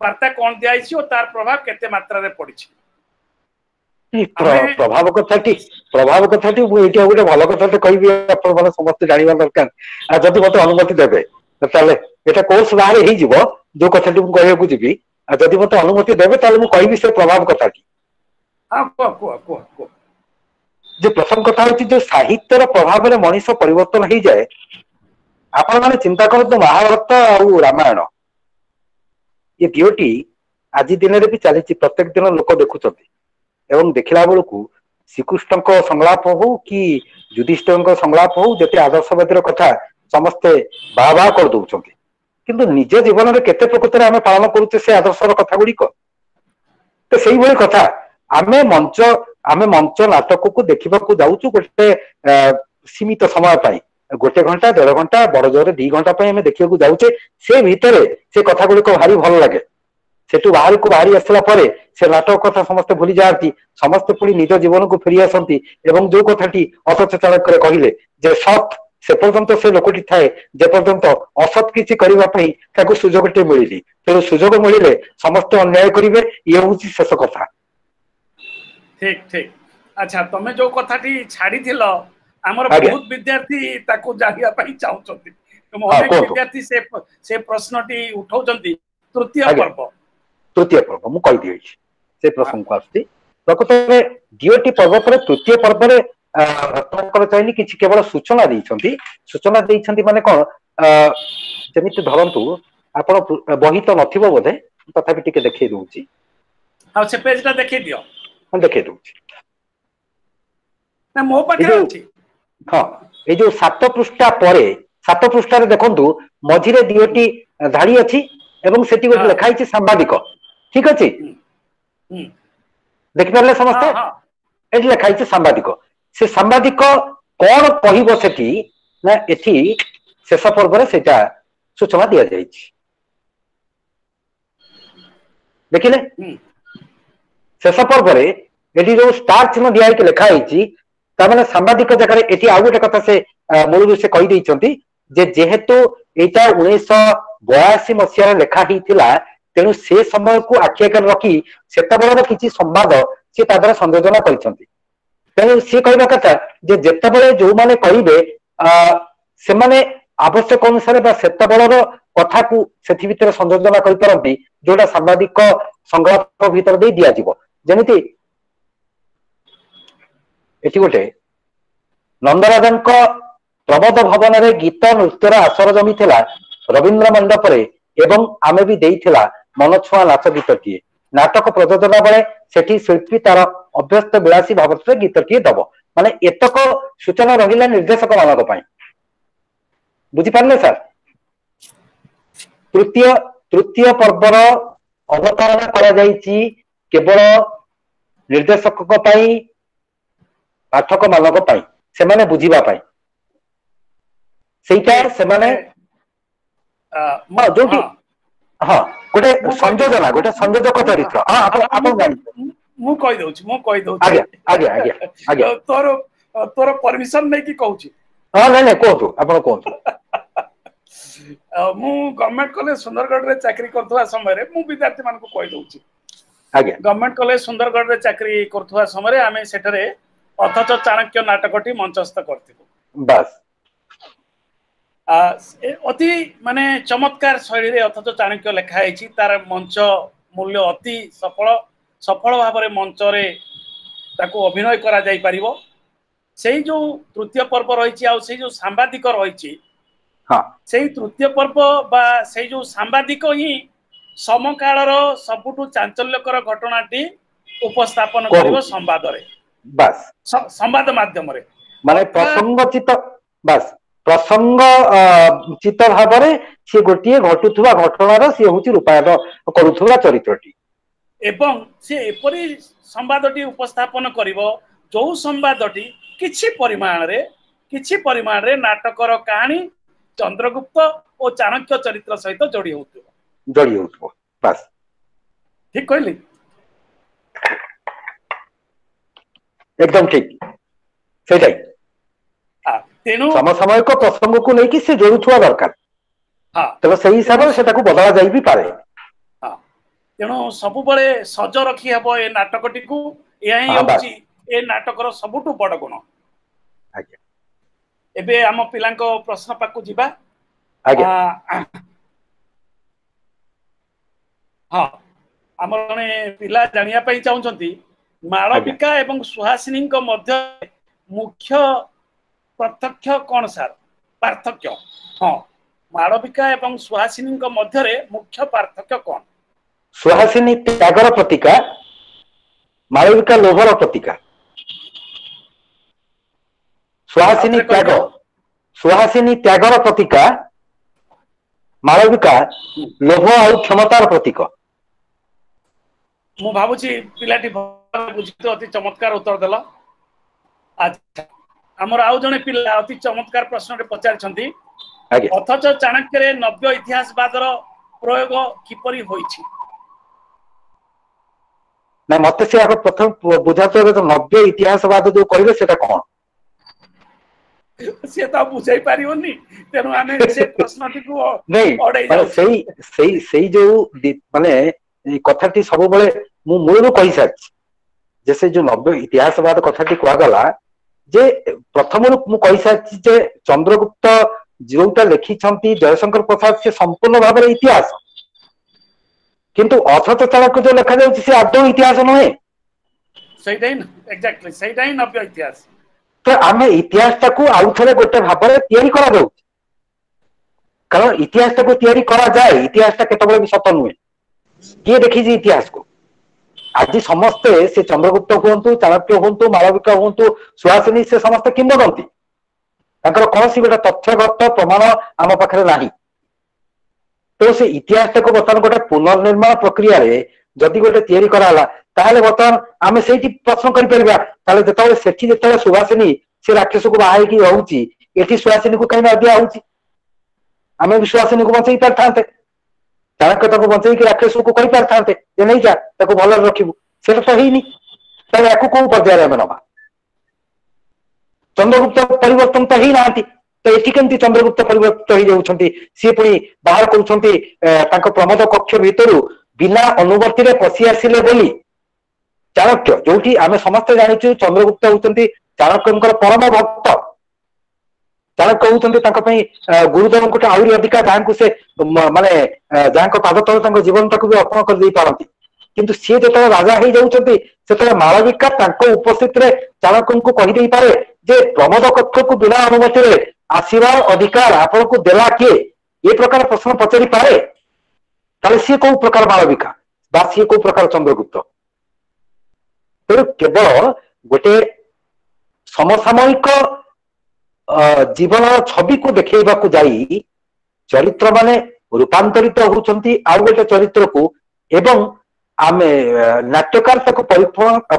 ବାର୍ତ୍ତା କଣ ଦିଆଯାଇଛି ଓ ତାର ପ୍ରଭାବ କେତେ ମାତ୍ରାରେ ପଡିଛି? ପ୍ରଭାବ କଥାଟି, ପ୍ରଭାବ କଥାଟି ମୁଁ ଏଇଠି ଆଉ ଗୋଟେ ଭଲ କଥାଟେ କହିବି, ଆପଣ ମାନେ ସମସ୍ତେ ଜାଣିବା ଦରକାର। ଆଉ ଯଦି ମତେ ଅନୁମତି ଦେବେ ତାହେଲେ ଏଟା କୋର୍ସ ବାହାରେ ହେଇଯିବ ଯୋଉ କଥାଟି ମୁଁ କହିବାକୁ ଯିବି। ଆଉ ଯଦି ମତେ ଅନୁମତି ଦେବେ ତାହେଲେ ମୁଁ କହିବି ସେ ପ୍ରଭାବ କଥାଟି। ଯେ ପ୍ରଥମ କଥା ହଉଛି ଯୋଉ ସାହିତ୍ୟର ପ୍ରଭାବରେ ମଣିଷ ପରିବର୍ତ୍ତନ ହେଇଯାଏ। ଆପଣ ମାନେ ଚିନ୍ତା କରନ୍ତୁ, ମହାଭାରତ ଆଉ ରାମାୟଣ ଏ ଦିଓଟି ଆଜି ଦିନରେ ବି ଚାଲିଛି, ପ୍ରତ୍ୟେକ ଦିନ ଲୋକ ଦେଖୁଛନ୍ତି। ଏବଂ ଦେଖିଲା ବେଳକୁ ଶ୍ରୀକୃଷ୍ଣଙ୍କ ସଂଳାପ ହଉ କି ଯୁଧିଷ୍ଠିରଙ୍କ ସଂଳାପ ହଉ, ଯେତେ ଆଦର୍ଶବାଦୀର କଥା ସମସ୍ତେ ବାହା ବାହା କରିଦଉଛନ୍ତି, କିନ୍ତୁ ନିଜ ଜୀବନରେ କେତେ ପ୍ରକୃତରେ ଆମେ ପାଳନ କରୁଛେ ସେ ଆଦର୍ଶର କଥା ଗୁଡିକ? ତ ସେଇଭଳି କଥା, ଆମେ ମଞ୍ଚ, ଆମେ ମଞ୍ଚ ନାଟକକୁ ଦେଖିବାକୁ ଯାଉଛୁ ଗୋଟେ ସୀମିତ ସମୟ ପାଇଁ, 1 ଘଣ୍ଟା, 1.5 ଘଣ୍ଟା, ବଡ ଜୋରରେ 2 ଘଣ୍ଟା ପାଇଁ ଆମେ ଦେଖିବାକୁ ଯାଉଛେ। ସେ ଭିତରେ ସେ କଥା ଗୁଡିକ ଭାରି ଭଲ ଲାଗେ। ସେଠୁ ବାହାରକୁ ବାହାରି ଆସିଲା ପରେ ସେ ନାଟକ କଥା ସମସ୍ତେ ଭୁଲି ଯାଆନ୍ତି, ସମସ୍ତେ ପୁଣି ନିଜ ଜୀବନକୁ ଫେରି ଆସନ୍ତି। ଏବଂ ଯୋଉ କଥାଟି ଅଥଚ ଚାଣକ୍ୟରେ କହିଲେ ଯେ ସତ୍ ସେ ପର୍ଯ୍ୟନ୍ତ ସେ ଲୋକଟି ଥାଏ ଯେପର୍ଯ୍ୟନ୍ତ ଅସତ୍ କିଛି କରିବା ପାଇଁ ତାକୁ ସୁଯୋଗଟି ମିଳିନି। ତେଣୁ ସୁଯୋଗ ମିଳିଲେ ସମସ୍ତେ ଅନ୍ୟାୟ କରିବେ, ଇଏ ହଉଛି ଶେଷ କଥା। ଠିକ ଠିକ। ଆଚ୍ଛା, ତମେ ଯୋଉ କଥାଟି ଛାଡିଥିଲ, ଆମର ବହୁତ ବିଦ୍ୟାର୍ଥୀ ତାକୁ ଜାଣିବା ପାଇଁ ଚାହୁଁଛନ୍ତି। ଅନେକ ବିଦ୍ୟାର୍ଥୀ ସେ ପ୍ରଶ୍ନଟି ଉଠାଉଛନ୍ତି। ତୃତୀୟ ପର୍ବ, ତୃତୀୟ ପର୍ବ ମୁଁ କହିଦିଏ, ସେ ପ୍ରସଙ୍ଗକୁ ଆସୁଛି। ପ୍ରକୃତରେ 2ଟି ପର୍ବ ପରେ ତୃତୀୟ ପର୍ବରେ ରତ୍ନାକର ଚୟନୀ କିଛି କେବଳ ସୂଚନା ଦେଇଛନ୍ତି। ସୂଚନା ଦେଇଛନ୍ତି ମାନେ କଣ, ଯେମିତି ଧରନ୍ତୁ ଆପଣ ବହି ତ ନଥିବ ବୋଧେ, ତଥାପି ଟିକେ ଦେଖେଇ ଦଉଛି। ଆଉ ସେ ପେଜଟା ଦେଖେଇ ଦିଅ। ହଁ, ଦେଖେଇ ଦଉଛି। ନା, ମୋ ପାଖରେ ଅଛି। ହଁ, ଏଇ ଯୋଉ 7 ପୃଷ୍ଠା ପରେ, 7 ପୃଷ୍ଠାରେ ଦେଖନ୍ତୁ ମଝିରେ 2ଟି ଧାଡି ଅଛି ଏବଂ ସେଠି ଗୋଟେ ଲେଖା ହେଇଛି ସାମ୍ବାଦିକ। ଠିକ ଅଛି, ଦେଖିପାରିଲେ ସମସ୍ତେ? ଏଠି ଲେଖା ହେଇଛି ସାମ୍ବାଦିକ। ସେ ସାମ୍ବାଦିକ କଣ କହିବ ସେଠି ନା, ଏଠି ଶେଷ ପର୍ବରେ ସେଇଟା ସୂଚନା ଦିଆଯାଇଛି। ଦେଖିଲେ ଶେଷ ପର୍ବରେ ଏଠି ଯୋଉ ଷ୍ଟାର ଚିହ୍ନ ଦିଆହେଇକି ଲେଖା ହେଇଛି, ତାମାନେ ସାମ୍ବାଦିକ ଜାଗାରେ ଏଠି ଆଉ ଗୋଟେ କଥା ସେ ମୂଳରୁ ସେ କହିଦେଇଛନ୍ତି ଯେ ଯେହେତୁ ଏଇଟା 1982 ମସିହାରେ ଲେଖା ହେଇଥିଲା, ତେଣୁ ସେ ସମୟକୁ ଆଖି ଆଗରେ ରଖି ସେତେବେଳର କିଛି ସମ୍ବାଦ ସିଏ ତା ଦ୍ୱାରା ସଂଯୋଜନା କରିଛନ୍ତି। ତେଣୁ ସିଏ କହିବା କଥା ଯେ ଯେତେବେଳେ ଯୋଉମାନେ କହିବେ ସେମାନେ ଆବଶ୍ୟକ ଅନୁସାରେ ବା ସେତେବେଳର କଥାକୁ ସେଥି ଭିତରେ ସଂଯୋଜନା କରିପାରନ୍ତି, ଯୋଉଟା ସାମ୍ବାଦିକ ସଂଳାପ ଭିତରେ ଦେଇ ଦିଆଯିବ। ଯେମିତି ଏଠି ଗୋଟେ ନନ୍ଦରାଜାଙ୍କ ପ୍ରମୋଦ ଭବନରେ ଗୀତ ନୃତ୍ୟର ଆସର ଜମିଥିଲା, ରବୀନ୍ଦ୍ର ମଣ୍ଡପରେ ଏବଂ ଆମେ ବି ଦେଇଥିଲା ମନଛୁଆଁ ନାଚ ଗୀତଟିଏ। ନାଟକ ପ୍ରଯୋଜନା ବେଳେ ସେଠି ଶିଳ୍ପୀ ତାର ଅଭ୍ୟସ୍ତ ବିଳାସୀ ଭାବରେ ଗୀତଟିଏ ଦବ। ମାନେ ଏତକ ସୂଚନା ରହିଲା ନିର୍ଦ୍ଦେଶକ ମାନଙ୍କ ପାଇଁ। ବୁଝିପାରିଲେ ସାର୍? ତୃତୀୟ ପର୍ବର ଅବତାରଣା କରାଯାଇଛି କେବଳ ନିର୍ଦ୍ଦେଶକଙ୍କ ପାଇଁ, ପାଠକ ମାନଙ୍କ ପାଇଁ, ସେମାନେ ବୁଝିବା ପାଇଁ। ସେଇଟା ସେମାନେ ଯୋଉଠି ହଁ ଗୋଟେ ସଂଯୋଜନା, ଗୋଟେ ସଂଯୋଜକ ଚରିତ୍ର। ହଁ, ଆପଣ ଜାଣିଛନ୍ତି। ମୁଁ କହିଦଉଛି, ମୁଁ କହିଦଉଛି। ଆଜ୍ଞା ଆଜ୍ଞା ଆଜ୍ଞା ଆଜ୍ଞା। ତୋର ପରମିଶନ ନେଇକି କହୁଛି। ହଁ, ନାଇଁ ନାଇଁ, କୁହନ୍ତୁ, ଆପଣ କୁହନ୍ତୁ। ମୁଁ ଗଭର୍ଣ୍ଣମେଣ୍ଟ କଲେଜ ସୁନ୍ଦରଗଡ଼ରେ ଚାକିରି କରୁଥିବା ସମୟରେ, ମୁଁ ବିଦ୍ୟାର୍ଥୀ ମାନଙ୍କୁ କହିଦଉଛି। ଆଜ୍ଞା। ଗଭର୍ଣ୍ଣମେଣ୍ଟ କଲେଜ ସୁନ୍ଦରଗଡ଼ରେ ଚାକିରି କରୁଥିବା ସମୟରେ ଆମେ ସେଠାରେ ଅଥଚ ଚାଣକ୍ୟ ନାଟକଟି ମଞ୍ଚସ୍ଥ କରିଥିଲୁ। ବାସ୍। ଅତି ମାନେ ଚମତ୍କାର ଶୈଳୀରେ ଅଥଚ ଚାଣକ୍ୟ ଲେଖା ହେଇଛି। ତାର ମଞ୍ଚ ମୂଲ୍ୟ ଅତି ସଫଳ ଭାବରେ ମଞ୍ଚରେ ତାକୁ ଅଭିନୟ କରାଯାଇ ପାରିବ। ସେଇ ଯୋଉ ତୃତୀୟ ପର୍ବ ରହିଛି ଆଉ ସେଇ ଯୋଉ ସାମ୍ବାଦିକ ରହିଛି, ସେଇ ତୃତୀୟ ପର୍ବ ବା ସେଇ ଯୋଉ ସାମ୍ବାଦିକ ହିଁ ସମକାଳର ସବୁଠୁ ଚାଞ୍ଚଲ୍ୟକର ଘଟଣାଟି ଉପସ୍ଥାପନ କରିବ ସମ୍ବାଦରେ, ବାସ୍, ସମ୍ବାଦ ମାଧ୍ୟମରେ। ମାନେ ପ୍ରସଙ୍ଗଚିତ, ବାସ୍, ପ୍ରସଙ୍ଗ ଚିତ ଭାବରେ ସିଏ ଗୋଟିଏ ଘଟୁଥିବା ଘଟଣାର ସିଏ ହଉଛି ରୂପାୟନ କରୁଥିବା ଚରିତ୍ରଟି। ଏବଂ ସେ ଏପରି ସମ୍ବାଦଟି ଉପସ୍ଥାପନ କରିବ ଯୋଉ ସମ୍ବାଦଟି କିଛି ପରିମାଣରେ ନାଟକର କାହାଣୀ ଚନ୍ଦ୍ରଗୁପ୍ତ ଓ ଚାଣକ୍ୟ ଚରିତ୍ର ସହିତ ଯୋଡି ହଉଥିବ। ଯୋଡି ହଉଥିବ, ବାସ୍। ଠିକ କହିଲି? ଏକଦମ ଠିକ, ସେଇଟାই। ତେଣୁ ସମସାମୟିକ ପ୍ରସଙ୍ଗକୁ ନେଇକି ସେ ଯୋଡୁଥିବା ଦରକାର। ତେଣୁ ସେଇ ହିସାବରେ ସେଟାକୁ ବଦଳା ଯାଇ ବି ପାରେ। ତେଣୁ ସବୁବେଳେ ସଜ ରଖି ହବ ଏ ନାଟକଟିକୁ। ଏହା ହିଁ ହଉଛି ଏ ନାଟକର ସବୁଠୁ ବଡ ଗୁଣ। ଆଜ୍ଞା। ଏବେ ଆମ ପିଲାଙ୍କ ପ୍ରଶ୍ନ ପାଖକୁ ଯିବା। ଆଜ୍ଞା। ହଁ, ଆମର ଜଣେ ପିଲା ଜାଣିବା ପାଇଁ ଚାହୁଁଛନ୍ତି, ମାଳବିକା ଏବଂ ସୁହାସିନୀଙ୍କ ମଧ୍ୟରେ ମୁଖ୍ୟ ପାର୍ଥକ୍ୟ କଣ ସାର୍? ପାର୍ଥକ୍ୟ, ହଁ, ମାଳବିକା ଏବଂ ସୁହାସିନୀଙ୍କ ମଧ୍ୟରେ ମୁଖ୍ୟ ପାର୍ଥକ୍ୟ କଣ? ସୁହାସିନୀ ତ୍ୟାଗର ପ୍ରତୀକା, ମାଳବିକା ଲୋଭର ପ୍ରତୀକା। ସୁହାସିନୀ ତ୍ୟାଗ, ସୁହାସିନୀ ତ୍ୟାଗର ପ୍ରତୀକା, ମାଳବିକା ଲୋଭ ଆଉ କ୍ଷମତାର ପ୍ରତୀକ। ମୁଁ ଭାବୁଛି ପିଲାଟି ବୁଝି ଅତି ଚମତ୍କାର ଉତ୍ତର ଦେଲା। ଆଚ୍ଛା, ଆମର ଆଉ ଜଣେ ପିଲା ଅତି ଚମତ୍କାର ପ୍ରଶ୍ନଟେ ପଚାରିଛନ୍ତି, ଅଥଚ ଚାଣକ୍ୟରେ ନବ୍ୟ ଇତିହାସବାଦର ପ୍ରୟୋଗ କିପରି ହୋଇଛି? ନା, ମତେ ସେ ଆଗ ପ୍ରଥମେ ବୁଝାନ୍ତୁ, ନବ୍ୟ ଇତିହାସବାଦ ଯୋଉ କହିଲେ ସେଟା କଣ? ସିଏ ତ ବୁଝେଇ ପାରିବନି, ତେଣୁ ଆମେ ସେ ପ୍ରଶ୍ନଟିକୁ ସେଇ ସେଇ ସେଇ ଯୋଉ ମାନେ କଥାଟି ସବୁବେଳେ ମୁଁ ମୂଳରୁ କହିସାରିଛି ଯେ ସେ ଯୋଉ ନବ୍ୟ ଇତିହାସବାଦ କଥାଟି କୁହାଗଲା ଯେ ପ୍ରଥମରୁ ମୁଁ କହିସାରିଛି ଯେ ଚନ୍ଦ୍ରଗୁପ୍ତ ଯୋଉଟା ଲେଖିଛନ୍ତି ଜୟଶଙ୍କର ପ୍ରସାଦ ସେ ସମ୍ପୂର୍ଣ୍ଣ ଭାବରେ ଇତିହାସ, କିନ୍ତୁ ଅଥଚ ଚାଣକ୍ୟ ଯୋଉ ଲେଖାଯାଉଛି ସେ ଆଦୌ ଇତିହାସ ନୁହେଁ। ସେଇଟା ହିଁ ଏକ୍ଜାକ୍ଟଲି, ସେଇଟା ହିଁ ନବ୍ୟ ଇତିହାସ। ତ ଆମେ ଇତିହାସଟାକୁ ଆଉ ଥରେ ଗୋଟେ ଭାବରେ ତିଆରି କରାଯାଉଛି, କାରଣ ଇତିହାସଟାକୁ ତିଆରି କରାଯାଏ, ଇତିହାସଟା କେତେବେଳେ ବି ସତ ନୁହେଁ। କିଏ ଦେଖିଛି ଇତିହାସକୁ? ଆଜି ସମସ୍ତେ ସେ ଚନ୍ଦ୍ରଗୁପ୍ତ ହୁଅନ୍ତୁ, ଚାଣକ୍ୟ ହୁଅନ୍ତୁ, ମାଳବିକା ହୁଅନ୍ତୁ, ସୁହାସିନୀ, ସେ ସମସ୍ତେ କିମ୍ବଦନ୍ତୀ, ତାଙ୍କର କୌଣସି ଗୋଟେ ତଥ୍ୟଗତ ପ୍ରମାଣ ଆମ ପାଖରେ ନାହିଁ। ତେଣୁ ସେ ଇତିହାସଟାକୁ ବର୍ତ୍ତମାନ ଗୋଟେ ପୁନର୍ନିର୍ମାଣ ପ୍ରକ୍ରିୟାରେ ଯଦି ଗୋଟେ ତିଆରି କରାହେଲା, ତାହେଲେ ବର୍ତ୍ତମାନ ଆମେ ସେଇଠି ପ୍ରଶ୍ନ କରିପାରିବା, ତାହେଲେ ଯେତେବେଳେ ସେଠି ଯେତେବେଳେ ସୁହାସିନୀ ସେ ରାକ୍ଷସକୁ ବାହା ହେଇକି ରହୁଛି, ଏଠି ସୁହାସିନୀକୁ କାହିଁ ଦିଆ ହଉଛି? ଆମେ ବି ସୁହାସିନୀକୁ ବଞ୍ଚେଇ ପାରିଥାନ୍ତେ, ଚାଣକ୍ୟ ତାକୁ ବଞ୍ଚେଇକି ରାକ୍ଷସକୁ କହିପାରିଥାନ୍ତେ ଯେ ନେଇଯା ତାକୁ ଭଲରେ ରଖିବୁ, ସେଇଟା ତ ହେଇନି। ତାହେଲେ ୟାକୁ କୋଉ ପର୍ଯ୍ୟାୟରେ ଆମେ ନବା? ଚନ୍ଦ୍ରଗୁପ୍ତ ପରିବର୍ତ୍ତନ ତ ହେଇନାହାନ୍ତି, ତ ଏଠି କେମିତି ଚନ୍ଦ୍ରଗୁପ୍ତ ପରିବର୍ତ୍ତିତ ହେଇଯାଉଛନ୍ତି? ସିଏ ପୁଣି ବାହାର କରୁଛନ୍ତି ତାଙ୍କ ପ୍ରମୋଦ କକ୍ଷ ଭିତରୁ ବିନା ଅନୁମତିରେ ପଶି ଆସିଲେ ବୋଲି ଚାଣକ୍ୟ, ଯୋଉଠି ଆମେ ସମସ୍ତେ ଜାଣିଛୁ ଚନ୍ଦ୍ରଗୁପ୍ତ ହଉଛନ୍ତି ଚାଣକ୍ୟଙ୍କର ପରମ ଭକ୍ତ। ଚାଣକ୍ୟ ହଉଛନ୍ତି ତାଙ୍କ ପାଇଁ ଗୁରୁଜନଙ୍କଠୁ ଆହୁରି ଅଧିକା, ଯାହାଙ୍କୁ ସେ ମାନେ ଯାହାଙ୍କ ପାଦ ତଳେ ତାଙ୍କ ଜୀବନଟାକୁ ବି ଅର୍ପଣ କରିଦେଇ ପାରନ୍ତି। କିନ୍ତୁ ସିଏ ଯେତେବେଳେ ରାଜା ହେଇଯାଉଛନ୍ତି, ସେତେବେଳେ ମାଳବିକା ତାଙ୍କ ଉପସ୍ଥିତିରେ ଚାଣକ୍ୟଙ୍କୁ କହିଦେଇପାରେ ଯେ ପ୍ରମୋଦ କକ୍ଷକୁ ବିନା ଅନୁମତିରେ ଆସିବାର ଅଧିକାର ଆପଣଙ୍କୁ ଦେଲା କିଏ? ଏ ପ୍ରକାର ପ୍ରଶ୍ନ ପଚାରି ପାରେ। ତାହେଲେ ସିଏ କୋଉ ପ୍ରକାର ମାଳବିକା ବା ସିଏ କୋଉ ପ୍ରକାର ଚନ୍ଦ୍ରଗୁପ୍ତ? ତେଣୁ କେବଳ ଗୋଟେ ସମସାମୟିକ ଜୀବନର ଛବିକୁ ଦେଖେଇବାକୁ ଯାଇ ଚରିତ୍ର ମାନେ ରୂପାନ୍ତରିତ ହଉଛନ୍ତି ଆଉ ଗୋଟେ ଚରିତ୍ରକୁ, ଏବଂ ଆମେ ନାଟ୍ୟକାର ତାକୁ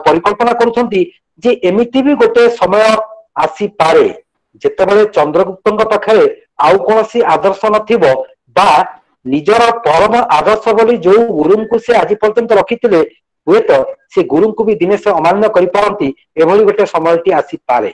ପରିକଳ୍ପନା କରୁଛନ୍ତି ଯେ ଏମିତି ବି ଗୋଟେ ସମୟ ଆସିପାରେ ଯେତେବେଳେ ଚନ୍ଦ୍ରଗୁପ୍ତଙ୍କ ପାଖରେ ଆଉ କୌଣସି ଆଦର୍ଶ ନଥିବ, ବା ନିଜର ପରମ ଆଦର୍ଶ ବୋଲି ଯୋଉ ଗୁରୁଙ୍କୁ ସେ ଆଜି ପର୍ଯ୍ୟନ୍ତ ରଖିଥିଲେ ହୁଏତ ସେ ଗୁରୁଙ୍କୁ ବି ଦିନେ ସେ ଅମାନ୍ୟ କରିପାରନ୍ତି, ଏଭଳି ଗୋଟେ ସମୟଟି ଆସିପାରେ।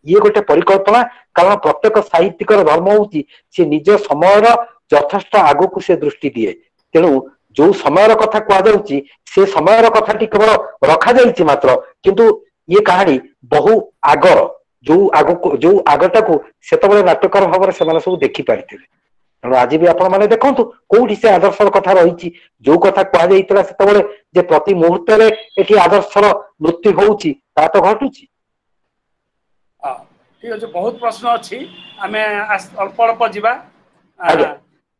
ଇଏ ଗୋଟେ ପରିକଳ୍ପନା, କାରଣ ପ୍ରତ୍ୟେକ ସାହିତ୍ୟିକର ଧର୍ମ ହଉଛି ସେ ନିଜ ସମୟର ଯଥେଷ୍ଟ ଆଗକୁ ସେ ଦୃଷ୍ଟି ଦିଏ। ତେଣୁ ଯୋଉ ସମୟର କଥା କୁହାଯାଉଛି ସେ ସମୟର କଥାଟି କେବଳ ରଖାଯାଇଛି ମାତ୍ର, କିନ୍ତୁ ଇଏ କାହାଣୀ ବହୁ ଆଗର, ଯୋଉ ଆଗକୁ ଯୋଉ ଆଗଟାକୁ ସେତେବେଳେ ନାଟ୍ୟକାର ଭାବରେ ସେମାନେ ସବୁ ଦେଖିପାରିଥିଲେ। ତେଣୁ ଆଜି ବି ଆପଣ ମାନେ ଦେଖନ୍ତୁ କୋଉଠି ସେ ଆଦର୍ଶର କଥା ରହିଛି, ଯୋଉ କଥା କୁହାଯାଇଥିଲା ସେତେବେଳେ ଯେ ପ୍ରତି ମୁହୂର୍ତ୍ତରେ ଏଠି ଆଦର୍ଶର ମୃତ୍ୟୁ ହଉଛି, ତା ତ ଘଟୁଛି। ଠିକ ଅଛି, ବହୁତ ପ୍ରଶ୍ନ ଅଛି, ଆମେ ଅଳ୍ପ ଅଳ୍ପ ଯିବା।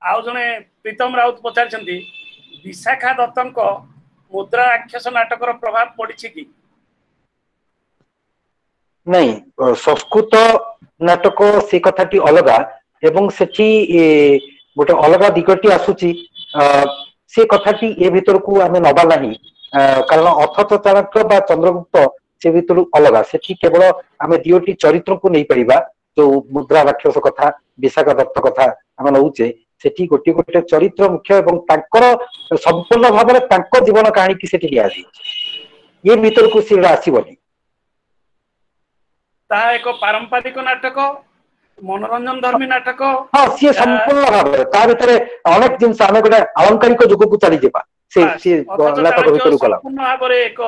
ଆଉ ଜଣେ ପ୍ରୀତମ ରାଉତ ପଚାରିଛନ୍ତି, ବିଶାଖା ଦତ୍ତଙ୍କ ମୁଦ୍ରା ରାକ୍ଷସ ନାଟକର ପ୍ରଭାବ ପଡିଛି କି? ନାଇଁ, ସଂସ୍କୃତ ନାଟକ ସେ କଥାଟି ଅଲଗା, ଏବଂ ସେଠି ଗୋଟେ ଅଲଗା ଦିଗଟି ଆସୁଛି, ସେ କଥାଟି ଏ ଭିତରକୁ ଆମେ ନବା ନାହିଁ, କାରଣ ଅଥଚ ଚାଣକ୍ୟ ବା ଚନ୍ଦ୍ରଗୁପ୍ତ ସେ ଭିତରୁ ଅଲଗା। ସେଠି କେବଳ ଆମେ ଦିଓଟି ଚରିତ୍ରକୁ ନେଇପାରିବା, ଯୋଉ ମୁଦ୍ରା ରାକ୍ଷସ କଥା, ବିଶାଖା ଦତ୍ତ କଥା ଆମେ ନଉଛେ, ସେଠି ଗୋଟିଏ ଗୋଟେ ଚରିତ୍ର ମୁଖ୍ୟ ଏବଂ ତାଙ୍କର ସମ୍ପୂର୍ଣ୍ଣ ଭାବରେ ତାଙ୍କ ଜୀବନ କାହାଣୀକି ସେଠି ନିଆଯାଇଛି, ଏ ଭିତରକୁ ସେ ଆସିବନି। ତାହା ଏକ ପାରମ୍ପରିକ ନାଟକ, ମନୋରଞ୍ଜନ ଧର୍ମୀ ନାଟକ। ହଁ, ସିଏ ସମ୍ପୂର୍ଣ୍ଣ ଭାବରେ ତା ଭିତରେ ଅନେକ ଜିନିଷ, ଆମେ ଗୋଟେ ଆଳଙ୍କାରିକ ଯୁଗକୁ ଚାଲିଯିବା ସେ ନାଟକ ଭିତରକୁ ଗଲା। ସମ୍ପୂର୍ଣ୍ଣ ଭାବରେ ଏକ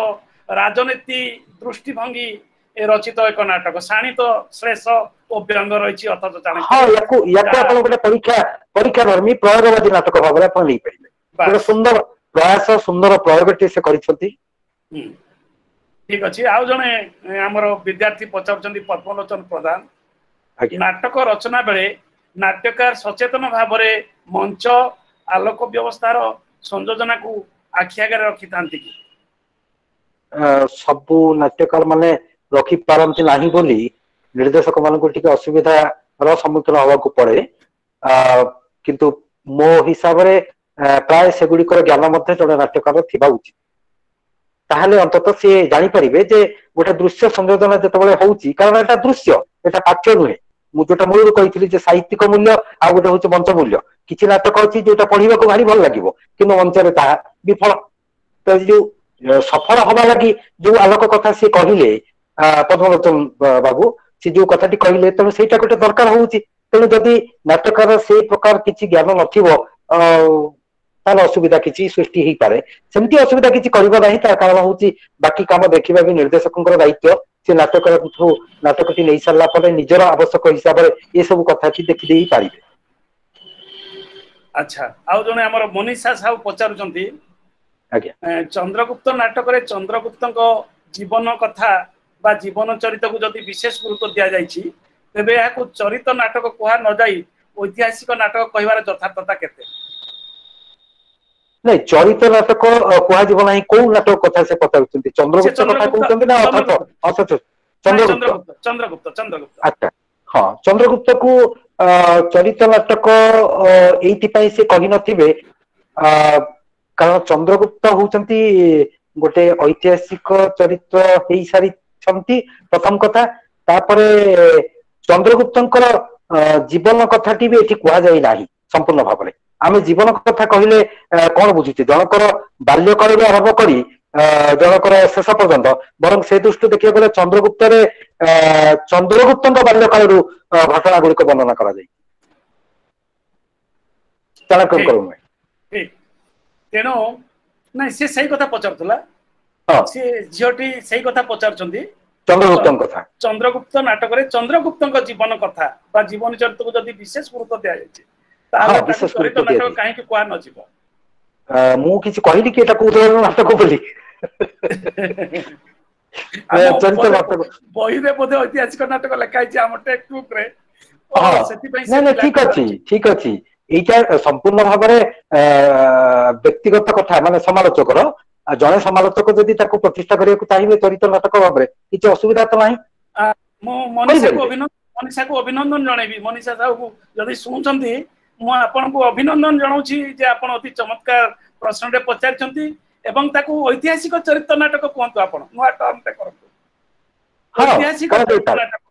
ରାଜନୀତି ଦୃଷ୍ଟିଭଙ୍ଗୀ ରଚିତ ଏକ ନାଟକ, ଶାଣିତ ଶ୍ଲେଷ ଓ ବ୍ୟଙ୍ଗ ରହିଛି ଅଥଚ ଚାଣକ୍ୟ। ହଁ, ୟାକୁ ୟାକୁ ଆପଣ ଗୋଟେ ପରୀକ୍ଷା ଧର୍ମୀ ପ୍ରୟୋଗବାଦୀ ନାଟକ ଭାବରେ ଆପଣ ନେଇପାରିବେ। ଗୋଟେ ସୁନ୍ଦର ପ୍ରୟାସ, ସୁନ୍ଦର ପ୍ରୟୋଗଟି ସେ କରିଛନ୍ତି। ଠିକ ଅଛି। ଆଉ ଜଣେ ଆମର ବିଦ୍ୟାର୍ଥୀ ପଚାରୁଛନ୍ତି, ପଦ୍ମଲୋଚନ ପ୍ରଧାନ, ନାଟକ ରଚନା ବେଳେ ନାଟ୍ୟକାର ସଚେତନ ଭାବରେ ମଞ୍ଚ ଆଲୋକ ବ୍ୟବସ୍ଥାର ସଂଯୋଜନାକୁ ଆଖି ଆଗରେ ରଖିଥାନ୍ତି କି? ସବୁ ନାଟ୍ୟକାର ମାନେ ରଖିପାରନ୍ତି ନାହିଁ ବୋଲି ନିର୍ଦ୍ଦେଶକ ମାନଙ୍କୁ ଟିକେ ଅସୁବିଧାର ସମ୍ମୁଖୀନ ହବାକୁ ପଡେ, କିନ୍ତୁ ମୋ ହିସାବରେ ପ୍ରାୟ ସେଗୁଡିକର ଜ୍ଞାନ ମଧ୍ୟ ଜଣେ ନାଟ୍ୟକାର ଥିବା ଉଚିତ। ତାହେଲେ ଅନ୍ତତଃ ସିଏ ଜାଣିପାରିବେ ଯେ ଗୋଟେ ଦୃଶ୍ୟ ସଂଯୋଜନା ଯେତେବେଳେ ହଉଛି, କାରଣ ଏଟା ଦୃଶ୍ୟ, ଏଟା ପାଠ୍ୟ ନୁହେଁ। ମୁଁ ଯୋଉଟା ମୂଳରୁ କହିଥିଲି ଯେ ସାହିତ୍ୟିକ ମୂଲ୍ୟ ଆଉ ଗୋଟେ ହଉଛି ମଞ୍ଚ ମୂଲ୍ୟ। କିଛି ନାଟକ ଅଛି ଯୋଉଟା ପଢିବାକୁ ଭାରି ଭଲ ଲାଗିବ, କିନ୍ତୁ ମଞ୍ଚରେ ତାହା ବିଫଳ। ତ ଯୋଉ ସଫଳ ହବା ଲାଗି ଯୋଉ ଆଲୋକ କଥା ସିଏ କହିଲେ ପଦ୍ମଲୋଚନ ବାବୁ, ସେ ଯୋଉ କଥାଟି କହିଲେ, ତେଣୁ ସେଇଟା ଗୋଟେ ଦରକାର ହଉଛି। ତେଣୁ ଯଦି ନାଟକର ସେଇ ପ୍ରକାର କିଛି ଜ୍ଞାନ ନଥିବ ତାହେଲେ ଅସୁବିଧା କିଛି ସୃଷ୍ଟି ହେଇପାରେ। ସେମିତି ଅସୁବିଧା କିଛି କରିବ ନାହିଁ, ତାର କାରଣ ହଉଛି ବାକି କାମ ଦେଖିବା ବି ନିର୍ଦ୍ଦେଶକଙ୍କର ଦାୟିତ୍ୱ। ସେ ନାଟକଠୁ ନାଟକଟି ନେଇ ସାରିଲା ପରେ ନିଜର ଆବଶ୍ୟକ ହିସାବରେ ଏସବୁ କଥାଟି ଦେଖିଦେଇ ପାରିବେ। ଆଚ୍ଛା, ଆଉ ଜଣେ ଆମର ମନୀଷା ସାହୁ ପଚାରୁଛନ୍ତି, ଆଜ୍ଞା, ଚନ୍ଦ୍ରଗୁପ୍ତ ନାଟକରେ ଚନ୍ଦ୍ରଗୁପ୍ତଙ୍କ ଜୀବନ କଥା ବା ଜୀବନ ଚରିତକୁ ଯଦି ବିଶେଷ ଗୁରୁତ୍ୱ ଦିଆଯାଇଛି, ତେବେ ଏହାକୁ ଚରିତ ନାଟକ କୁହା ନଯାଇ ଐତିହାସିକ ନାଟକ କହିବାର ଯଥାର୍ଥତା କେତେ? ନାଇଁ, ଚରିତ ନାଟକ କୁହାଯିବ ନାହିଁ। କୋଉ ନାଟକ କଥା ସେ ପଚାରୁଛନ୍ତି? ଚନ୍ଦ୍ରଗୁପ୍ତ କଥା କହୁଛନ୍ତି ନା ଅଥଚ ଚନ୍ଦ୍ରଗୁପ୍ତ? ଚନ୍ଦ୍ରଗୁପ୍ତ, ଚନ୍ଦ୍ରଗୁପ୍ତ। ଆଚ୍ଛା, ହଁ, ଚନ୍ଦ୍ରଗୁପ୍ତକୁ ଚରିତ ନାଟକ ଏଇଥିପାଇଁ ସେ କହିନଥିବେ, କାରଣ ଚନ୍ଦ୍ରଗୁପ୍ତ ହଉଛନ୍ତି ଗୋଟେ ଐତିହାସିକ ଚରିତ୍ର ହେଇସାରିଛନ୍ତି ପ୍ରଥମ କଥା। ତାପରେ ଚନ୍ଦ୍ରଗୁପ୍ତଙ୍କର ଜୀବନ କଥାଟି ବି ଏଠି କୁହାଯାଇ ନାହିଁ ସମ୍ପୂର୍ଣ୍ଣ ଭାବରେ। ଆମେ ଜୀବନ କଥା କହିଲେ କଣ ବୁଝୁଛେ? ଜଣଙ୍କର ବାଲ୍ୟକାଳରୁ ଆରମ୍ଭ କରି ଜଣଙ୍କର ଶେଷ ପର୍ଯ୍ୟନ୍ତ, ବରଂ ସେ ଦୃଷ୍ଟିରୁ ଦେଖିବାକୁ ଗଲେ ଚନ୍ଦ୍ରଗୁପ୍ତରେ ଚନ୍ଦ୍ରଗୁପ୍ତଙ୍କ ବାଲ୍ୟକାଳରୁ ଘଟଣା ଗୁଡିକ ବର୍ଣ୍ଣନା କରାଯାଇଛି, ଚାଣକ୍ୟଙ୍କର ନୁହେଁ। ତେଣୁ ନାଇଁ, ସେ ସେଇ କଥା ପଚାରୁଥିଲା, ସେ ଝିଅଟି ସେଇ କଥା ପଚାରୁଛନ୍ତି, ଚନ୍ଦ୍ରଗୁପ୍ତଙ୍କ କଥା। ଚନ୍ଦ୍ରଗୁପ୍ତ ନାଟକରେ ଚନ୍ଦ୍ରଗୁପ୍ତଙ୍କ ଜୀବନ କଥା ବା ଜୀବନ ଚରିତ୍ରକୁ ଯଦି ବିଶେଷ ଗୁରୁତ୍ୱ ଦିଆଯାଇଛି, ତାହେଲେ ଚରିତ ନାଟକ କାହିଁକି କୁହା ନଯିବ? ମୁଁ କିଛି କହିଲି କି ଏଟା କୋଉ ଧରଣର ନାଟକ ବୋଲି? ଚରିତ ନାଟକ ବହିରେ ବୋଧେ ଐତିହାସିକ ନାଟକ ଲେଖା ହେଇଛି ଆମ ଟେକ୍ସଟ ବୁକ୍ ରେ, ସେଥିପାଇଁ। ନାଇଁ ନାଇଁ, ଠିକ ଅଛି, ଠିକ ଅଛି। ଏଇଟା ସମ୍ପୂର୍ଣ୍ଣ ଭାବରେ ବ୍ୟକ୍ତିଗତ କଥା, ମାନେ ସମାଲୋଚକର, ଜଣେ ସମାଲୋଚକ ଯଦି ତାକୁ ପ୍ରତିଷ୍ଠା କରିବାକୁ ଚାହିଁବେ ଚରିତ୍ର ନାଟକ ଭାବରେ, କିଛି ଅସୁବିଧା ତ ନାହିଁ। ମୁଁ ମନୀଷାକୁ ଅଭିନନ୍ଦନ ଜଣେଇବି। ମନୀଷା ସାହୁକୁ ଯଦି ଶୁଣୁଛନ୍ତି, ମୁଁ ଆପଣଙ୍କୁ ଅଭିନନ୍ଦନ ଜଣାଉଛି ଯେ ଆପଣ ଅତି ଚମତ୍କାର ପ୍ରଶ୍ନଟେ ପଚାରିଛନ୍ତି ଏବଂ ତାକୁ ଐତିହାସିକ ଚରିତ୍ର ନାଟକ କୁହନ୍ତୁ, ଆପଣ ନୂଆ ଟର୍ମଟେ କରନ୍ତୁ, ଐତିହାସିକ ଚରିତ୍ର ନାଟକ।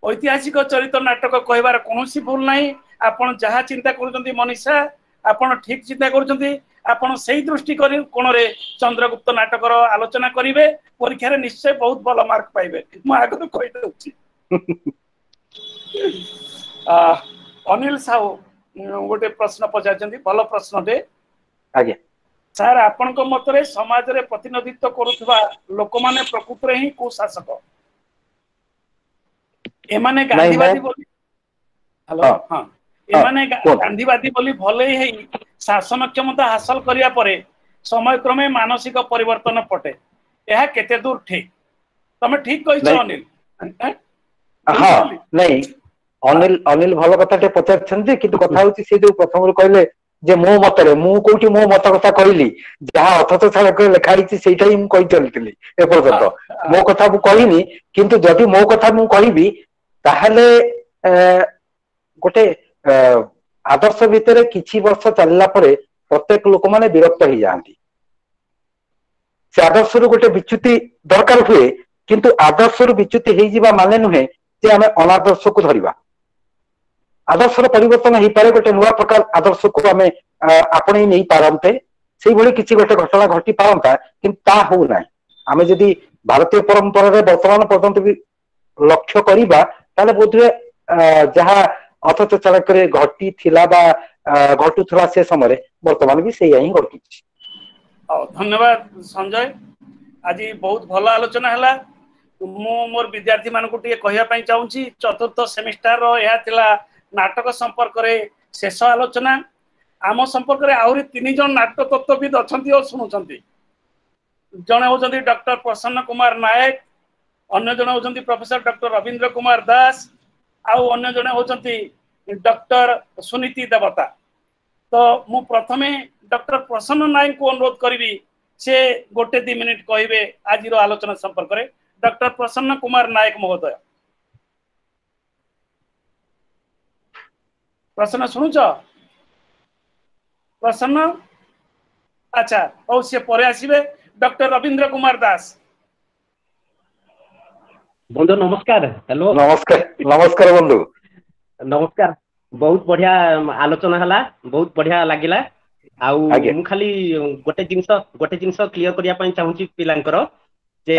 ଐତିହାସିକ ଚରିତ୍ର ନାଟକ କହିବାର କୌଣସି ଭୁଲ ନାହିଁ। ଆପଣ ଯାହା ଚିନ୍ତା କରୁଛନ୍ତି ମନୀଷା, ଆପଣ ଠିକ ଚିନ୍ତା କରୁଛନ୍ତି। ଆପଣ ସେଇ ଦୃଷ୍ଟି କୋଣରେ ଚନ୍ଦ୍ରଗୁପ୍ତ ନାଟକର ଆଲୋଚନା କରିବେ, ପରୀକ୍ଷାରେ ନିଶ୍ଚୟ ବହୁତ ଭଲ ମାର୍କ ପାଇବେ, ମୁଁ ଆଗରୁ କହିଦେଉଛି। ଅନିଲ ସାହୁ ଗୋଟେ ପ୍ରଶ୍ନ ପଚାରିଛନ୍ତି, ଭଲ ପ୍ରଶ୍ନଟେ। ଆଜ୍ଞା ସାର୍, ଆପଣଙ୍କ ମତରେ ସମାଜରେ ପ୍ରତିନିଧିତ୍ୱ କରୁଥିବା ଲୋକମାନେ ପ୍ରକୃତରେ ହିଁ କୁଶାସକ? ଏମାନେ ଗାନ୍ଧୀବାଦୀ ବୋଲି, ହ୍ୟାଲୋ, ହଁ, ଏମାନେ ଗାନ୍ଧୀବାଦୀ ବୋଲି ଭଲେଇ ହେଇ ଶାସନ କ୍ଷମତା ହାସଲ କରିବା ପରେ ସମୟକ୍ରମେ ମାନସିକ ପରିବର୍ତ୍ତନ ପଟେ, ଏହା କେତେ ଦୂର ଠିକ? ତମେ ଠିକ କହିଛ ଅନିଲ। ହଁ, ନାଇଁ ଅନିଲ, ଅନିଲ ଭଲ କଥା ଟେ ପଚାରିଛନ୍ତି, କିନ୍ତୁ କଥା ହଉଛି ସେ ଯୋଉ ପ୍ରଥମରୁ କହିଲେ ଯେ ମୋ ମତରେ, ମୁଁ କୋଉଠି ମୋ ମତ କଥା କହିଲି? ଯାହା ଅଥଚ ଛାଡ଼କ ଲେଖା ହେଇଛି ସେଇଟା ହିଁ ମୁଁ କହି ଚାଲିଥିଲି ଏପର୍ଯ୍ୟନ୍ତ, ମୋ କଥା ମୁଁ କହିନି। କିନ୍ତୁ ଯଦି ମୋ କଥା ମୁଁ କହିବି, ତାହେଲେ ଗୋଟେ ଆଦର୍ଶ ଭିତରେ କିଛି ବର୍ଷ ଚାଲିଲା ପରେ ପ୍ରତ୍ୟେକ ଲୋକମାନେ ବିରକ୍ତ ହେଇଯାଆନ୍ତି। ସେ ଆଦର୍ଶରୁ ଗୋଟେ ବିଚ୍ୟୁତି ଦରକାର ହୁଏ, କିନ୍ତୁ ଆଦର୍ଶରୁ ବିଚ୍ୟୁତି ହେଇଯିବା ମାନେ ନୁହେଁ ଯେ ଆମେ ଅନାଦର୍ଶକୁ ଧରିବା। ଆଦର୍ଶର ପରିବର୍ତ୍ତନ ହେଇପାରେ, ଗୋଟେ ନୂଆ ପ୍ରକାର ଆଦର୍ଶକୁ ଆମେ ଆପଣେଇ ନେଇ ପାରନ୍ତେ, ସେଇଭଳି କିଛି ଗୋଟେ ଘଟଣା ଘଟି ପାରନ୍ତା, କିନ୍ତୁ ତା ହଉନାହିଁ। ଆମେ ଯଦି ଭାରତୀୟ ପରମ୍ପରାରେ ବର୍ତ୍ତମାନ ପର୍ଯ୍ୟନ୍ତ ବି ଲକ୍ଷ୍ୟ କରିବା, ତାହେଲେ ବୋଧହୁଏ ଯାହା ଅଥଚ ଚାଣକ୍ୟରେ ଘଟିଥିଲା ବା ଘଟୁଥିଲା ସେ ସମୟରେ, ବର୍ତ୍ତମାନ ବି ସେଇଆ ହିଁ ଘଟୁଛି। ହଉ, ଧନ୍ୟବାଦ ସଞ୍ଜୟ, ଆଜି ବହୁତ ଭଲ ଆଲୋଚନା ହେଲା। ମୁଁ ମୋର ବିଦ୍ୟାର୍ଥୀ ମାନଙ୍କୁ ଟିକେ କହିବା ପାଇଁ ଚାହୁଁଛି, ଚତୁର୍ଥ ସେମିଷ୍ଟାରର ଏହା ଥିଲା ନାଟକ ସମ୍ପର୍କରେ ଶେଷ ଆଲୋଚନା। ଆମ ସମ୍ପର୍କରେ ଆହୁରି 3 ଜଣ ନାଟକ ତତ୍ତ୍ୱବିଦ ଅଛନ୍ତି ଓ ଶୁଣୁଛନ୍ତି। ଜଣେ ହଉଛନ୍ତି ଡକ୍ଟର ପ୍ରସନ୍ନ କୁମାର ନାୟକ, ଅନ୍ୟ ଜଣେ ହଉଛନ୍ତି ପ୍ରଫେସର ଡକ୍ଟର ରବୀନ୍ଦ୍ର କୁମାର ଦାସ, ଆଉ ଅନ୍ୟ ଜଣେ ହଉଛନ୍ତି ଡକ୍ଟର ସୁନୀତି ଦେବତା। ତ ମୁଁ ପ୍ରଥମେ ଡକ୍ଟର ପ୍ରସନ୍ନ ନାୟକଙ୍କୁ ଅନୁରୋଧ କରିବି, ସେ ଗୋଟେ 2 ମିନିଟ କହିବେ ଆଜିର ଆଲୋଚନା ସମ୍ପର୍କରେ। ଡକ୍ଟର ପ୍ରସନ୍ନ କୁମାର ନାୟକ ମହୋଦୟ। ପ୍ରସନ୍ନ ଶୁଣୁଛ? ପ୍ରସନ୍ନ, ଆଚ୍ଛା ହଉ, ସେ ପରେ ଆସିବେ। ଡକ୍ଟର ରବୀନ୍ଦ୍ର କୁମାର ଦାସ। ବନ୍ଧୁ ନମସ୍କାର। ହ୍ୟାଲୋ, ନମସ୍କାର। ନମସ୍କାର ବନ୍ଧୁ। ନମସ୍କାର। ବହୁତ ବଢିଆ ଆଲୋଚନା ହେଲା, ବହୁତ ବଢିଆ ଲାଗିଲା। ଆଉ ମୁଁ ଖାଲି ଗୋଟେ ଜିନିଷ କ୍ଲିୟର କରିବା ପାଇଁ ଚାହୁଁଛି ପିଲାଙ୍କର, ଯେ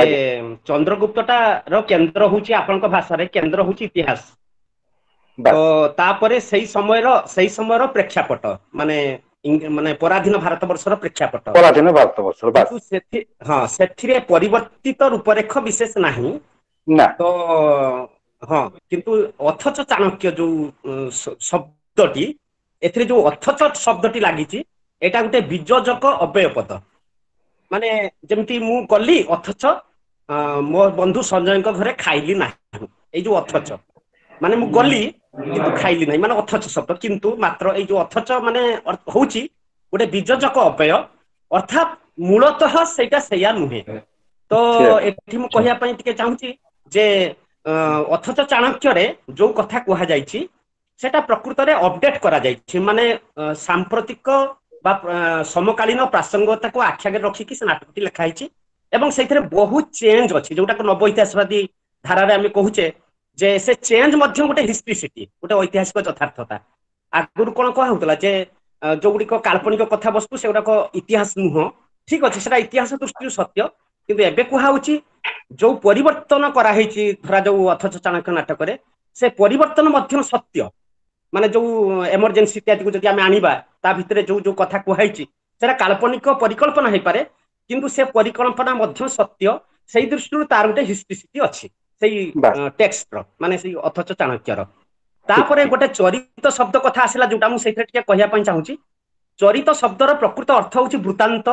ଚନ୍ଦ୍ରଗୁପ୍ତଟା ର କେନ୍ଦ୍ର ହଉଛି, ଆପଣଙ୍କ ଭାଷାରେ କେନ୍ଦ୍ର ହଉଛି ଇତିହାସ, ତ ତାପରେ ସେଇ ସମୟର ପ୍ରେକ୍ଷାପଟ, ମାନେ ମାନେ ପରାଧୀନ ଭାରତ ବର୍ଷର ପ୍ରେକ୍ଷାପଟ, ପରାଧୀନ ଭାରତ ବର୍ଷର। ହଁ, ସେଥିରେ ପରିବର୍ତ୍ତିତ ରୂପରେଖ ବିଶେଷ ନାହିଁ ତ। ହଁ, କିନ୍ତୁ ଅଥଚ ଚାଣକ୍ୟ ଯୋଉ ଶବ୍ଦଟି, ଏଥିରେ ଯୋଉ ଅଥଚ ଶବ୍ଦଟି ଲାଗିଛି, ଏଇଟା ଗୋଟେ ବିଯୋଜକ ଅବ୍ୟୟ ପଦ। ମାନେ ଯେମିତି ମୁଁ ଗଲି ଅଥଚ ମୋ ବନ୍ଧୁ ସଞ୍ଜୟଙ୍କ ଘରେ ଖାଇଲି ନାହିଁ, ଏଇ ଯୋଉ ଅଥଚ, ମାନେ ମୁଁ ଗଲି କିନ୍ତୁ ଖାଇଲି ନାହିଁ, ମାନେ ଅଥଚ ଶବ୍ଦ, କିନ୍ତୁ ମାତ୍ର, ଏଇ ଯୋଉ ଅଥଚ ମାନେ ହଉଛି ଗୋଟେ ବିଯୋଜକ ଅବ୍ୟୟ, ଅର୍ଥାତ୍ ମୂଳତଃ ସେଇଟା ସେଇଆ ନୁହେଁ। ତ ଏଠି ମୁଁ କହିବା ପାଇଁ ଟିକେ ଚାହୁଁଛି ଯେ ଅଥଚ ଚାଣକ୍ୟରେ ଯୋଉ କଥା କୁହାଯାଇଛି ସେଟା ପ୍ରକୃତରେ ଅପଡେଟ କରାଯାଇଛି, ମାନେ ସାମ୍ପ୍ରତିକ ବା ସମକାଳୀନ ପ୍ରାସଙ୍ଗିକତାକୁ ଆଖି ଆଗରେ ରଖିକି ସେ ନାଟକଟି ଲେଖା ହେଇଛି, ଏବଂ ସେଇଥିରେ ବହୁତ ଚେଞ୍ଜ ଅଛି, ଯୋଉଟାକୁ ନବ ଇତିହାସବାଦୀ ଧାରାରେ ଆମେ କହୁଛେ ଯେ ସେ ଚେଞ୍ଜ ମଧ୍ୟ ଗୋଟେ ହିଷ୍ଟ୍ରିସିଟି, ଗୋଟେ ଐତିହାସିକ ଯଥାର୍ଥତା। ଆଗରୁ କଣ କୁହା ହଉଥିଲା ଯେ ଯୋଉଗୁଡ଼ିକ କାଳ୍ପନିକ କଥାବସ୍ତୁ ସେଗୁଡାକ ଇତିହାସ ନୁହଁ, ଠିକ ଅଛି, ସେଟା ଇତିହାସ ଦୃଷ୍ଟିରୁ ସତ୍ୟ, କିନ୍ତୁ ଏବେ କୁହାହଉଛି ଯୋଉ ପରିବର୍ତ୍ତନ କରାହେଇଛି ଧରାଯାଉ ଅଥଚ ଚାଣକ୍ୟ ନାଟକରେ, ସେ ପରିବର୍ତ୍ତନ ମଧ୍ୟ ସତ୍ୟ। ମାନେ ଯୋଉ ଏମରଜେନ୍ସି ଇତ୍ୟାଦିକୁ ଯଦି ଆମେ ଆଣିବା, ତା ଭିତରେ ଯୋଉ ଯୋଉ କଥା କୁହାହେଇଛି ସେଟା କାଳ୍ପନିକ ପରିକଳ୍ପନା ହେଇପାରେ, କିନ୍ତୁ ସେ ପରିକଳ୍ପନା ମଧ୍ୟ ସତ୍ୟ। ସେଇ ଦୃଷ୍ଟିରୁ ତାର ଗୋଟେ ହିଷ୍ଟ୍ରିସିଟି ଅଛି ସେଇ ଟେକ୍ସଟର, ମାନେ ସେଇ ଅଥଚ ଚାଣକ୍ୟର। ତାପରେ ଗୋଟେ ଚରିତ ଶବ୍ଦ କଥା ଆସିଲା, ଯୋଉଟା ମୁଁ ସେଇଥିରେ ଟିକେ କହିବା ପାଇଁ ଚାହୁଁଛି। ଚରିତ ଶବ୍ଦର ପ୍ରକୃତ ଅର୍ଥ ହଉଛି ବୃତ୍ତାନ୍ତ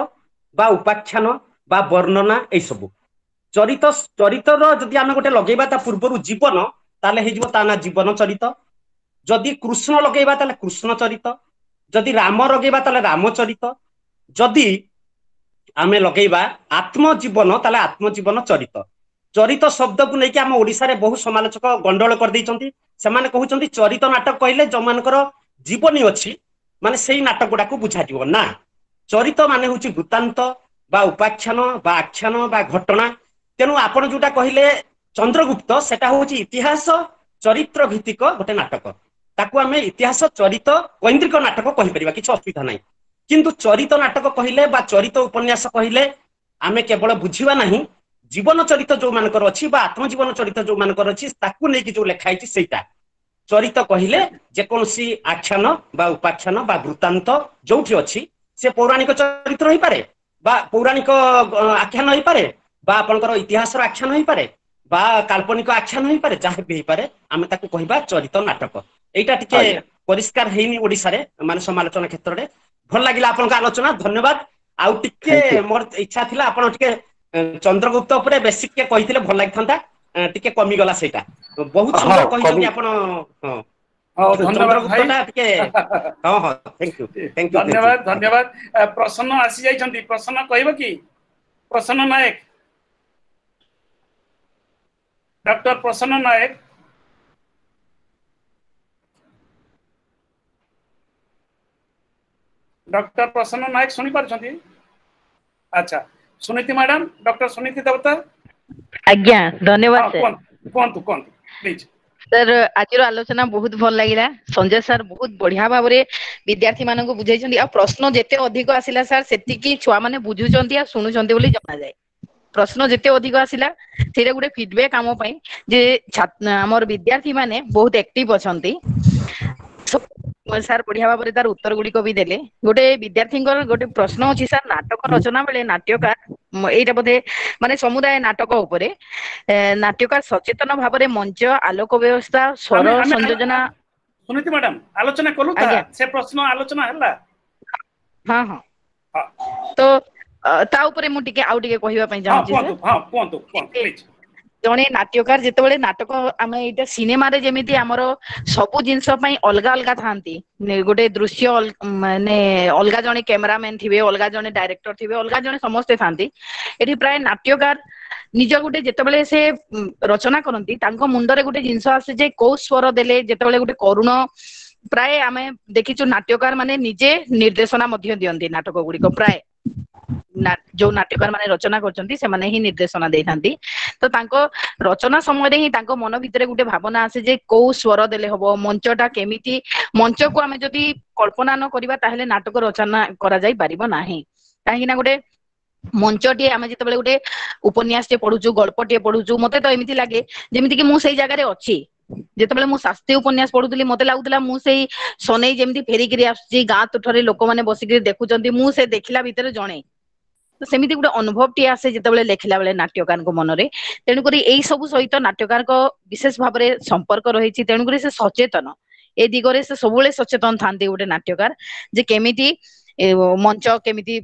ବା ଉପାଖ୍ୟାନ ବା ବର୍ଣ୍ଣନା, ଏଇସବୁ। ଚରିତ, ଚରିତର ଯଦି ଆମେ ଗୋଟେ ଲଗେଇବା ତା ପୂର୍ବରୁ ଜୀବନ, ତାହେଲେ ହେଇଯିବ ତା ନା ଜୀବନ ଚରିତ। ଯଦି କୃଷ୍ଣ ଲଗେଇବା ତାହେଲେ କୃଷ୍ଣ ଚରିତ। ଯଦି ରାମ ଲଗେଇବା ତାହେଲେ ରାମଚରିତ, ଯଦି ଆମେ ଲଗେଇବା ଆତ୍ମଜୀବନ ତାହେଲେ ଆତ୍ମଜୀବନ ଚରିତ। ଚରିତ ଶବ୍ଦକୁ ନେଇକି ଆମ ଓଡିଶାରେ ବହୁ ସମାଲୋଚକ ଗଣ୍ଡଗୋଳ କରିଦେଇଛନ୍ତି। ସେମାନେ କହୁଛନ୍ତି ଚରିତ ନାଟକ କହିଲେ ଯୋଉମାନଙ୍କର ଜୀବନୀ ଅଛି ମାନେ ସେଇ ନାଟକ ଗୁଡାକୁ ବୁଝାଯିବ ନା। ଚରିତ ମାନେ ହଉଛି ବୃତ୍ତାନ୍ତ ବା ଉପାଖ୍ୟାନ ବା ଆଖ୍ୟାନ ବା ଘଟଣା। ତେଣୁ ଆପଣ ଯୋଉଟା କହିଲେ ଚନ୍ଦ୍ରଗୁପ୍ତ, ସେଟା ହଉଛି ଇତିହାସ ଚରିତ୍ର ଭିତ୍ତିକ ଗୋଟେ ନାଟକ। ତାକୁ ଆମେ ଇତିହାସ ଚରିତ କୈନ୍ଦ୍ରିକ ନାଟକ କହିପାରିବା, କିଛି ଅସୁବିଧା ନାହିଁ। କିନ୍ତୁ ଚରିତ ନାଟକ କହିଲେ ବା ଚରିତ ଉପନ୍ୟାସ କହିଲେ ଆମେ କେବଳ ବୁଝିବା ନାହିଁ ଜୀବନ ଚରିତ ଯୋଉମାନଙ୍କର ଅଛି ବା ଆତ୍ମଜୀବନ ଚରିତ ଯୋଉମାନଙ୍କର ଅଛି ତାକୁ ନେଇକି ଯୋଉ ଲେଖା ହେଇଛି ସେଇଟା। ଚରିତ କହିଲେ ଯେକୌଣସି ଆଖ୍ୟାନ ବା ଉପାଖ୍ୟାନ ବା ବୃତ୍ତାନ୍ତ ଯୋଉଠି ଅଛି, ସେ ପୌରାଣିକ ଚରିତ୍ର ହେଇପାରେ ବା ପୌରାଣିକ ଆଖ୍ୟାନ ହେଇପାରେ ବା ଆପଣଙ୍କର ଇତିହାସର ଆଖ୍ୟାନ ହେଇପାରେ ବା କାଳ୍ପନିକ ଆଖ୍ୟାନ ହେଇପାରେ, ଯାହା ବି ହେଇପାରେ ଆମେ ତାକୁ କହିବା ଚରିତ ନାଟକ। ଏଇଟା ଟିକେ ପରିଷ୍କାର ହେଇନି ଓଡିଶାରେ ମାନେ ସମାଲୋଚନା କ୍ଷେତ୍ରରେ। ଭଲ ଲାଗିଲା ଆପଣଙ୍କ ଆଲୋଚନା, ଧନ୍ୟବାଦ। ଆଉ ଟିକେ ମୋର ଇଚ୍ଛା ଥିଲା ଆପଣ ଟିକେ ଚନ୍ଦ୍ରଗୁପ୍ତ ଉପରେ ବେଶୀ ଟିକେ କହିଥିଲେ ଭଲ ଲାଗିଥାନ୍ତା, ଟିକେ କମିଗଲା ସେଇଟା। ବହୁତ ସୁନ୍ଦର କହିଛନ୍ତି ଆପଣ। ହଁ, ଚନ୍ଦ୍ରଗୁପ୍ତଟା ଟିକେ, ହଁ ହଁ, thank you, thank you, ଧନ୍ୟବାଦ, ଧନ୍ୟବାଦ। ପ୍ରସନ୍ନ ଆସି ଯାଇଛନ୍ତି, ପ୍ରସନ୍ନ କହିବ କି? ପ୍ରସନ୍ନ ନାୟକ, ଡକ୍ଟର ପ୍ରସନ୍ନ ନାୟକ। ଡକ୍ଟର ପ୍ରସନ୍ନ ନାୟକ ଶୁଣି ପାରୁଛନ୍ତି? ଆଚ୍ଛା, ସୁନୀତି ମ୍ୟାଡାମ, ଡକ୍ଟର ସୁନୀତି ଦେବତା। ଆଜ୍ଞା, ଧନ୍ୟବାଦ ସାର୍। କୁହନ୍ତୁ, କୁହନ୍ତୁ ପ୍ଲିଜ। ସାର୍, ଆଜିର ଆଲୋଚନା ବହୁତ ଭଲ ଲାଗିଲା। ସଞ୍ଜୟ ସାର୍ ବହୁତ ବଢିଆ ଭାବରେ ବିଦ୍ୟାର୍ଥୀ ମାନଙ୍କୁ ବୁଝେଇଛନ୍ତି, ଆଉ ପ୍ରଶ୍ନ ଯେତେ ଅଧିକ ଆସିଲା ସାର୍ ସେତିକି ଛୁଆ ମାନେ ବୁଝୁଛନ୍ତି ଆଉ ଶୁଣୁଛନ୍ତି ବୋଲି ଜଣାଯାଏ। ପ୍ରଶ୍ନ ଯେତେ ଅଧିକ ଆସିଲା ସେଇଟା ଗୋଟେ ଫିଡବ୍ୟାକ୍ ଆମ ପାଇଁ ଯେ ଆମର ବିଦ୍ୟାର୍ଥୀ ମାନେ ବହୁତ ଆକ୍ଟିଭ ଅଛନ୍ତି। ସାର୍ ବଢିଆ ଭାବରେ ତାର ଉତ୍ତର ଗୁଡିକ ବି ଦେଲେ। ଗୋଟେ ବିଦ୍ୟାର୍ଥୀଙ୍କର ଗୋଟେ ପ୍ରଶ୍ନ ଅଛି ସାର୍, ନାଟକ ରଚନା ବେଳେ ନାଟ୍ୟକାର, ଏଇଟା ବୋଧେ ମାନେ ସମୁଦାୟ ନାଟକ ଉପରେ, ନାଟ୍ୟକାର ସଚେତନ ଭାବରେ ମଞ୍ଚ, ଆଲୋକ ବ୍ୟବସ୍ଥା, ସ୍ୱର ସଂଯୋଜନା। ସୁନୀତି ମ୍ୟାଡାମ, ଆଲୋଚନା କଲୁ, ସେ ପ୍ରଶ୍ନ ଆଲୋଚନା ହେଲା। ହଁ ହଁ, ତ ତା ଉପରେ ମୁଁ ଟିକେ ଆଉ ଟିକେ କହିବା ପାଇଁ ଚାହୁଁଛି। କୁହନ୍ତୁ, କୁହନ୍ତୁ। ଜଣେ ନାଟ୍ୟକାର ଯେତେବେଳେ ନାଟକ, ଆମେ ଏଇଟା ସିନେମାରେ ଯେମିତି ଆମର ସବୁ ଜିନିଷ ପାଇଁ ଅଲଗା ଅଲଗା ଥାନ୍ତି, ଗୋଟେ ଦୃଶ୍ୟ ମାନେ ଅଲଗା ଜଣେ କ୍ୟାମେରାମ୍ୟାନ ଥିବେ, ଅଲଗା ଜଣେ ଡାଇରେକ୍ଟର ଥିବେ, ଅଲଗା ଜଣେ ସମସ୍ତେ ଥାନ୍ତି। ଏଠି ପ୍ରାୟ ନାଟ୍ୟକାର ନିଜ ଗୋଟେ ଯେତେବେଳେ ସେ ରଚନା କରନ୍ତି ତାଙ୍କ ମୁଣ୍ଡରେ ଗୋଟେ ଜିନିଷ ଆସେ ଯେ କୋଉ ସ୍ୱର ଦେଲେ, ଯେତେବେଳେ ଗୋଟେ କରୁଣ, ପ୍ରାୟ ଆମେ ଦେଖିଛୁ ନାଟ୍ୟକାର ମାନେ ନିଜେ ନିର୍ଦ୍ଦେଶନା ମଧ୍ୟ ଦିଅନ୍ତି ନାଟକ ଗୁଡିକ। ପ୍ରାୟ ଯୋଉ ନାଟ୍ୟକାର ମାନେ ରଚନା କରୁଛନ୍ତି ସେମାନେ ହିଁ ନିର୍ଦ୍ଦେଶନା ଦେଇଥାନ୍ତି। ତ ତାଙ୍କ ରଚନା ସମୟରେ ହିଁ ତାଙ୍କ ମନ ଭିତରେ ଗୋଟେ ଭାବନା ଆସେ ଯେ କୋଉ ସ୍ୱର ଦେଲେ ହବ, ମଞ୍ଚଟା କେମିତି, ମଞ୍ଚକୁ ଆମେ ଯଦି କଳ୍ପନା ନ କରିବା ତାହେଲେ ନାଟକ ରଚନା କରାଯାଇ ପାରିବ ନାହିଁ। କାହିଁକି ନା ଗୋଟେ ମଞ୍ଚଟିଏ ଆମେ ଯେତେବେଳେ ଗୋଟେ ଉପନ୍ୟାସଟିଏ ପଢୁଛୁ, ଗଳ୍ପଟିଏ ପଢୁଛୁ, ମତେ ତ ଏମିତି ଲାଗେ ଯେମିତି କି ମୁଁ ସେଇ ଜାଗାରେ ଅଛି। ଯେତେବେଳେ ମୁଁ ଶାସ୍ତ୍ରୀୟ ଉପନ୍ୟାସ ପଢୁଥିଲି ମତେ ଲାଗୁଥିଲା ମୁଁ ସେଇ ସନେଇ ଯେମିତି ଫେରିକିରି ଆସୁଛି, ଗାଁ ତୁଠରେ ଲୋକମାନେ ବସିକିରି ଦେଖୁଛନ୍ତି, ମୁଁ ସେ ଦେଖିଲା ଭିତରେ ଜଣେ। ତ ସେମିତି ଗୋଟେ ଅନୁଭବଟିଏ ଆସେ ଯେତେବେଳେ ଲେଖିଲା ବେଳେ ନାଟ୍ୟକାରଙ୍କ ମନରେ। ତେଣୁକରି ଏଇ ସବୁ ସହିତ ନାଟ୍ୟକାରଙ୍କ ବିଶେଷ ଭାବରେ ସମ୍ପର୍କ ରହିଛି। ତେଣୁକରି ସେ ସଚେତନ, ଏ ଦିଗରେ ସେ ସବୁବେଳେ ସଚେତନ ଥାନ୍ତି ଗୋଟେ ନାଟ୍ୟକାର, ଯେ କେମିତି ମଞ୍ଚ କେମିତି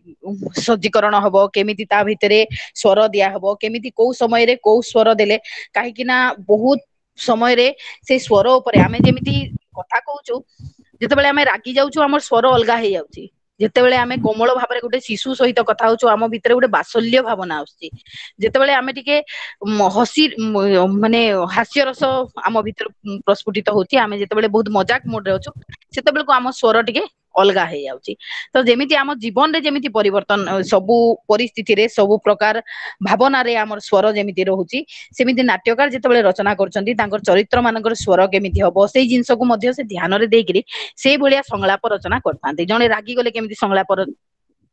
ସଜ୍ଜୀକରଣ ହବ, କେମିତି ତା ଭିତରେ ସ୍ୱର ଦିଆହବ, କେମିତି କୋଉ ସମୟରେ କୋଉ ସ୍ୱର ଦେଲେ। କାହିଁକି ନା ବହୁତ ସମୟରେ ସେଇ ସ୍ୱର ଉପରେ ଆମେ ଯେମିତି କଥା କହୁଛୁ, ଯେତେବେଳେ ଆମେ ରାଗି ଯାଉଛୁ ଆମର ସ୍ୱର ଅଲଗା ହେଇଯାଉଛି, ଯେତେବେଳେ ଆମେ କୋମଳ ଭାବରେ ଗୋଟେ ଶିଶୁ ସହିତ କଥା ହଉଛୁ ଆମ ଭିତରେ ଗୋଟେ ବାତ୍ସଲ୍ୟ ଭାବନା ଆସୁଛି, ଯେତେବେଳେ ଆମେ ଟିକେ ହସି ମାନେ ହାସ୍ୟରସ ଆମ ଭିତରେ ପ୍ରସ୍ଫୁଟିତ ହଉଛି, ଆମେ ଯେତେବେଳେ ବହୁତ ମଜାକ ମୁଡରେ ଅଛୁ ସେତେବେଳକୁ ଆମ ସ୍ୱର ଟିକେ ଅଲଗା ହେଇଯାଉଛି। ତ ଯେମିତି ଆମ ଜୀବନରେ ଯେମିତି ପରିବର୍ତ୍ତନ ସବୁ ପରିସ୍ଥିତିରେ ସବୁ ପ୍ରକାର ଭାବନାରେ ଆମର ସ୍ୱର ଯେମିତି ରହୁଛି, ସେମିତି ନାଟ୍ୟକାର ଯେତେବେଳେ ରଚନା କରୁଛନ୍ତି ତାଙ୍କର ଚରିତ୍ର ମାନଙ୍କର ସ୍ୱର କେମିତି ହବ ସେଇ ଜିନିଷକୁ ମଧ୍ୟ ସେ ଧ୍ୟାନରେ ଦେଇକିରି ସେଇଭଳିଆ ସଂଳାପ ରଚନା କରିଥାନ୍ତି। ଜଣେ ରାଗିଗଲେ କେମିତି ସଂଳାପ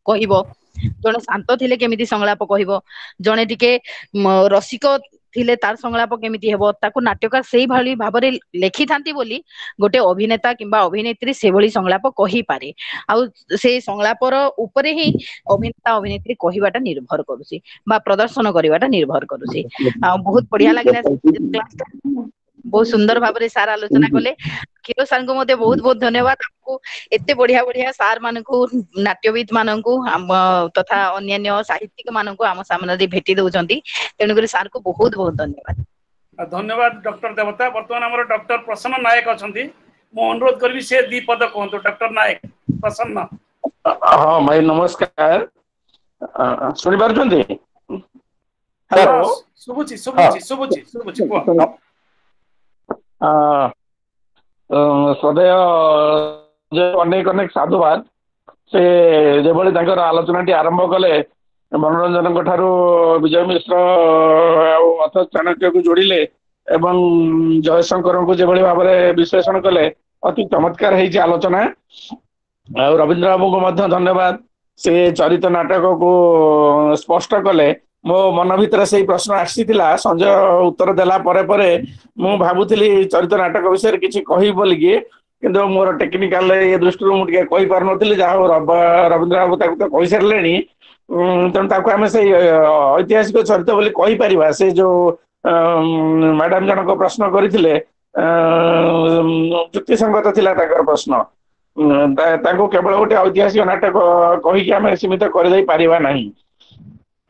କହିବ, ଜଣେ ଶାନ୍ତ ଥିଲେ କେମିତି ସଂଳାପ କହିବ, ଜଣେ ଟିକେ ରସିକ ଥିଲେ ତାର ସଂଳାପ କେମିତି ହେବ, ତାକୁ ନାଟ୍ୟକାର ସେଇଭଳି ଭାବରେ ଲେଖିଥାନ୍ତି ବୋଲି ଗୋଟେ ଅଭିନେତା କିମ୍ବା ଅଭିନେତ୍ରୀ ସେଭଳି ସଂଳାପ କହିପାରେ। ଆଉ ସେଇ ସଂଳାପର ଉପରେ ହିଁ ଅଭିନେତା ଅଭିନେତ୍ରୀ କହିବାଟା ନିର୍ଭର କରୁଛି ବା ପ୍ରଦର୍ଶନ କରିବାଟା ନିର୍ଭର କରୁଛି। ଆଉ ବହୁତ ବଢିଆ ଲାଗିଲା କ୍ଲାସଟା, ବହୁତ ସୁନ୍ଦର ଭାବରେ ସାର୍ ଆଲୋଚନା କଲେ। କ୍ଷୀର ସାର୍ଙ୍କୁ ମଧ୍ୟ ବହୁତ ବହୁତ ଧନ୍ୟବାଦ। ଆମକୁ ଏତେ ବଢିଆ ବଢିଆ ସାର୍ ମାନଙ୍କୁ, ନାଟ୍ୟବିଦ ମାନଙ୍କୁ ଆମ ତଥା ଅନ୍ୟାନ୍ୟ ସାହିତ୍ୟିକ ମାନଙ୍କୁ ଆମ ସାମ୍ନାରେ ଭେଟି ଦଉଛନ୍ତି, ତେଣୁକରି ସାର୍ଙ୍କୁ ବହୁତ ବହୁତ ଧନ୍ୟବାଦ। ଧନ୍ୟବାଦ ଡକ୍ଟର ଦେବତା। ବର୍ତ୍ତମାନ ଆମର ଡକ୍ଟର ପ୍ରସନ୍ନ ନାୟକ ଅଛନ୍ତି, ମୁଁ ଅନୁରୋଧ କରିବି ସେ ଦି ପଦ କୁହନ୍ତୁ। ଡକ୍ଟର ନାୟକ। ପ୍ରସନ୍ନ। ହଁ ଭାଇ ନମସ୍କାର, ଶୁଣିପାରୁଛନ୍ତି? ହ୍ୟାଲୋ, ଶୁଭୁଛି ଶୁଭୁଛି ଶୁଭୁଛି ଶୁଭୁଛି, କୁହ। ସଦୟ ଅନେକ ଅନେକ ସାଧୁବାଦ। ସେ ଯେଭଳି ତାଙ୍କର ଆଲୋଚନାଟି ଆରମ୍ଭ କଲେ, ମନୋରଞ୍ଜନଙ୍କ ଠାରୁ ବିଜୟ ମିଶ୍ର ଆଉ ଅଥଚ ଚାଣକ୍ୟକୁ ଯୋଡ଼ିଲେ ଏବଂ ଜୟଶଙ୍କରଙ୍କୁ ଯେଭଳି ଭାବରେ ବିଶ୍ଳେଷଣ କଲେ, ଅତି ଚମତ୍କାର ହେଇଛି ଆଲୋଚନା। ଆଉ ରବୀନ୍ଦ୍ର ବାବୁଙ୍କୁ ମଧ୍ୟ ଧନ୍ୟବାଦ, ସେ ଚରିତ ନାଟକକୁ ସ୍ପଷ୍ଟ କଲେ। ମୋ ମନ ଭିତରେ ସେଇ ପ୍ରଶ୍ନ ଆସିଥିଲା, ସଞ୍ଜୟ ଉତ୍ତର ଦେଲା ପରେ ପରେ ମୁଁ ଭାବୁଥିଲି ଚରିତ ନାଟକ ବିଷୟରେ କିଛି କହିବି ବୋଲିକି, କିନ୍ତୁ ମୋର ଟେକ୍ନିକାଲ ଇଏ ଦୃଷ୍ଟିରୁ ମୁଁ ଟିକେ କହିପାରୁନଥିଲି। ଯାହା ହଉ ରବୀନ୍ଦ୍ର ବାବୁ ତାକୁ ତ କହିସାରିଲେଣି, ତେଣୁ ତାକୁ ଆମେ ସେଇ ଐତିହାସିକ ଚରିତ ବୋଲି କହିପାରିବା। ସେ ଯୋଉ ମ୍ୟାଡାମ ଜଣକ ପ୍ରଶ୍ନ କରିଥିଲେ, ଯୁକ୍ତିସଙ୍ଗତ ଥିଲା ତାଙ୍କର ପ୍ରଶ୍ନ। ତାଙ୍କୁ କେବଳ ଗୋଟେ ଐତିହାସିକ ନାଟକ କହିକି ଆମେ ସୀମିତ କରିଦେଇ ପାରିବା ନାହିଁ।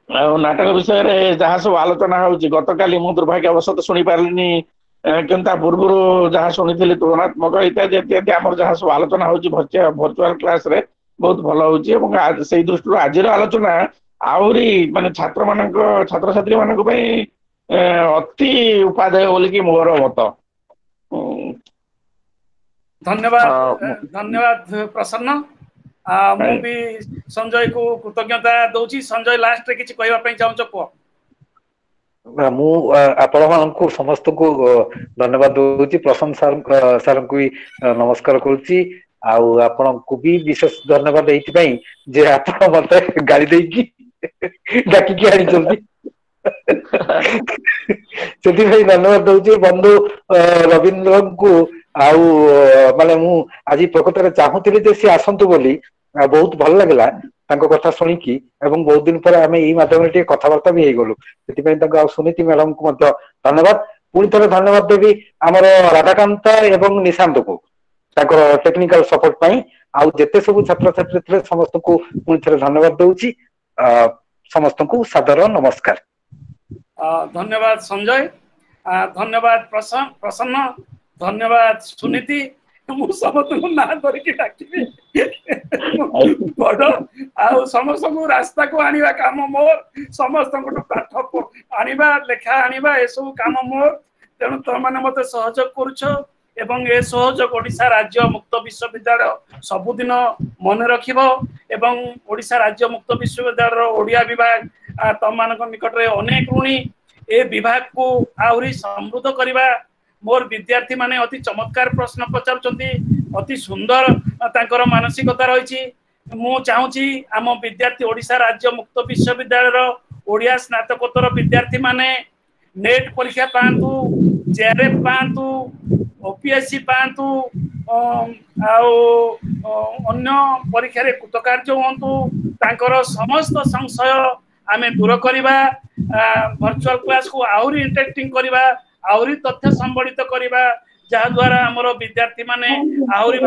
ଆଉ ନାଟକ ବିଷୟରେ ଯାହା ସବୁ ଆଲୋଚନା ହଉଛି, ଗତକାଲି ମୁଁ ଦୁର୍ଭାଗ୍ୟବଶତଃ ଶୁଣିପାରିଲିନି, କିନ୍ତୁ ତା ପୂର୍ବରୁ ଯାହା ଶୁଣିଥିଲି ତୁଳନାତ୍ମକ ଇତ୍ୟାଦି ଇତ୍ୟାଦି ଆମର ଯାହା ସବୁ ଆଲୋଚନା ହଉଛି ଭର୍ଚୁଆଲ କ୍ଲାସରେ ବହୁତ ଭଲ ହଉଛି। ଏବଂ ସେଇ ଦୃଷ୍ଟିରୁ ଆଜିର ଆଲୋଚନା ଆହୁରି ମାନେ ଛାତ୍ରମାନଙ୍କ ଛାତ୍ରଛାତ୍ରୀ ମାନଙ୍କ ପାଇଁ ଅତି ଉପାଦେୟ ବୋଲିକି ମୋର ମତ। ଧନ୍ୟବାଦ, ଧନ୍ୟବାଦ ପ୍ରସନ୍ନ। ମୁଁ ବି ସଞ୍ଜୟକୁ କୃତଜ୍ଞତା ଦଉଛି। ସଞ୍ଜୟ, ଲାଷ୍ଟରେ କିଛି କହିବା ପାଇଁ ଚାହୁଁଛ, କୁହ। ମୁଁ ଆପଣମାନଙ୍କୁ ସମସ୍ତଙ୍କୁ ଧନ୍ୟବାଦ ଦଉଛି, ପ୍ରସନ୍ନ ସାର୍ ସାର୍ଙ୍କୁ ବି ନମସ୍କାର କରୁଛି, ଆଉ ଆପଣଙ୍କୁ ବି ବିଶେଷ ଧନ୍ୟବାଦ ଏଇଥିପାଇଁ ଯେ ଆପଣ ମତେ ଗାଳି ଦେଇକି ଡାକିକି ଆଣିଛନ୍ତି, ସେଥିପାଇଁ ଧନ୍ୟବାଦ ଦଉଛି ବନ୍ଧୁ ରବୀନ୍ଦ୍ରଙ୍କୁ। ଆଉ ମାନେ ମୁଁ ଆଜି ପ୍ରକୃତରେ ଚାହୁଁଥିଲି ଯେ ସିଏ ଆସନ୍ତୁ ବୋଲି, ବହୁତ ଭଲ ଲାଗିଲା ତାଙ୍କ କଥା ଶୁଣିକି, ଏବଂ ବହୁତ ଦିନ ପରେ ଆମେ ଏଇ ମାଧ୍ୟମରେ ଟିକେ କଥାବାର୍ତ୍ତା ବି ହେଇଗଲୁ, ସେଥିପାଇଁ ତାଙ୍କୁ ଆଉ ସୁନୀତି ମ୍ୟାଡାମଙ୍କୁ ମଧ୍ୟ ଧନ୍ୟବାଦ। ପୁଣି ଥରେ ଧନ୍ୟବାଦ ଦେବି ଆମର ରାଧାକାନ୍ତ ଏବଂ ନିଶାନ୍ତକୁ ତାଙ୍କର ଟେକ୍ନିକାଲ ସପୋର୍ଟ ପାଇଁ। ଆଉ ଯେତେ ସବୁ ଛାତ୍ରଛାତ୍ରୀ ଥିଲେ ସମସ୍ତଙ୍କୁ ପୁଣି ଥରେ ଧନ୍ୟବାଦ ଦଉଛି। ସମସ୍ତଙ୍କୁ ସାଦର ନମସ୍କାର। ଧନ୍ୟବାଦ ସଞ୍ଜୟ, ଧନ୍ୟବାଦ ପ୍ରସନ୍ନ, ଧନ୍ୟବାଦ ସୁନୀତି। ମୁଁ ସମସ୍ତଙ୍କୁ ନାଁ ଧରିକି ଡାକିବି ବଡ, ଆଉ ସମସ୍ତଙ୍କୁ ରାସ୍ତାକୁ ଆଣିବା କାମ ମୋର, ସମସ୍ତଙ୍କଠୁ ପାଠ ଆଣିବା, ଲେଖା ଆଣିବା, ଏସବୁ କାମ ମୋର। ତେଣୁ ତମେମାନେ ମତେ ସହଯୋଗ କରୁଛ ଏବଂ ଏ ସହଯୋଗ ଓଡ଼ିଶା ରାଜ୍ୟ ମୁକ୍ତ ବିଶ୍ୱବିଦ୍ୟାଳୟ ସବୁଦିନ ମନେ ରଖିବ। ଏବଂ ଓଡ଼ିଶା ରାଜ୍ୟ ମୁକ୍ତ ବିଶ୍ୱବିଦ୍ୟାଳୟର ଓଡ଼ିଆ ବିଭାଗ ତମମାନଙ୍କ ନିକଟରେ ଅନେକ ଋଣୀ। ଏ ବିଭାଗକୁ ଆହୁରି ସମୃଦ୍ଧ କରିବା। ମୋର ବିଦ୍ୟାର୍ଥୀ ମାନେ ଅତି ଚମତ୍କାର ପ୍ରଶ୍ନ ପଚାରୁଛନ୍ତି, ଅତି ସୁନ୍ଦର ତାଙ୍କର ମାନସିକତା ରହିଛି। ମୁଁ ଚାହୁଁଛି ଆମ ବିଦ୍ୟାର୍ଥୀ ଓଡ଼ିଶା ରାଜ୍ୟ ମୁକ୍ତ ବିଶ୍ୱବିଦ୍ୟାଳୟର ଓଡ଼ିଆ ସ୍ନାତକୋତ୍ତର ବିଦ୍ୟାର୍ଥୀ ମାନେ ନେଟ୍ ପରୀକ୍ଷା ପାଆନ୍ତୁ, ଜେଆର୍ଏଫ୍ ପାଆନ୍ତୁ, ଓପିଏସସି ପାଆନ୍ତୁ, ଆଉ ଅନ୍ୟ ପରୀକ୍ଷାରେ କୃତକାର୍ଯ୍ୟ ହୁଅନ୍ତୁ। ତାଙ୍କର ସମସ୍ତ ସଂଶୟ ଆମେ ଦୂର କରିବା, ଭର୍ଚୁଆଲ କ୍ଲାସକୁ ଆହୁରି ଇଣ୍ଟରେଷ୍ଟିଂ କରିବା, ଆହୁରି ତଥ୍ୟ ସମ୍ବଳିତ କରିବା, ଯାହାଦ୍ୱାରା ଆମର ବିଦ୍ୟାର୍ଥୀ ମାନେ ଆହୁରି